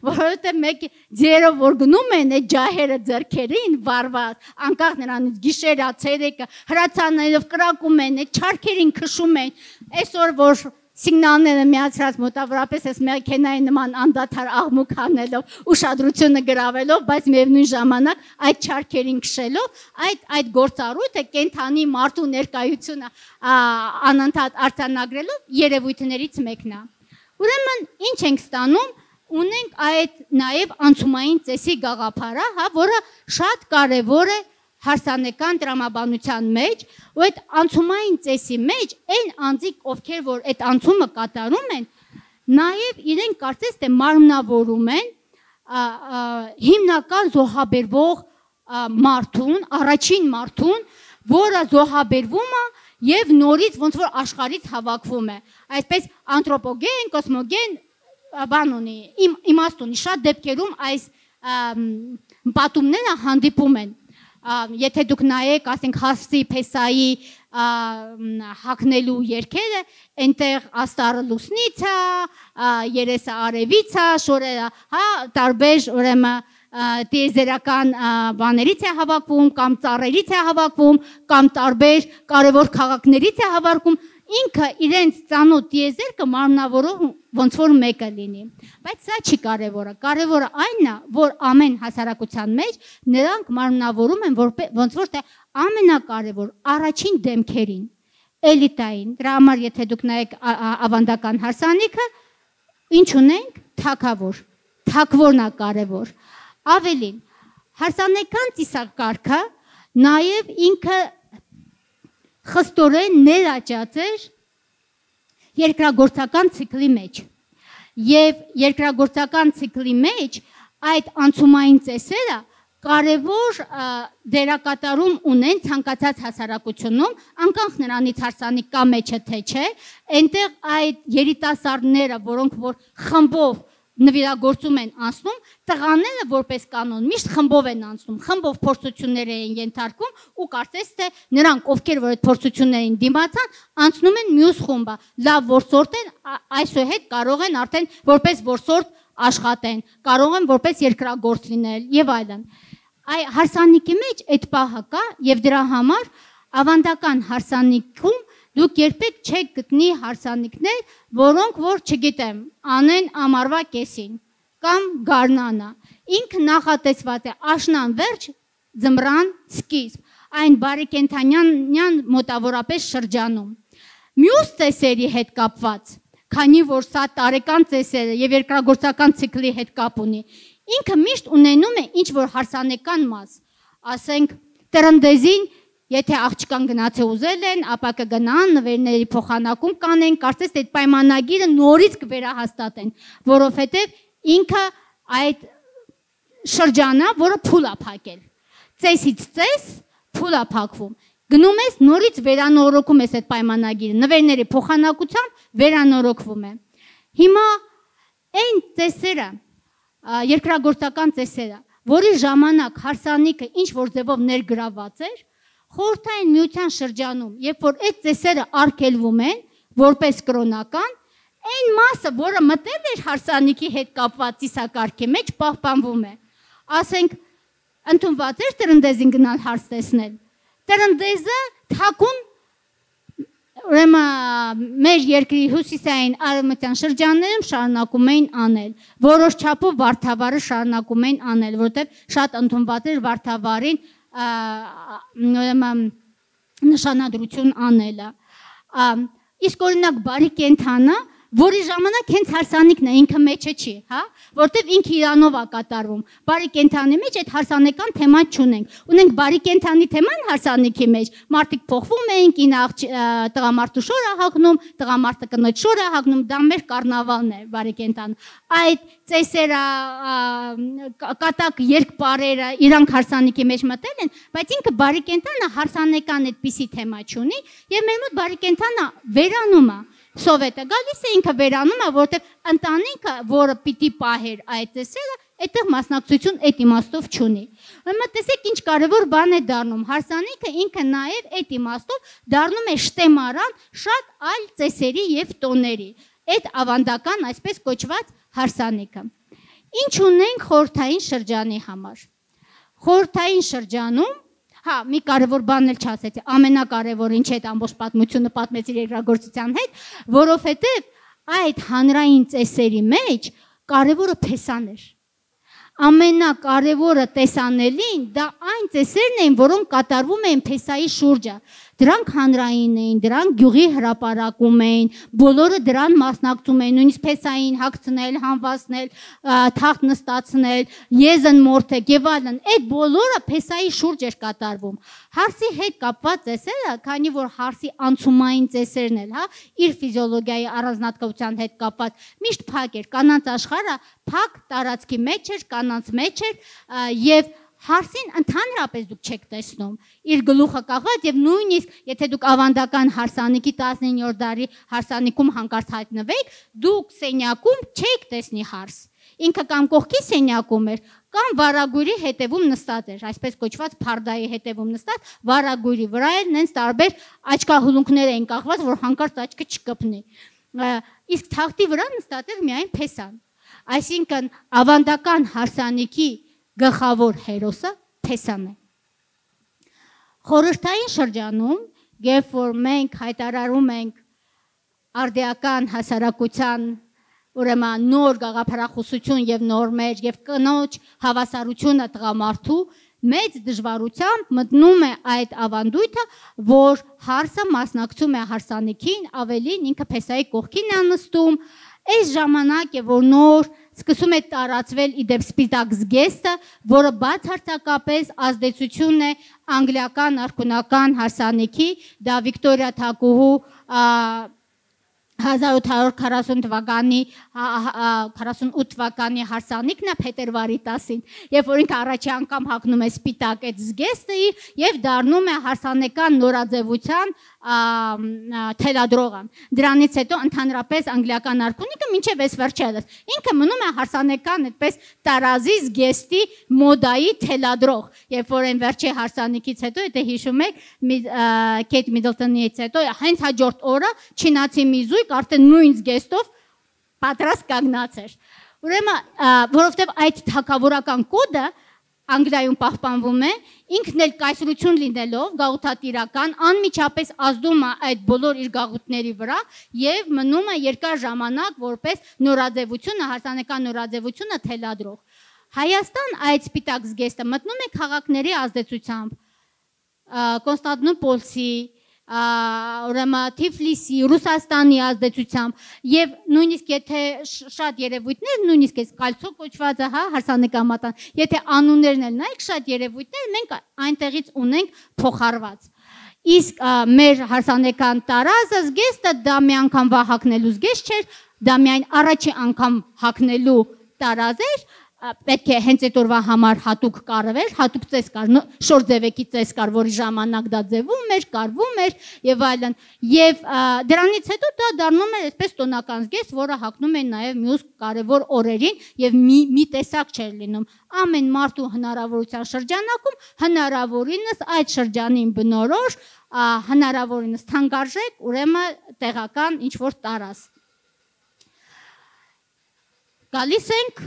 որովհետև մեկ ձերով որ գնում են այդ ջահերը ձեռքերին վառված, անկախ նրանից գիշերը, ցերեկը, հրացաններով կրակում են, այդ չարքերին քշում են, այսօր որ սիգնալները միացրած մոտավորապես այս մեքենայի նման անդադար աղմուկ անելով, ուշադրությունը գրավելով, բայց միևնույն ժամանակ այդ չարքերին քշելով, այդ գործառույթը կենթանի մարդու ներկայությունը անընդհատ արձանագրելով երևույթներից մեկն է։ Ուրեմն ինչ ենք ստանում, ունենք այդ նաև անցումային ծեսի գաղափարը, հա, որը շատ կարևոր է հարսանեկան տրամաբանության մեջ, ու այդ անցումային ծեսի մեջ այն անձիկ, ովքեր որ այդ անցումը կատարում են, նաև իրենք կարծես թե մարմնավորում են հիմնական զոհաբերվող մարդուն, առաջին մարդուն, որը զոհաբերվում է եւ նորից ոնց որ աշխարհից հավաքվում է։ Այսպես անթրոպոգեն, կոսմոգեն բան ունի, իմաստ ունի, շատ դեպքերում այս պատումները հանդիպում են։ Եթե դուք նայեք, ասենք Հաֆսի Փեսայի հագնելու երգերը, այնտեղ աստառը լուսնից է, երեսը արևից է, շորերը, հա, տարբեր ուրեմն տիեզերական բաներից է հավաքվում, կամ ծառերից է հավաքվում, կամ տարբեր կարևոր քաղաքներից է հավաքվում, ինքը իրենց ծանոթ տիեզերքը մարմնավորող ոնց որ մեկը լինի։ Բայց սա չի կարևորը։ Կարևորը այն է, որ ամեն հասարակության մեջ նրանք մարմնավորում են ոնց որ թե ամենակարևոր առաջին դեմքերին, էլիտային։ Դրա համար եթե դուք նայեք ավանդական հարսանիքը, ինչ ունենք, թագավոր, թագավորն է կարևոր։ Ավելին, հարսանեկան ծիսակարգը նաև ինքը խստորեն ներաճած էր երկրագործական ցիկլի մեջ։ Եվ երկրագործական ցիկլի մեջ այդ անցումային ծեսերը կարևոր դերակատարում ունեն ցանկացած հասարակությունում, անկախ նրանից հարսանիք կա մեջը թե չէ, այնտեղ այդ երիտասարդները, որոնք որ խմբով նվիրագործում են անցնում, տղաները որպես կանոն միշտ խմբով են անցնում, խմբով փորձություններ են ենթարկվում ու կարծես թե նրանք, ովքեր որ այդ փորձություններին դիմացան, անցնում են մյուս խումբը, լավ որսորդ են, այսուհետ կարող են արդեն որպես որսորդ աշխատեն, կարող են որպես երկրագործ լինել եւ այլն։ Այ հարսանիքի մեջ այդ պահը կա եւ դրա համար ավանդական հարսանիքում դուք երբեք չեք գտնի հարսանիքներ, որոնք որ չգիտեմ, անեն ամառվա կեսին կամ գարնանը։ Ինքը նախատեսված է աշնան վերջ, ձմռան սկիզբ, այն բարեկենդանյան մոտավորապես շրջանում։ Մյուս ծեսերի հետ կապված, քանի որ սա տարեկան ծեսերը եւ երկրագործական ցիկլի հետ կապ ունի, ինքը միշտ ունենում է ինչ որ հարսանեկան մաս, ասենք տրնդեզին. Եթե աղջկան գնաց է ուզել են, ապա կգնան, նվերների փոխանակում կանեն, կարծես այդ պայմանագիրը նորից կվերահաստատեն, որովհետև ինքը այդ շրջանա, որը փուլ է փակել։ Ծեսից ծես փուլ է փակվում։ Գնում ես նորից վերանորոգում ես այդ պայմանագիրը, նվերների փոխանակությամբ վերանորոգվում է։ Հիմա այն ծեսերը, երկրագործական ծեսերը, որի ժամանակ հարսանիքը ինչ որ ձևով ներգրաված էր, Խորհրդային միության շրջանում, երբ որ այդ ծեսերը արգելվում են որպես կրոնական, այն մասը, որը մտել էր հարսանիքի հետ կապված ծիսակարգի մեջ, պահպանվում է։ Ասենք, ընդունված էր տրնդեզին գնալ հարս տեսնել։ Տրնդեզը թաքուն, ուրեմն մեր երկրի հյուսիսային արևմտյան շրջաններում շարունակում էին անել, որոշ չափով վարդավառը շարունակում էին անել, որտեղ շատ ընդունված էր վարդավառին նշանադրություն անելը։ Իսկ օրինակ բարի կենդանը, որի ժամանակ հենց հարսանիքն է, ինքը մեջը չի, հա, որտեվ ինքը իրանով է կատարվում։ Բարի կենդանի մեջ այդ հարսանեկան թեման չունենք։ Ունենք բարի կենդանի թեման հարսանիքի մեջ, մարդիկ փոխվում են, կինը տղամարդու շոր է հագնում, տղամարդը կնոջ շոր է հագնում, դա մեր կառնավալն է բարի կենդան։ Այդ ծեսերը, կատակ երկպարերը իրանք հարսանիքի մեջ մտել են, բայց ինքը բարի կենդանը հարսանեկան այդպիսի թեմա չունի, եւ մեր մոտ բարի կենդանը վերանում է։ Սովետը գալիս է ինքը վերանում է, որտեղ ընտանիքը, որը պիտի պահեր այդ ծեսերը, այդտեղ մասնակցություն այդ իմաստով չունի։ Ուրեմն տեսեք ինչ կարևոր բան է դառնում։ Հարսանիքը ինքը նաև այդ իմաստով դառնում է շտեմարան շատ այլ ծեսերի եւ տոների։ Այդ ավանդական այսպես կոչված հարսանիքը։ Ինչ ունենք խորհրդային շրջանի համար։ Խորհրդային շրջանում Հա, մի կարևոր բան էլ չասեցի, ամենակարևորը ինչ է այդ ամբողջ պատմությունը պատմեցի երկրագործության հետ, որովհետև այդ հանրային ծեսերի մեջ կարևորը փեսան էր։ Ամենակարևորը տեսանելին դա այն ծեսերն էին, որոնք կատարվում էին փեսայի շուրջը։ Դրանք հանրային էին, դրանք գյուղի հրապարակում էին, բոլորը դրան մասնակցում էին, նույնիսկ փեսային հագցնել, հանվացնել, թախտ նստացնել, եզն մորթեք եւ այլն։ Այդ բոլորը փեսայի շուրջ էր կատարվում։ Հարսի հետ կապված ծեսերը, քանի որ հարսի անցումային ծեսերն էլ, հա, իր ֆիզիոլոգիայի առանձնահատկության հետ կապված միշտ փակ էր, կանանց աշխարհը փակ տարածքի մեջ էր, կանանց մեջ էր եւ հարսին ընդհանրապես դուք չեք տեսնում, իր գլուխը կախված եւ նույնիսկ եթե դուք ավանդական հարսանիքի 19-րդ դարի հարսանիքում հանկարծ հայտնվեք, դուք սենյակում չեք տեսնի հարս։ ինքը կամ կողքի սենյակում էր, կամ վարագույրի հետևում նստած էր, այսպես կոչված փարդայի հետևում նստած, վարագույրի վրա էր, նենց տարբեր աչքահուլունքներ էին կախված, որ հանկարծ աչքը չկպնի։ Իսկ թախտի վրա նստած էր միայն Փեսան։ Այսինքն ավանդական հարսանիքի գլխավոր հերոսը Փեսան է։ Խորհրդային շրջանում, երբ որ մենք հայտարարում ենք արդիական հասարակության ուրեմն նոր գաղափարախոսություն եւ նորմեր եւ կնոջ հավասարությունը տղամարդու մեծ դժվարությամբ մտնում է այդ ավանդույթը, որ հարսը մասնակցում է հարսանիքին, ավելին ինքը Փեսայի կողքին է նստում, այս ժամանակ է որ նոր սկսում է տարածվել իդեպ սպիտակ զգեստը, որը բացարձակապես ազդեցություն է անգլիական արքունական հարսանիքի, դա Վիկտորիա Թակուհու 1840 թվականի 48 թվականի հարսանիքն է փետրվարի 10-ին, երբ որ ինքը առաջի անգամ հագնում է սպիտակ այդ զգեստը եւ դառնում է հարսանեկան նորաձևության թելադրողան։ Դրանից հետո ընդհանրապես անգլիական արքունիքը մինչև այս վերջերս ինքը մնում է հարսանեկան այդպես տարազի զգեստի մոդայի թելադրող, երբ որ այն վերջի հարսանիքից հետո, եթե հիշում եք, Քեյթ Միդլտոնից հետո հենց հաջորդ օրը չինացի մի զույգ արդեն նույն զգեստով պատրաստ կանգնած էր։ Ուրեմն, որովհետև այդ թագավորական կոդը Անգլիայում պահպանվում է, ինքն էլ կայսրություն լինելով, գաղութատիրական, անմիջապես ազդում է այդ բոլոր իր գաղութների վրա եւ մնում է երկար ժամանակ որպես նորաձևությունը, հարսանեկան նորաձևությունը թելադրող։ Հայաստան այդ սպիտակ զգեստը մտնում է քաղաքների ազդեցությամբ, Կոնստանտինոպոլի, ուրեմն Թիֆլիսի, Ռուսաստանի ազդեցությամբ եւ նույնիսկ եթե շատ երևույթներ, նույնիսկ այս կալցո կոչվածը, հա, հարսանեկամատան, եթե անուններն էլ նայեք, շատ երևույթներ մենք այնտեղից ունենք փոխարված։ Իսկ մեր հարսանեկան տարազը զգեստը դա մի անգամ հագնելու զգեստ չէր, դա միայն առաջի անգամ հագնելու տարազ էր, պետք է հենց այդ օրվա համար հատուկ կարվեր, հատուկ ծես կար, շոր ձևեկի ծես կար, որի ժամանակ դա ձևում էր, կարվում էր եւ այլն։ Եվ դրանից հետո դա դառնում էր այսպես տոնական զգեստ, որը հագնում են նաեւ մյուս կարևոր օրերին եւ մի տեսակ չէր լինում։ Ամեն մարդու հնարավորության շրջանակում հնարավորինս այդ շրջանին բնորոշ, հնարավորինս թանկարժեք, ուրեմն տեղական ինչ որ տարազ։ Գալիս ենք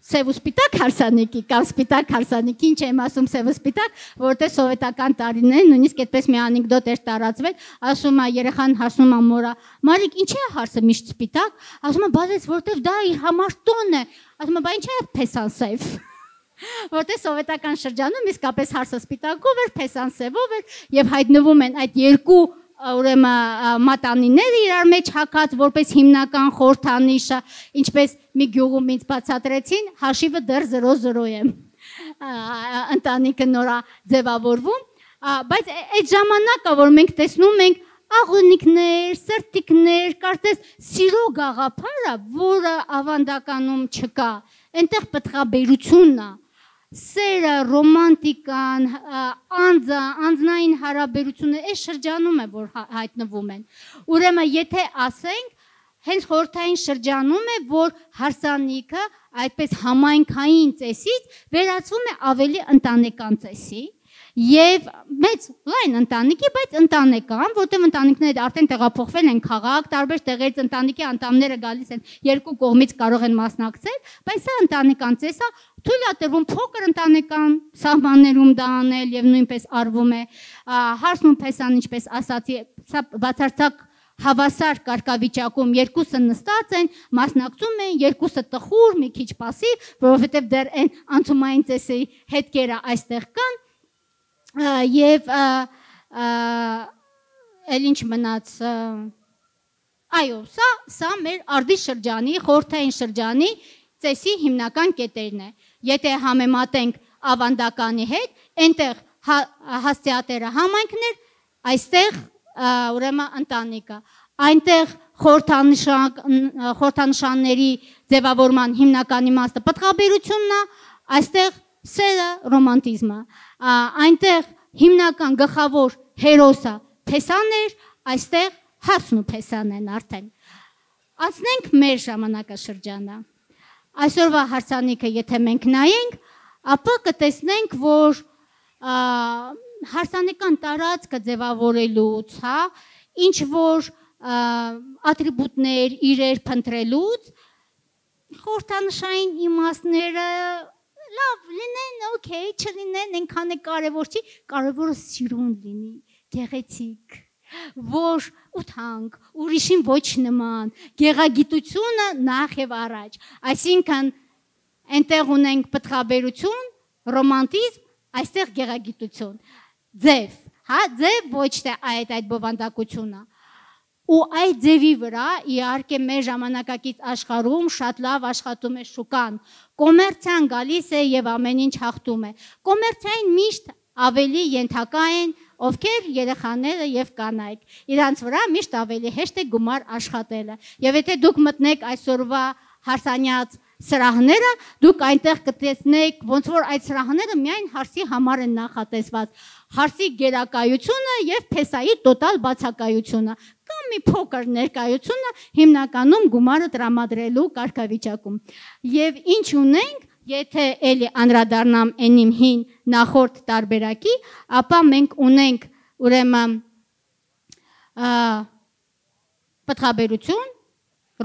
սև ու սպիտակ հարսանիքի կամ սպիտակ հարսանիքի, ինչ եմ ասում սև ու սպիտակ, որտեղ սովետական տարիներին նույնիսկ այդպես մի անեկդոտ էր տարածվել, ասում է երեխան հասնում է մորա, Մարիկ, ինչ է հարսը միշտ սպիտակ, ասում է, բայց որտեղ դա իր համար տոն է, ասում է, բա ինչ է Փեսան սև, որտեղ սովետական շրջանում իսկապես հարսը սպիտակով էր, Փեսան սևով էր եւ հայտնվում են այդ երկու ուրեմն մատանիները իրար մեջ հակած որպես հիմնական խորհրդանիշը, ինչպես մի գյուղում ինձ բացատրեցին, հաշիվը դեռ 0-0 է։ Ընտանիքը նորա ձևավորվում, բայց այդ ժամանակը, որ մենք տեսնում ենք աղունիկներ, սրտիկներ, կարծես սիրո գաղափարը, որը ավանդականում չկա, այնտեղ պտղաբերությունն է, սերը, ռոմանտիկան, անձնային հարաբերությունը այս շրջանում է, որ հայտնվում են։ Ուրեմն, եթե ասենք, հենց խորհրդային շրջանում է, որ հարսանիքը այդպես համայնքային ծեսից վերածվում է ավելի ընտանեկան ծեսի եւ մեծ լայն ընտանիքի, բայց ընտանեկան, որտեղ ընտանիքները արդեն տեղափոխվել են քաղաք, տարբեր տեղերից ընտանիքի անդամները գալիս են, երկու կողմից կարող են մասնակցել, բայց սա ընտանեկան ծես է, թույլ է տրվում փոքր ընտանեկան սահմաններում դա անել եւ նույնպես արվում է։ Հարսն ու Փեսան, ինչպես ասացի, սա բացարձակ հավասար կարգավիճակում երկուսը նստած են, մասնակցում են, երկուսը տխուր, մի քիչ պասիվ, որովհետեւ դեռ այն անցումային ծեսի հետքերը այստեղ կան եւ էլ ինչ մնաց, այո, սա մեր արդի շրջանի, խորհրդային շրջանի ծեսի հիմնական կետերն է։ Եթե համեմատենք ավանդականի հետ, այնտեղ հասցեատերը համայնքներ, այստեղ ուրեմն ընտանիքը, այնտեղ խորհրդանշանների ձևավորման հիմնական իմաստը պտղաբերությունն է, այստեղ սերը ռոմանտիզմը, այնտեղ հիմնական գլխավոր հերոսը Փեսան էր, այստեղ Հարսն ու Փեսան են արդեն։ Անցնենք մեր ժամանակաշրջանը։ այսօրվա հարսանիքը եթե մենք նայենք, ապա կտեսնենք, որ հարսանեկան տարածքը ձևավորելուց, հա, ինչ որ ատրիբուտներ, իրեր փնտրելուց, խորհրդանշային իմաստները լավ լինեն, օքեյ, չլինեն, այնքան է կարևոր չի, կարևորը սիրուն լինի, գեղեցիկ, որ ուտանք, ուրիշին ոչ նման, գեղագիտությունը նախ եւ առաջ, այսինքն այնտեղ ունենք պտղաբերություն, ռոմանտիզմ, այստեղ գեղագիտություն, ձև, հա, ձև ոչ թե այդ բովանդակությունը, ու այդ ձևի վրա իհարկե մեր ժամանակակից աշխարհում շատ լավ աշխատում է շուկան, կոմերցիան գալիս է եւ ամեն ինչ հաղթում է, կոմերցիային միշտ ավելի ենթակա են ովքեր երեխաները եւ կանայք, իրանց վրա միշտ ավելի հեշտ է գումար աշխատելը, եւ եթե դուք մտնեք այսօրվա հարսանյաց սրահները, դուք այնտեղ կտեսնեք, ոնց որ այդ սրահները միայն հարսի համար են նախատեսված, հարսի գերակայությունը եւ փեսայի տոտալ բացակայությունը, կամ մի փոքր ներկայությունը հիմնականում գումարը տրամադրելու կարգավիճակում։ Եվ ինչ ունենք, եթե էլի անդրադառնամ այն իմ հին նախորդ տարբերակի, ապա մենք ունենք ուրեմն պտղաբերություն,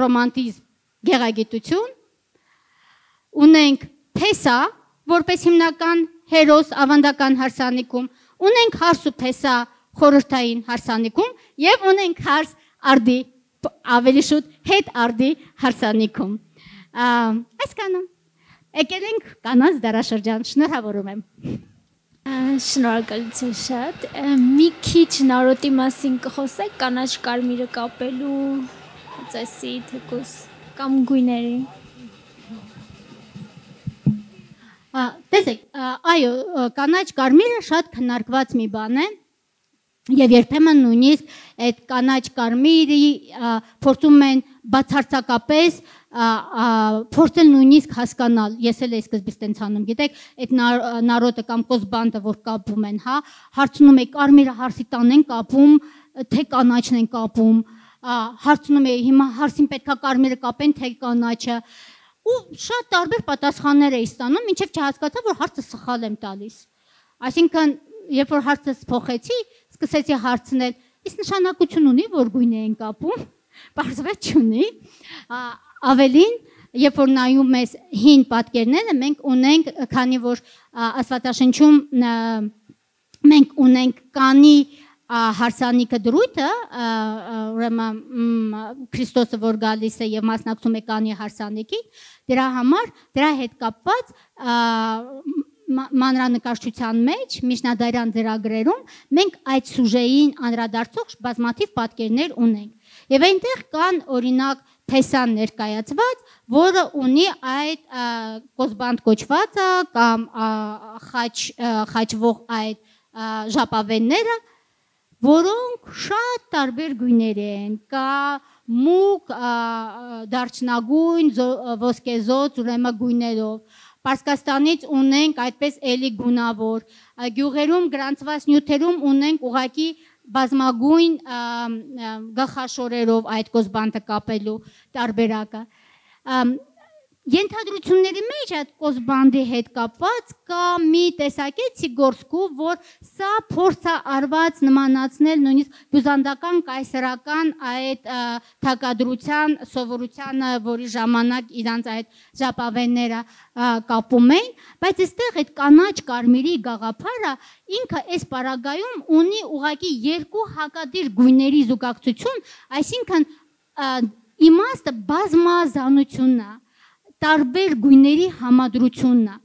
ռոմանտիզմ, գեղագիտություն, ունենք փեսա, որպես հիմնական հերոս ավանդական հարսանիքում, ունենք հարս ու փեսա խորհրդային հարսանիքում եւ ունենք հարս արդի, ավելի շուտ հետ արդի հարսանիքում։ Այսքանը։ Եկել ենք կանանց դարաշրջան, շնորհավորում եմ։ Շնորհակալություն շատ։ Մի քիչ նարոտի մասին կխոսեք, կանաչ կարմիրը կապելու, ծեսի, թեկուս կամ գույների։ Տեսեք, այո, կանաչ կարմիրը շատ քննարկված մի բան է եւ երբեմն նույնիսկ այդ կանաչ կարմիրի փորձում են բացարձակապես փորձել նույնիսկ հասկանալ, ես էլ սկզբից տենց անում, գիտեք, այդ նարոտը կամ կոզբանդը, որ կապում են, հա, հարցնում է կարմիրը հարսի տան են կապում, թե կանաչն են կապում, հարցնում է հիմա հարսին պետքա կարմիրը կապեն, թե կանաչը, ու շատ տարբեր պատասխաններ էի ստանում, մինչև չհասկացա, որ հարցը սխալ եմ տալիս։ Այսինքն, երբ որ հարցը փոխեցի, սկսեցի հարցնել, իսկ նշանակություն ունի, որ գույն են կապում, պարզվեց չունի։ Ավելին, երբ որ նայում ես հին պատկերները, մենք ունենք, քանի որ Աստվածաշնչում մենք ունենք կանի հարսանիքը դրույթը, ուրեմն Քրիստոսը որ գալիս է եւ մասնակցում է կանի հարսանիքի, դրա համար դրա հետ կապված մանրանկարչության մեջ միջնադարյան ծրագրերում մենք այդ սյուժեին անդրադարձող բազմաթիվ պատկերներ ունենք։ Եվ այնտեղ կան օրինակ փեսան ներկայացված, որը ունի այդ կոզբանդ կոչվածը կամ խաչվող այդ ժապավենները, որոնք շատ տարբեր գույներ են, կա մուգ, դարչնագույն, ոսկեզոծ, ուրեմն գույներով։ Պարսկաստանից ունենք այդպես էլի գունավոր, գյուղերում գրանցված նյութերում ունենք ուղղակի բազմագույն գլխաշորերով այդ կոզբանդը կապելու տարբերակը։ Ենթադրությունների մեջ այդ կոզբանդի հետ կապված կա մի տեսակետ Սիգորսկու, որ սա փորձ է արված նմանացնել նույնիսկ բյուզանդական կայսերական այդ թագադրության սովորությանը, որի ժամանակ իրանց այդ ժապավենները կապում էին, բայց այստեղ այդ կանաչ կարմիրի գաղափարը ինքը այս պարագայում ունի ուղղակի երկու հակադիր գույների զուգակցություն, այսինքն իմաստը բազմազանությունն է, տարբեր գույների համադրությունն է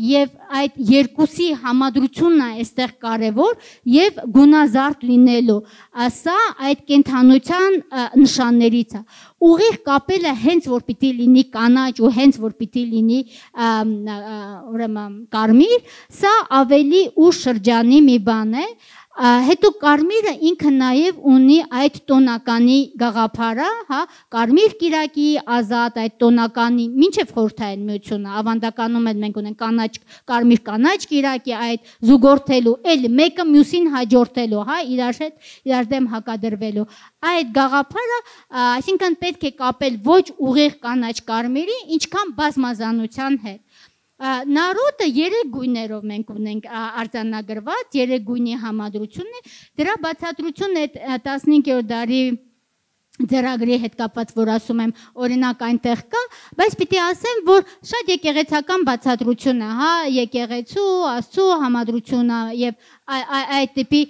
եւ այդ երկուսի համադրությունն է այստեղ կարեւոր եւ գունազարդ լինելու սա այդ կենթանության նշաններից է ուղիղ կապելը հենց որ պիտի լինի կանաչ ու հենց որ պիտի լինի ուրեմն կարմիր սա ավելի ուշ շրջանի մի բան է Հետո կարմիրը ինքը նաև ունի այդ տոնականի գաղափարը, հա, կարմիր կիրակի ազատ այդ տոնականի մինչև խորհրդային միությունը, ավանդականում էլ մենք ունենք կանաչ, կարմիր կանաչ կիրակի այդ զուգորդելու, էլ մեկը մյուսին հաջորդելու, հա, իրար դեմ հակադրվելու։ Այդ գաղափարը, այսինքն պետք է կապել ոչ ուղիղ կանաչ կարմիրի, ինչքան բազմազանության հետ։ Նարոտը 3 գույներով մենք ունենք արձանագրված, 3 գույնի համադրությունն է, դրա բացատրությունը 15-րդ դարի ձեռագրի հետ կապված, որ ասում եմ, օրինակ այնտեղ կա, բայց պիտի ասեմ, որ շատ եկեղեցական բացատրություն է, հա, եկեղեցու, Աստծո համադրությունը եւ այդ տիպի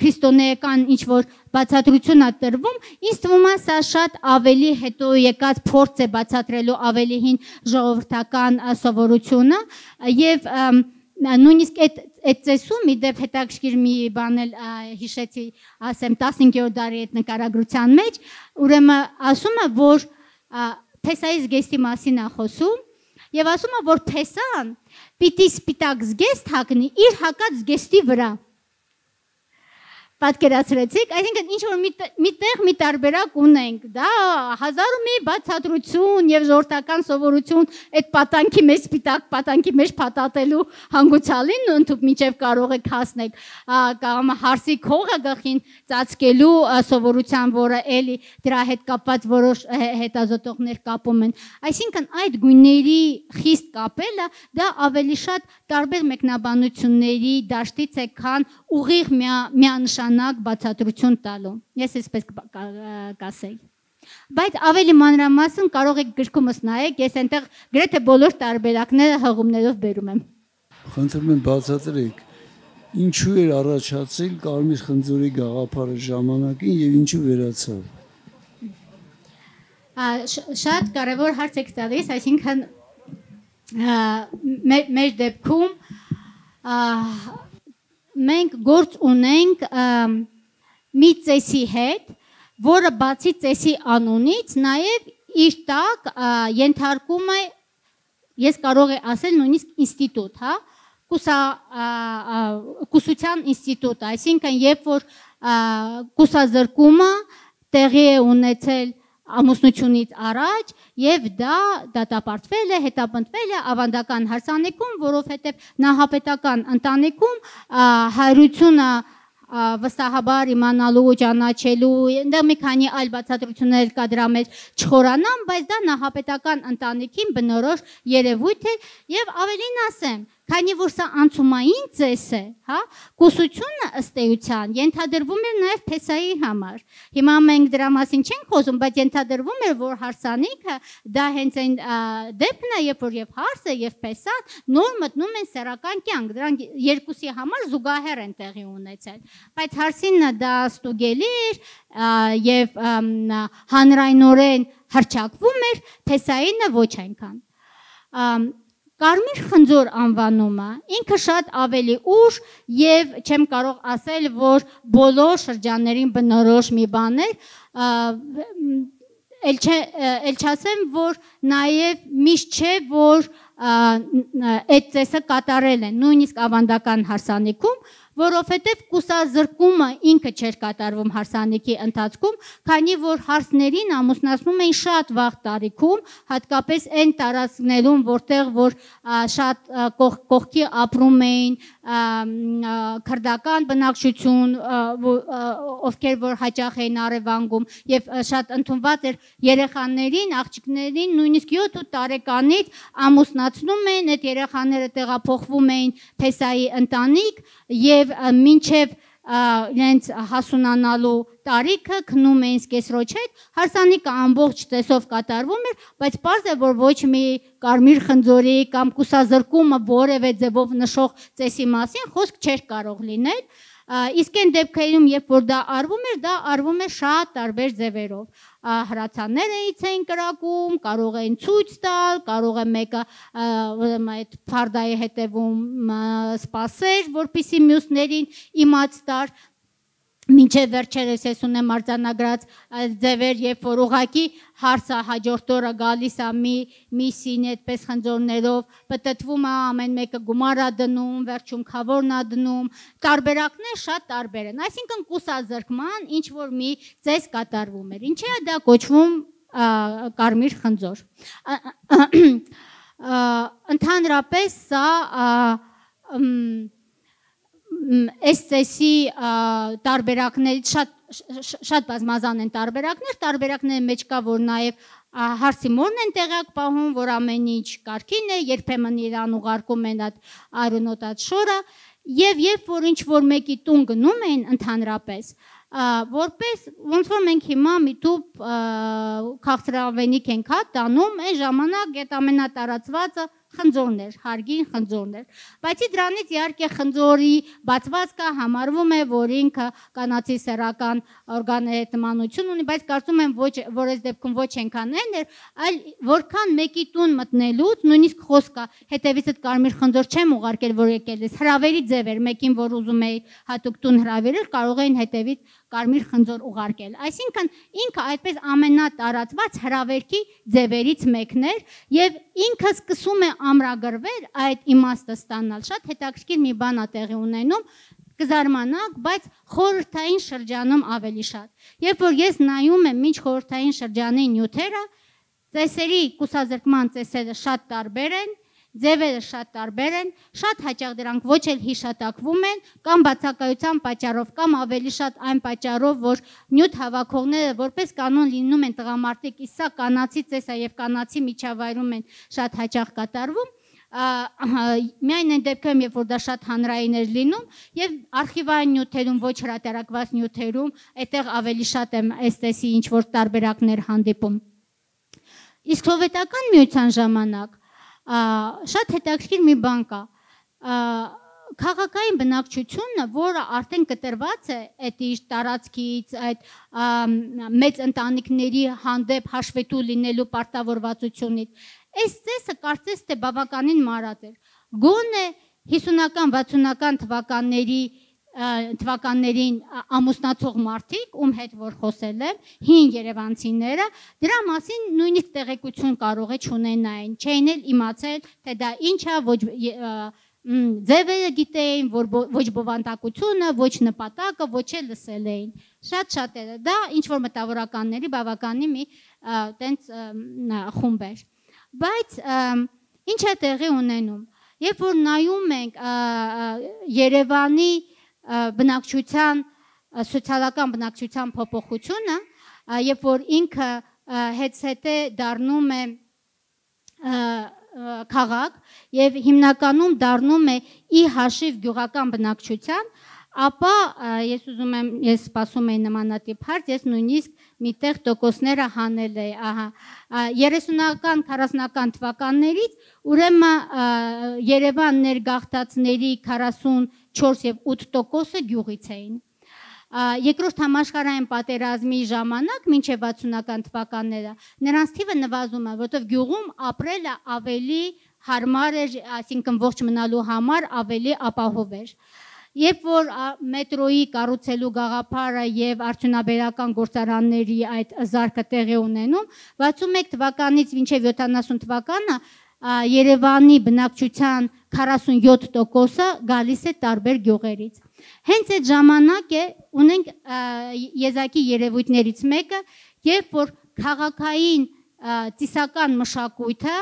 քրիստոնեական ինչ որ բացատրություն է տրվում, ինձ թվում է սա շատ ավելի հետո եկած փորձ է բացատրելու ավելի հին ժողովրդական սովորությունը եւ նույնիսկ այդ ծեսում մի դեպ հետաքրքիր մի բան էլ հիշեցի, ասեմ 15-րդ դարի այդ նկարագրության մեջ, ուրեմն ասում է, որ Փեսայի զգեստի մասին է խոսում եւ ասում է, որ Փեսան պիտի սպիտակ զգեստ հագնի իր հակած զգեստի վրա։ Պատկերացրեցիք, այսինքն ինչ որ միտեղ մի տարբերակ ունենք, դա հազար ու մի բացատրություն եւ ժողովրդական սովորություն այդ պատանքի մեջ սպիտակ պատանքի մեջ փաթաթելու հանգուցալին ընդհուպ միջև կարող եք հասնեք կամ հարսի քողը գլխին ծածկելու սովորության, որը էլի դրա հետ կապված որոշ հետազոտողներ կապում են։ Այսինքն այդ գույների խիստ կապելը դա ավելի շատ տարբեր մեկնաբանությունների դաշտից է, քան ուղիղ միանշանակ բացատրություն տալու։ Ես այսպես կասեի։ Բայց ավելի մանրամասն կարող եք գրքումս նայեք, ես այնտեղ գրեթե բոլոր տարբերակները հղումներով բերում եմ։ Խնդրում եմ բացատրեք, ինչու էր առաջացել կարմիր խնձորի գաղափարը ժամանակին եւ ինչու վերացավ։ Շատ կարևոր հարց եք տալիս, այսինքն մեր դեպքում մենք գործ ունենք մի ծեսի հետ, որը բացի ծեսի անունից նաև իր տակ ենթարկում է, ես կարող եմ ասել նույնիսկ ինստիտուտ, հա, կուսության ինստիտուտ, այսինքն երբ որ կուսազրկումը տեղի է ունեցել ամուսնությունից առաջ եւ դա դատապարտվել է, հետապնդվել է ավանդական հարսանեկում, որովհետեւ նահապետական ընտանիքում հայրությունը վստահաբար իմանալու, ճանաչելու, այնտեղ մի քանի այլ բացատրություններ կա դրա մեջ չխորանամ, բայց դա նահապետական ընտանիքին բնորոշ երևույթ է եւ ավելին ասեմ, քանի որ սա անցումային ծես է, հա, կուսությունը ըստ էության ենթադրվում էր նաև Փեսայի համար։ Հիմա մենք դրա մասին չենք խոսում, բայց ենթադրվում էր, որ հարսանիքը դա հենց այն դեպքն է, երբ որ եւ հարսը եւ Փեսան նոր մտնում են սեռական կյանք, դրանք երկուսի համար զուգահեռ են տեղի ունեցել։ Բայց հարսինը դա ստուգելի էր եւ հանրայնորեն հռչակվում էր, Փեսայինը ոչ այնքան։ Կարմիր խնձոր անվանումը ինքը շատ ավելի ուշ եւ չեմ կարող ասել, որ բոլոր շրջաններին բնորոշ մի բան է, էլ չասեմ, որ նաեւ միշտ չէ, որ այդ ծեսը կատարել են նույնիսկ ավանդական հարսանիքում, որովհետև կուսազրկումը ինքը չէր կատարվում հարսանիքի ընթացքում, քանի որ հարսներին ամուսնացնում էին շատ վաղ տարիքում, հատկապես այն տարածքներում, որտեղ որ շատ կողքի ապրում էին քրդական բնակչություն, ովքեր որ հաճախ էին առևանգում եւ շատ ընդունված էր երեխաներին, աղջիկներին նույնիսկ 7 տարեկանից ամուսնացնում են, այդ երեխաները տեղափոխվում էին Փեսայի ընտանիք եւ մինչև իրենց հասունանալու տարիքը քնում էին սկեսրոջ հետ, հարսանիքը ամբողջ տեսով կատարվում էր, բայց պարզ է, որ ոչ մի կարմիր խնձորի կամ կուսազրկումը որևէ ձևով նշող ծեսի մասին խոսք չէր կարող լինել, իսկ այն դեպքերում, երբ որ դա արվում էր շատ տարբեր ձևերով։ Հրացաններ էին կրակում, կարող էին ցույց տալ, կարող է մեկը այդ փարդայի հետևում սպասեր, որպեսզի մյուսներին իմաց տար։ Մինչև վերջերս ես ունեմ արձանագրած ձևեր, երբ որ ուղղակի հարցը հաջորդ օրը գալիս է մի սինի այդպես խնձորներով, պտտվում է, ամեն մեկը գումար է դնում, վերջում քավորն է դնում, տարբերակներ շատ տարբեր են, այսինքն կուսազրկման ինչ որ մի ծես կատարվում էր, ինչի է դա կոչվում կարմիր խնձոր։ Ընդհանրապես սա այս ծեսի տարբերակներից շատ բազմազան են տարբերակների մեջ կա, որ նաև հարսի մորն են տեղյակ պահում, որ ամեն ինչ կարգին է, երբեմն իրան ուղարկում են այդ արյունոտ շորը, եւ երբ որ ինչ որ մեկի տուն գնում էին ընդհանրապես, որպես ոնց որ մենք հիմա միտուփ քաղցրավենիք ենք տանում, այն ժամանակ այդ ամենատարածվածը խնձորներ, հարգին խնձորներ, բայց դրանից իհարկե խնձորի բացվածքը համարվում է, որ ինքը կանացի սեռական օրգանների հետ նմանություն ունի, բայց կարծում եմ որ այս դեպքում ոչ այնքան էր, այլ որքան մեկի տուն մտնելուց, նույնիսկ խոսքը հետևիցդ կարմիր խնձոր չեմ ուղարկել, որ եկել ես, հրավերի ձև էր, մեկին որ ուզում էի հատուկ տուն հրավիրել, կարող էին հետևից կարմիր խնձոր ուղարկել, այսինքն ինքը այդպես ամենատարածված հրավերքի ձևերից մեկն էր եւ ինքը սկսում է ամրագրվել այդ իմաստը ստանալ, շատ հետաքրքիր մի բան է տեղի ունենում, կզարմանաք, բայց խորհրդային շրջանում ավելի շատ, երբ որ ես նայում եմ մինչ խորհրդային շրջանի նյութերը, ծեսերի կուսազրկման ծեսերը շատ տարբեր են, ձևերը շատ տարբեր են, շատ հաճախ դրանք ոչ էլ հիշատակվում են, կամ բացակայության պատճառով, կամ ավելի շատ այն պատճառով, որ նյութ հավաքողները որպես կանոն լինում են տղամարդիկ, իսկ սա կանացի ծես է եւ կանացի միջավայրում են շատ հաճախ կատարվում, միայն այն դեպքում, երբ որ դա շատ հանրային էր լինում, եւ արխիվային նյութերում, ոչ հրատարակված նյութերում, այդտեղ ավելի շատ եմ այս տեսի ինչ որ տարբերակներ հանդիպում։ Իսկ սովետական միության ժամանակ շատ հետաքրքիր մի բան կա, քաղաքային բնակչությունը, որը արդեն կտրված է այդ իր տարածքից, այդ մեծ ընտանիքների հանդեպ հաշվետու լինելու պարտավորվածությունից, այս ծեսը կարծես թե բավականին մարդ էր, գոնե 50-ական, 60-ական թվականներին ամուսնացող մարդիկ, ում հետ որ խոսել եմ, հին երևանցիները, դրա մասին նույնիսկ տեղեկություն կարող է չունենային, չէին էլ իմացել, թե դա ինչ է, ձևերը գիտեին, ոչ բովանդակությունը, ոչ նպատակը, ոչ էլ լսել էին, շատ էր, դա ինչ-որ մտավորականների բավականի մի տենց խումբ էր, բայց ինչ է տեղի ունենում, երբ որ նայում ենք Երևանի բնակչության, սոցիալական բնակչության փոփոխությունը, երբ որ ինքը հետզհետե դառնում է քաղաք եւ հիմնականում դառնում է ի հաշիվ գյուղական բնակչության, ապա ես սպասում եմ նմանատիպ հարց, ես նույնիսկ միտեղ տոկոսները հանել էի, 30-ական, 40-ական թվականներից, ուրեմն Երևան ներգաղթածների 44 եւ 8% գյուղից էին։ Երկրորդ համաշխարհային պատերազմի ժամանակ, մինչև 60-ական թվականները, նրանց թիվը նվազում է, որովհետև գյուղում ապրելը ավելի հարմար էր, այսինքն ողջ մնալու համար ավելի ապահով էր։ Երբ որ մետրոյի կառուցելու գաղափարը եւ արդյունաբերական գործարանների այդ զարգը տեղի ունենում, 61 թվականից մինչև 70 թվականը Երևանի բնակչության 47%-ը գալիս է տարբեր գյուղերից։ Հենց այդ ժամանակ է ունենք եզակի երևույթներից մեկը, երբ որ քաղաքային ծիսական մշակույթը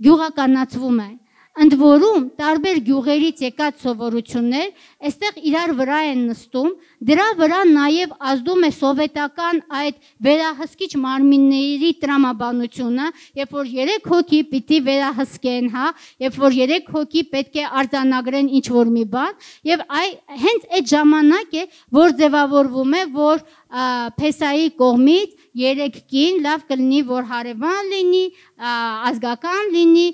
գյուղականացվում է, ընդ որում տարբեր գյուղերից եկած սովորություններ այստեղ իրար վրա են նստում, դրա վրա նաև ազդում է սովետական այդ վերահսկիչ մարմինների տրամաբանությունը, երբ որ 3 հոգի պիտի վերահսկեն, երբ որ 3 հոգի պետք է արձանագրեն ինչ-որ մի բան, եւ հենց այդ ժամանակ է, որ ձևավորվում է, որ Փեսայի կողմից 3 կին լավ կլինի, որ հարևան լինի, ազգական լինի,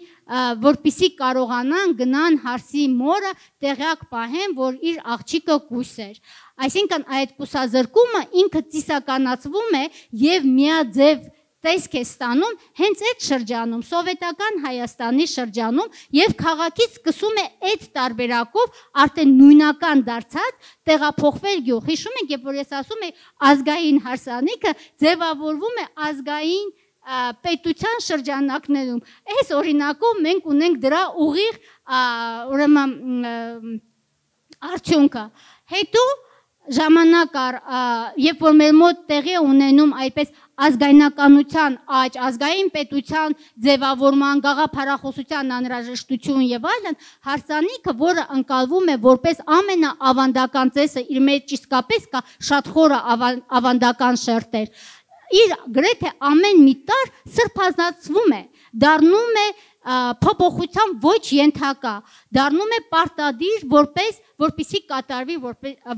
որպիսի կարողանան գնան հարսի մորը տեղյակ պահեն, որ իր աղջիկը կույս էր։ Այսինքն այդ կուսազրկումը ինքը ծիսականացվում է եւ միաձև տեսք է ստանում հենց այդ շրջանում, սովետական Հայաստանի շրջանում եւ քաղաքից սկսում է այդ տարբերակով արդեն նույնական դարձած տեղափոխվել գյուղ։ Հիշում եք, երբ որ ես ասում եմ ազգային հարսանիքը ձևավորվում է ազգային պետության շրջանակներում։ Այս օրինակով մենք ունենք դրա ուղիղ ուրեմն արդյունքը։ Հետո ժամանակ երբ որ մեր մոտ տեղի ունենում այդպես ազգայնականության աճ, ազգային պետության ձևավորման, գաղափարախոսության անհրաժեշտություն եւ այլն, հարսանիքը, որը ընկալվում է որպես ամենաավանդական ծեսը, իր մեջ իսկապես կա շատ խորը ավանդական շերտեր, իր գրեթե ամեն մի տար սրբազանցվում է, դառնում է փոփոխության ոչ ենթակա, դառնում է պարտադիր որպեսզի կատարվի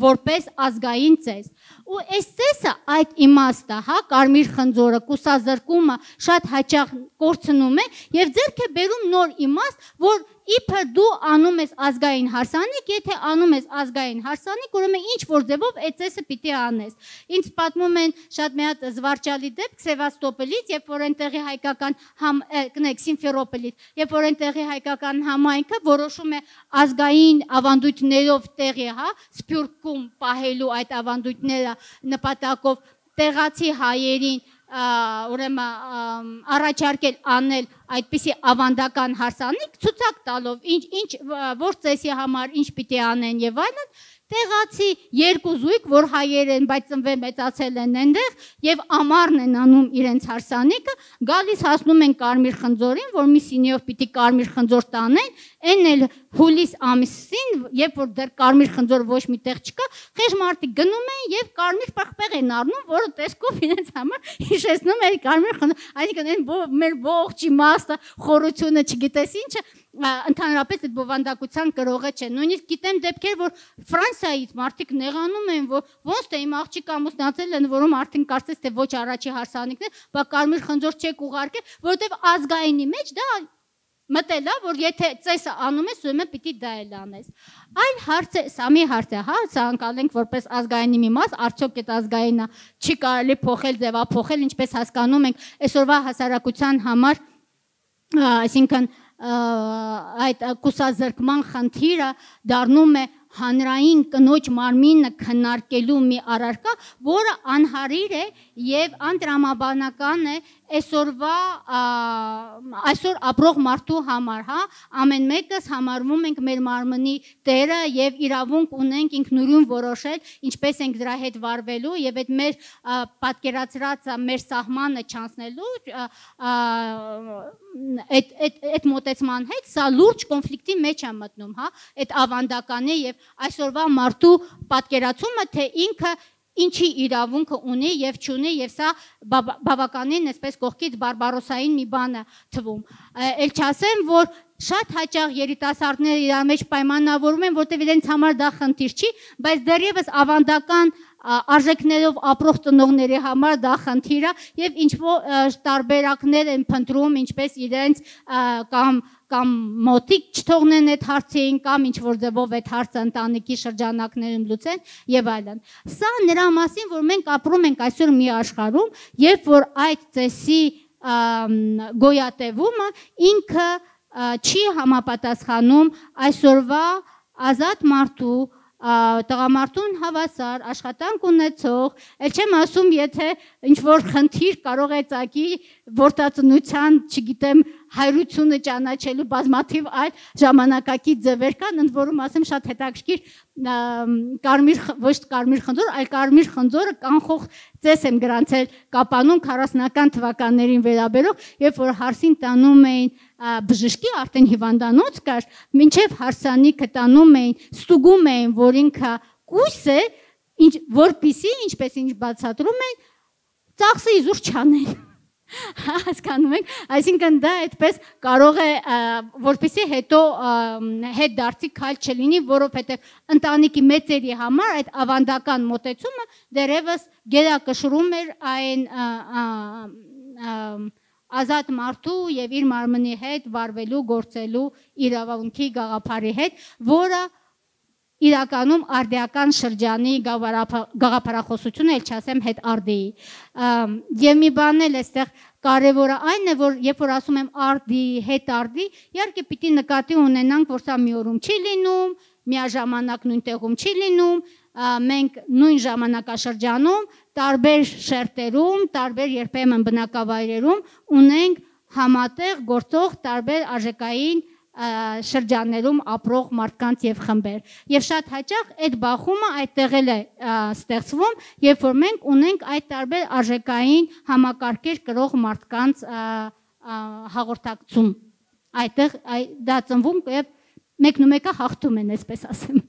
որպես ազգային ծես։ Ու այս ծեսը այդ իմաստը, հա, կարմիր խնձորը, կուսազրկումը շատ հաճախ կորցնում է եւ ձեռք է բերում նոր իմաստ, որ իբր դու անում ես ազգային հարսանիք, եթե անում ես ազգային հարսանիք, ուրեմն ինչ որ ձևով այդ ծեսը պիտի անես։ Ինձ պատմում են շատ մի հատ զվարճալի դեպք Սևաստոպոլից, երբ որ այնտեղի հայկական Սիմֆերոպոլից, երբ որ այնտեղի հայկական համայնքը որոշում է ազգային ավանդույթներով տեղի, հա, Սփյուռքում պահելու այդ ավանդույթները նպատակով տեղացի հայերին ուրեմն առաջարկել անել այդպիսի ավանդական հարսանիք, ցուցակ տալով որ ծեսի համար ինչ պիտի անեն եւ այլն, տեղացի երկու զույգ, որ հայեր են, բայց ծնվել մեծացել են այնտեղ եւ ամառն են անում իրենց հարսանիքը, գալիս հասնում են կարմիր խնձորին, որ մի սինիով պիտի կարմիր խնձոր տանեն, այն էլ հուլիս ամիսին, երբ որ դեռ կարմիր խնձոր ոչ մի տեղ չկա, խեղճ մարդիկ գնում են եւ կարմիր պղպեղ են առնում, որը տեսքով իրենց համար հիշեցնում է կարմիր խնձոր, այսինքն այն մեր ողջ իմաստը, խորությունը, չգիտես ինչը ընդհանրապես այդ բովանդակության կրողը չէ։ Նույնիսկ գիտեմ դեպքեր, որ Ֆրանսիայից մարդիկ նեղանում են, որ ոնց թե իմ աղջիկը ամուսնացել են, որում արդեն կարծես թե ոչ առաջի հարսանիքն է, բա կարմիր խնձոր չեք ուղարկել, որովհետև ազգայինի մեջ դա մտել է, որ եթե ծեսը անում ես, ուրեմն պիտի դա էլ անես։ Այլ հարց է, սա մի հարց է, հա, սա անցալենք որպես ազգայինի մի մաս, արդյոք այդ ազգայինը չի կարելի փոխել, ձևափոխել, ինչպես հասկանում ենք, այսօրվա հասարակության համար, այսինքն այդ կուսազրկման խնդիրը դառնում է հանրային կնոջ մարմինը քննարկելու մի առարկա, որը անհարիր է եւ անտրամաբանական է այսօր ապրող մարդու համար, հա, ամեն մեկս համարվում ենք մեր մարմնի տերը եւ իրավունք ունենք ինքնուրույն որոշել, ինչպես ենք դրա հետ վարվելու եւ այդ մեր պատկերացրած մեր սահմանը չանցնելու այդ մոտեցման հետ սա լուրջ կոնֆլիկտի մեջ է մտնում, հա, այդ ավանդականի եւ այսօրվա մարդու պատկերացումը, թե ինքը ինչի իրավունքը ունի եւ չունի եւ սա բավականին այսպես կողքից բարբարոսային մի բան է թվում։ Էլ չասեմ, որ շատ հաճախ երիտասարդները իրար մեջ պայմանավորում են, որտեղ իրենց համար դա խնդիր չի, բայց դեռևս ավանդական արժեքներով ապրող ծնողների համար դա խնդիր է եւ ինչ-որ տարբերակներ են փնտրում, ինչպես իրենց կամ մոտիկ չթողնեն այդ հարցին, կամ ինչ-որ ձևով այդ հարցը ընտանիքի շրջանակներում լուծեն եւ այլն։ Սա նրա մասին, որ մենք ապրում ենք այսօր մի աշխարհում, երբ որ այդ ծեսի գոյատևումը ինքը չի համապատասխանում այսօրվա ազատ մարդու տղամարդուն հավասար աշխատանք ունեցող, էլ չեմ ասում, եթե ինչ-որ խնդիր կարող է ծագի որդածնության, չգիտեմ, հայրությունը ճանաչելու բազմաթիվ այլ ժամանակակից ձևեր կան, ընդ որում ասեմ շատ հետաքրքիր ոչ կարմիր խնձոր, այլ կարմիր խնձորը կանխող ծես եմ գրանցել Կապանում 40-ական թվականներին վերաբերող, երբ որ հարսին տանում էին բժշկի, արդեն հիվանդանոց կար, մինչև հարսանիքը տանում էին, ստուգում էին, որ ինքը կույս է, որպիսի, ինչպես ինչ բացատրում են, ծախսը իզուր չանեն։ Հասկանում եք, այսինքն դա այդպես կարող է, որպեսզի հետո հետ դարձի քայլ չլինի, որովհետև ընտանիքի մեծերի համար այդ ավանդական մոտեցումը դեռևս գերակշռում էր այն ազատ մարդու եւ իր մարմնի հետ վարվելու, գործելու իրավունքի գաղափարի հետ, որը իրականում արդիական շրջանի գաղափարախոսությունը, ել չասեմ հետ արդիի։ Եվ մի բան էլ այստեղ կարևորը այն է, որ երբ որ ասում եմ արդի, հետ արդի, իհարկե պիտի նկատի ունենանք, որ սա մի օրում չի լինում, միաժամանակ նույն տեղում չի լինում, մենք նույն ժամանակաշրջանում, տարբեր շերտերում, տարբեր երբեմն բնակավայրերում ունենք համատեղ գործող տարբեր արժեքային շրջաններում ապրող մարդկանց եւ խմբեր։ Եվ շատ հաճախ այդ բախումը այդտեղ էլ է ստեղծվում, երբ որ մենք ունենք այդ տարբեր արժեքային համակարգեր կրող մարդկանց հաղորդակցում։ Այդտեղ դա ծնվում եւ մեկն ու մեկը հաղթում են, այսպես ասեմ։